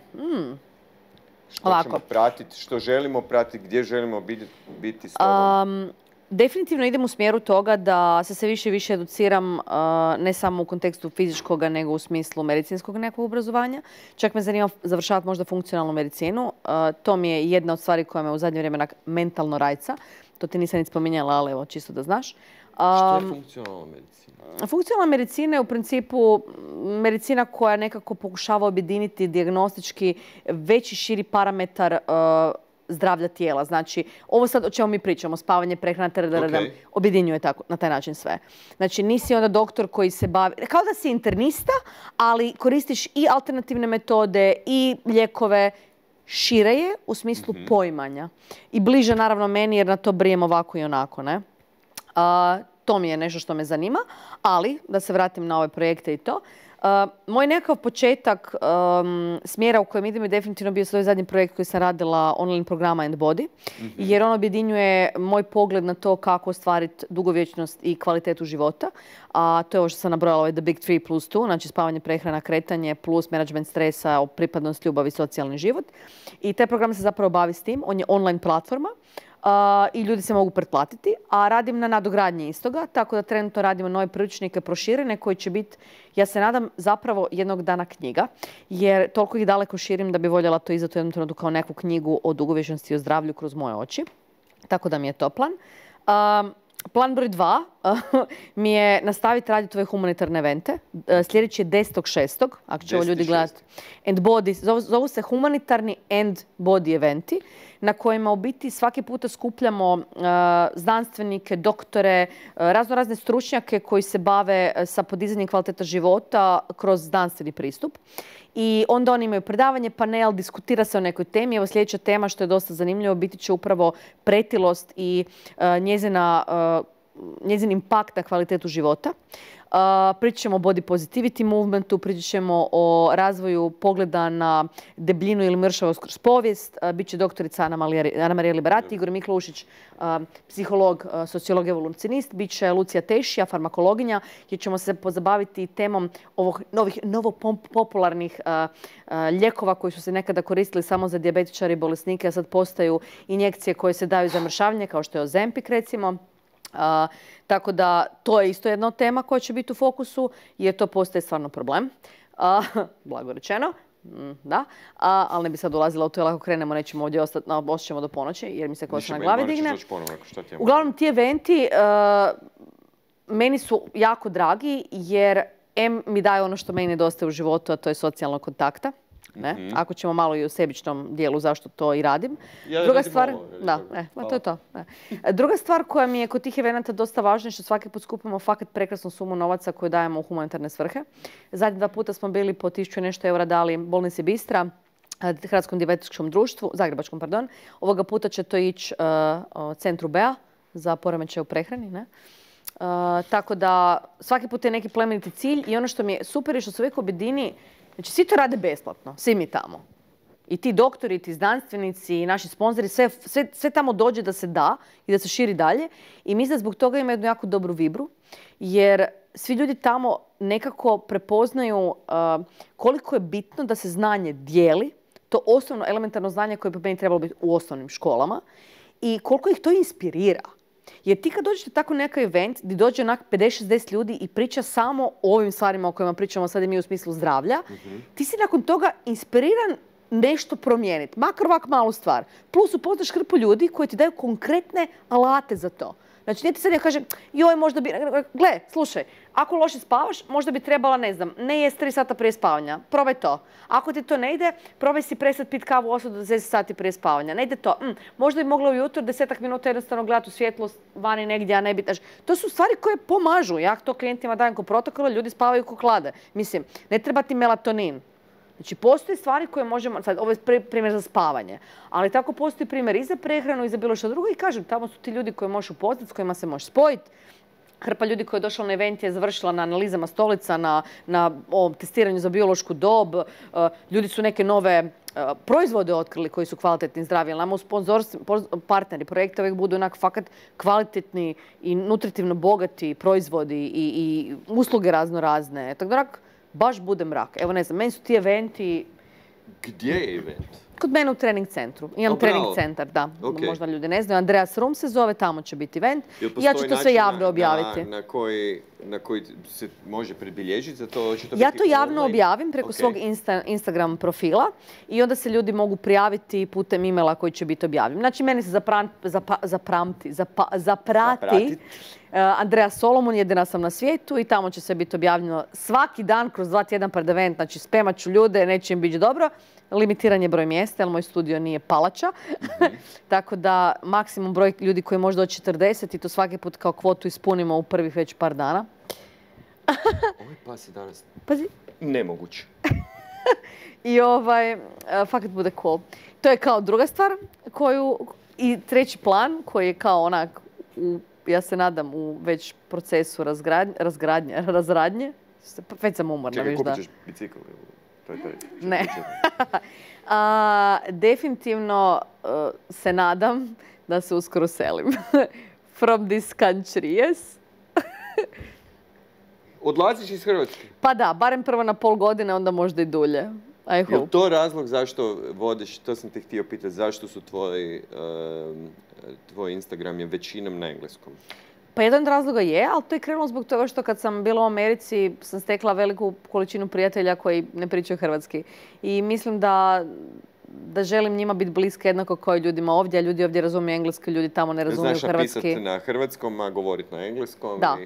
što ćemo pratiti, što želimo pratiti, gdje želimo biti s tobom? Definitivno idem u smjeru toga da se sve više i više educiram ne samo u kontekstu fizičkoga, nego u smislu medicinskog nekog obrazovanja. Čak me zanima završavati možda funkcionalnu medicinu. To mi je jedna od stvari koja me u zadnje vrijeme mentalno rajca. To ti nisam ni spominjala, ali evo, čisto da znaš. Što je funkcionalna medicina? Funkcionalna medicina je u principu medicina koja nekako pokušava objediniti dijagnostički veći širi parametar zdravlja tijela. Znači, ovo sad o čemu mi pričamo, spavanje, prehrana, objedinjuje tako, na taj način sve. Znači, nisi onda doktor koji se bavi, kao da si internista, ali koristiš i alternativne metode i lijekove, šire je u smislu poimanja. I bliže naravno meni jer na to brijem ovako i onako, ne? To mi je nešto što me zanima, ali da se vratim na ove projekte i to. Moj nekakav početak smjera u kojem idem je definitivno bio svoj zadnji projekt koji sam radila online programa And Body, jer on objedinjuje moj pogled na to kako ostvariti dugovječnost i kvalitetu života. A to je ovo što sam nabrojala, ovaj The Big 3 plus 2, znači spavanje, prehrana, kretanje plus management stresa, pripadnost, ljubav i socijalni život. I taj program se zapravo bavi s tim, on je online platforma. I ljudi se mogu pretplatiti, a radim na nadogradnji istoga, tako da trenutno radimo nove priručnike proširene koji će biti, ja se nadam, zapravo jednog dana knjiga, jer toliko ih daleko širim da bi voljela to izdati u jednom trenutku kao neku knjigu o dugovječnosti i o zdravlju kroz moje oči. Tako da mi je to plan. Plan broj 2 mi je nastaviti raditi ove humanitarne evente. Sljedeći je 10.6. ako će ovo ljudi gledati. And Body, zovu se humanitarni And Body eventi, na kojima u biti svaki puta skupljamo znanstvenike, doktore, razne stručnjake koji se bave sa podizanjem kvaliteta života kroz znanstveni pristup. I onda oni imaju predavanje, panel, diskutira se o nekoj temi. Evo sljedeća tema što je dosta zanimljivo biti će upravo pretilost i njezin impakt na kvalitetu života. Pričat ćemo o body positivity movementu, pričat ćemo o razvoju pogleda na debljinu ili mršavost kroz povijest. Biće doktorica Ana Marija Liberati, Igor Miklušić, psiholog, sociolog, evolucionist. Biće Lucija Tešija, farmakologinja, gdje ćemo se pozabaviti temom ovih novopopularnih lijekova koji su se nekada koristili samo za dijabetičare i bolesnike, a sad postaju injekcije koje se daju za mršavljenje, kao što je Ozempic recimo. Tako da to je isto jedna od tema koja će biti u fokusu, jer to postaje stvarno problem. Blago rečeno. Da, ali ne bi sad ulazila u to, jer ako krenemo nećemo ovdje ostati, osjećamo do ponoći, jer mi se kosa na glavi digne. Uglavnom, ti eventi meni su jako dragi jer mi daje ono što meni nedostaje u životu, a to je socijalnog kontakta. Ne? Ako ćemo malo i u sebičnom dijelu zašto to i radim. Druga stvar, to je to. Ne. Druga stvar koja mi je kod tih evenata dosta važna je što svaki put skupimo fakat prekrasnu sumu novaca koju dajemo u humanitarne svrhe. Zadnji 2 puta smo bili po 1000 nešto eura dali bolnici Bistra, Hrvatskom dijabetičkom društvu, Zagrebačkom, pardon. Ovoga puta će to ići centru BEA za poremećaj u prehrani. Ne? Tako da svaki put je neki plemeniti cilj i ono što mi je super je što se uvijek objedini. Znači, svi to rade besplatno, svi mi tamo. I ti doktori, i ti znanstvenici, i naši sponzori, sve tamo dođe da se da i da se širi dalje. I mislim da zbog toga ima jednu jako dobru vibru, jer svi ljudi tamo nekako prepoznaju koliko je bitno da se znanje dijeli, to osnovno elementarno znanje koje bi meni trebalo biti u osnovnim školama, i koliko ih to inspirira. Jer ti kad dođete tako neki event gdje dođe onak 50-60 ljudi i priča samo o ovim stvarima o kojima pričamo sad i mi u smislu zdravlja, ti si nakon toga inspiriran nešto promijeniti, makar ovak malu stvar. Plus upoznaš hrpu ljudi koji ti daju konkretne alate za to. Znači, nije ti sad ja kažem, joj, možda bi... Gle, slušaj, ako loše spavaš, možda bi trebala, ne znam, ne jest 3 sata prije spavanja. Probaj to. Ako ti to ne ide, probaj si prestati piti kavu 8 do 10 sati prije spavanja. Ne ide to. Možda bi mogla ujutro 10 minuta jednostavno gledati u svjetlost vani negdje, a ne biti... To su stvari koje pomažu. Ja to klijentima dajem ko protokola, ljudi spavaju ko klade. Mislim, ne treba ti melatonin. Znači, postoje stvari koje možemo, sad ovo je primjer za spavanje, ali tako postoji primjer i za prehranu i za bilo što drugo i kažem, tamo su ti ljudi koje možeš upoznati, s kojima se možeš spojiti. Hrpa ljudi koja je došla na event je završila na analizama stolica, na testiranju za biološku dob. Ljudi su neke nove proizvode otkrili koji su kvalitetni i zdravi. Nama partneri projekta uvijek budu onak fakat kvalitetni i nutritivno bogati proizvodi i usluge razno-razne. Tako da baš bude mrak. Evo ne znam, meni su ti eventi... Gdje je event? Kod mene u trening centru. Imam trening centar, da. Okay. Možda ljudi ne znaju. Andreas Room se zove, tamo će biti event. I ja ću to sve javno objaviti. Na koji se može pribilježiti za to? Ja to javno objavim preko svog Instagram profila i onda se ljudi mogu prijaviti putem e-maila koji će biti objavljen. Znači, meni se zaprati Andrea Solomon, jedina sam na svijetu i tamo će se biti objavljeno svaki dan kroz 2 tjedna pred event. Znači, spemat ću ljude, neće im biti dobro. Limitiran je broj mjesta, jer moj studio nije palača. Tako da maksimum broj ljudi koji može doći 40 i to svaki put kao kvotu ispunimo u prvih već par dana. Ovaj pas je danas Pazi. Nemoguće. I fakat bude cool. To je kao druga stvar i treći plan koji je kao onak, ja se nadam, u već procesu razradnje. Već sam umorna, viš da. Čekaj, kupit ćeš bicikl? Ne. Definitivno se nadam da se uskoro selim. From this country, yes. Odlaziš iz Hrvatske? Pa da, barem prvo na pol godine, onda možda i dulje. I hope. Je to razlog zašto vodiš, to sam te htio pitati, zašto su tvoj Instagram je većinom na engleskom? Pa jedan od razloga je, ali to je krenulo zbog toga što kad sam bila u Americi sam stekla veliku količinu prijatelja koji ne pričaju hrvatski. I mislim da želim njima biti bliska jednako kao i ljudima ovdje, a ljudi ovdje razumiju engleski, ljudi tamo ne razumiju hrvatski. Znaš napisati na hrvatskom, a govoriti na engleskom? Da.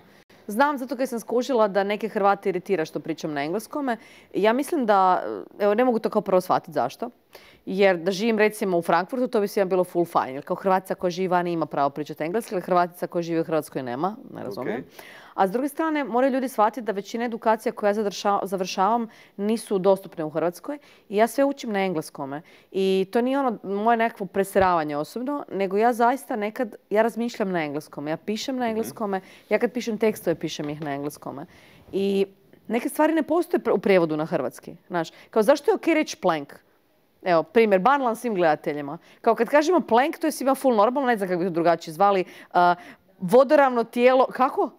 Znam, zato kad sam skužila da neke Hrvate iritira što pričam na engleskome. Ja mislim da, evo ne mogu to kao prvo shvatiti zašto. Jer da živim recimo u Frankfurtu, to bi svima bilo full fine. Jer kao Hrvatica koja živi vani ima pravo pričati engleski, ali Hrvatica koja živi u Hrvatskoj nema, ne razumijem. A s druge strane, moraju ljudi shvatiti da većina edukacija koje ja završavam nisu dostupne u Hrvatskoj i ja sve učim na engleskome. I to nije ono moje nekakvo preseravanje osobno, nego ja zaista nekad, ja razmišljam na engleskome, ja pišem na engleskome, ja kad pišem tekstove, pišem ih na engleskome. I neke stvari ne postoje u prijevodu na hrvatski. Znaš, kao zašto je ok reći plank? Evo, primjer, banalan svim gledateljima. Kao kad kažemo plank, to je svima full normalno, ne znam kako bi to drugačije zvali. Vodoravno tijelo, kako?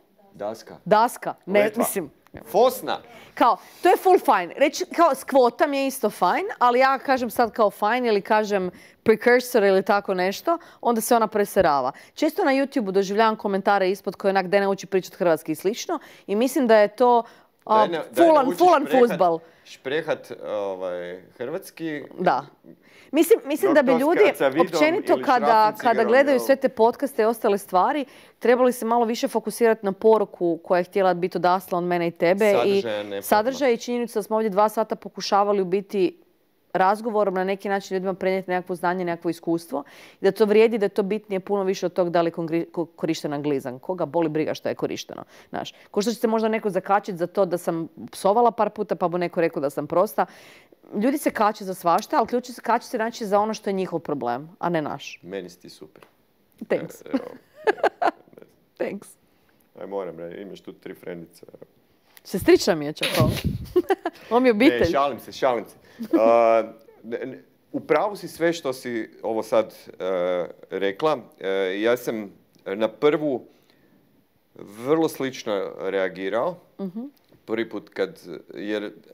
Daska. Ne, mislim. Fosna. Kao, to je full fine. Reći, kao, skvotam je isto fine, ali ja kažem sad kao fine ili kažem precursor ili tako nešto, onda se ona preserava. Često na YouTube-u doživljavam komentare ispod koje onak da ne uči pričati hrvatski i slično i mislim da je to full on fuzbal. Šprehat hrvatski. Da. Mislim da bi ljudi, općenito kada gledaju sve te podcaste i ostale stvari, trebali se malo više fokusirati na poruku koja je htjela biti odasla od mene i tebe. Sadržaj i činjenica da smo ovdje 2 sata pokušavali u biti razgovorom na neki način ljudima prenijeti nekakvo znanje, nekakvo iskustvo. I da to vrijedi, da je to bitnije puno više od tog da li korišten anglizam. Koga boli briga što je korišteno. Znaš, ko što će se možda neko zakačiti za to da sam psovala par puta pa bu neko rekao da sam prosta. Ljudi se kače za svašta, ali ključ se kače se znači za ono što je njihov problem, a ne naš. Meni si ti super. Thanks. Thanks. Aj moram, imaš tu 3 frendice. Sestrična mi je čako. On mi je obitelj. Ne, šalim se. Upravo si sve što si ovo sad rekla. Ja sam na prvu vrlo slično reagirao. Prvi put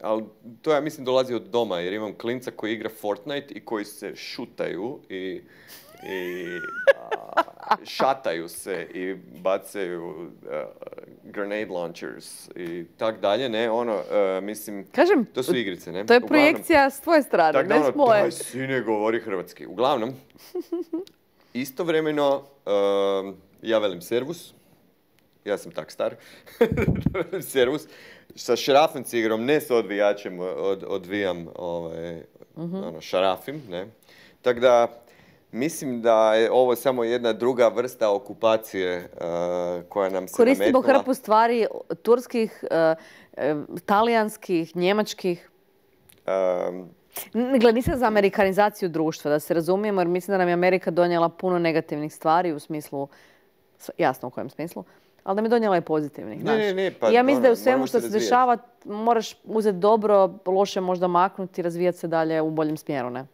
ali to ja mislim dolazi od doma jer imam klinca koji igra Fortnite i koji se šutaju i šataju se i bacaju grenade launchers i tak dalje, ne, mislim, kažem, to su igrice, ne? To je projekcija s tvoje strane, ne s moje. Daj, sine, govori hrvatski. Uglavnom, istovremeno, ja velim servus, ja sam tak star, velim servus, sa šrafom cigrom, ne s odvijačem, odvijam, šarafim, ne? Tako da, mislim da je ovo samo jedna druga vrsta okupacije koja nam se nametnula. Koristimo hrpu stvari turskih, talijanskih, njemačkih. Nisam za amerikanizaciju društva, da se razumijemo, jer mislim da nam je Amerika donijela puno negativnih stvari u smislu, jasno u kojem smislu, ali da mi je donijela i pozitivnih. Ne, pa ja mislim da u svemu što se dešava moraš uzeti dobro, loše možda maknuti i razvijati se dalje u boljem smjeru, ne?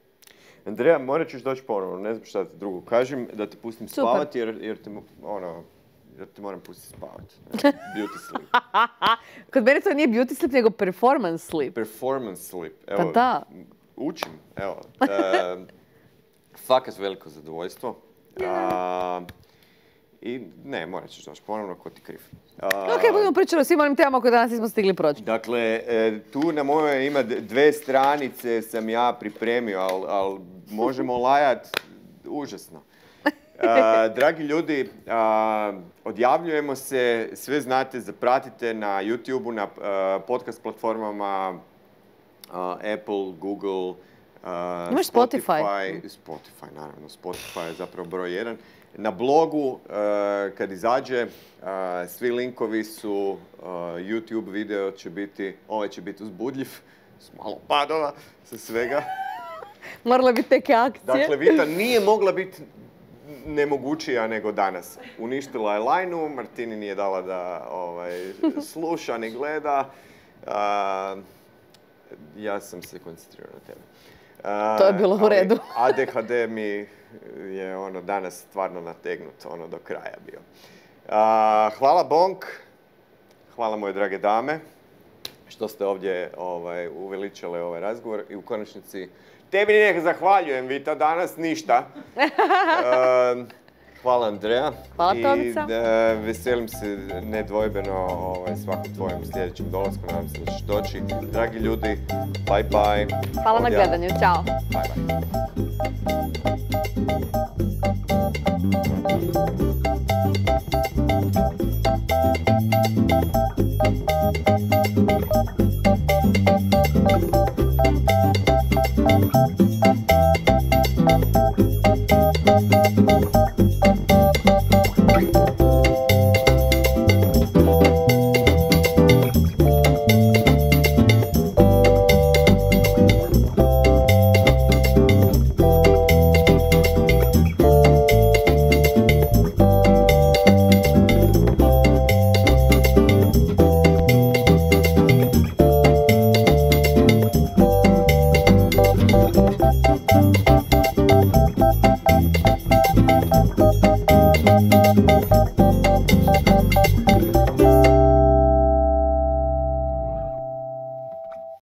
Andreja, morat ćeš doći ponovno, ne znam šta ti drugo kažem, da te pustim spavati jer te moram pustiti spavati. Beauty sleep. Kod mene to nije beauty sleep, nego performance sleep. Performance sleep. Evo, pa da. Učim, evo. Fakat veliko zadovoljstvo. I ne, morat ćeš doći ponovno, ko ti kriv. Ok, budemo pričali o svim onim temama koje danas nismo stigli proći. Dakle, tu na mojoj ima 2 stranice sam ja pripremio, ali možemo lajat užasno. Dragi ljudi, odjavljujemo se, sve znate, zapratite na YouTube-u, na podcast platformama Apple, Google, imaš Spotify? Spotify, naravno. Spotify je zapravo broj 1. Na blogu, kad izađe, svi linkovi su, YouTube video će biti, ovaj će biti uzbudljiv, s malo padova, sa svega. Morala biti neke akcije. Dakle, Vita nije mogla biti nemogućija nego danas. Uništila je lajnu, Martini nije dala da sluša ni gleda. Ja sam se koncentrirao na tebe. To je bilo u redu. ADHD mi je danas stvarno nategnut do kraja bio. Hvala Bonk, hvala moje drage dame što ste ovdje uveličale ovaj razgovor i u konačnici tebi ne zahvaljujem, Vita, danas ništa. Hvala Andreja. Hvala Tomica. I veselim se nedvojbeno svakom tvojem sljedećem dolasku. Nadam se da ćeš doći. Dragi ljudi, bye bye. Hvala na gledanju. Ćao. Bye bye.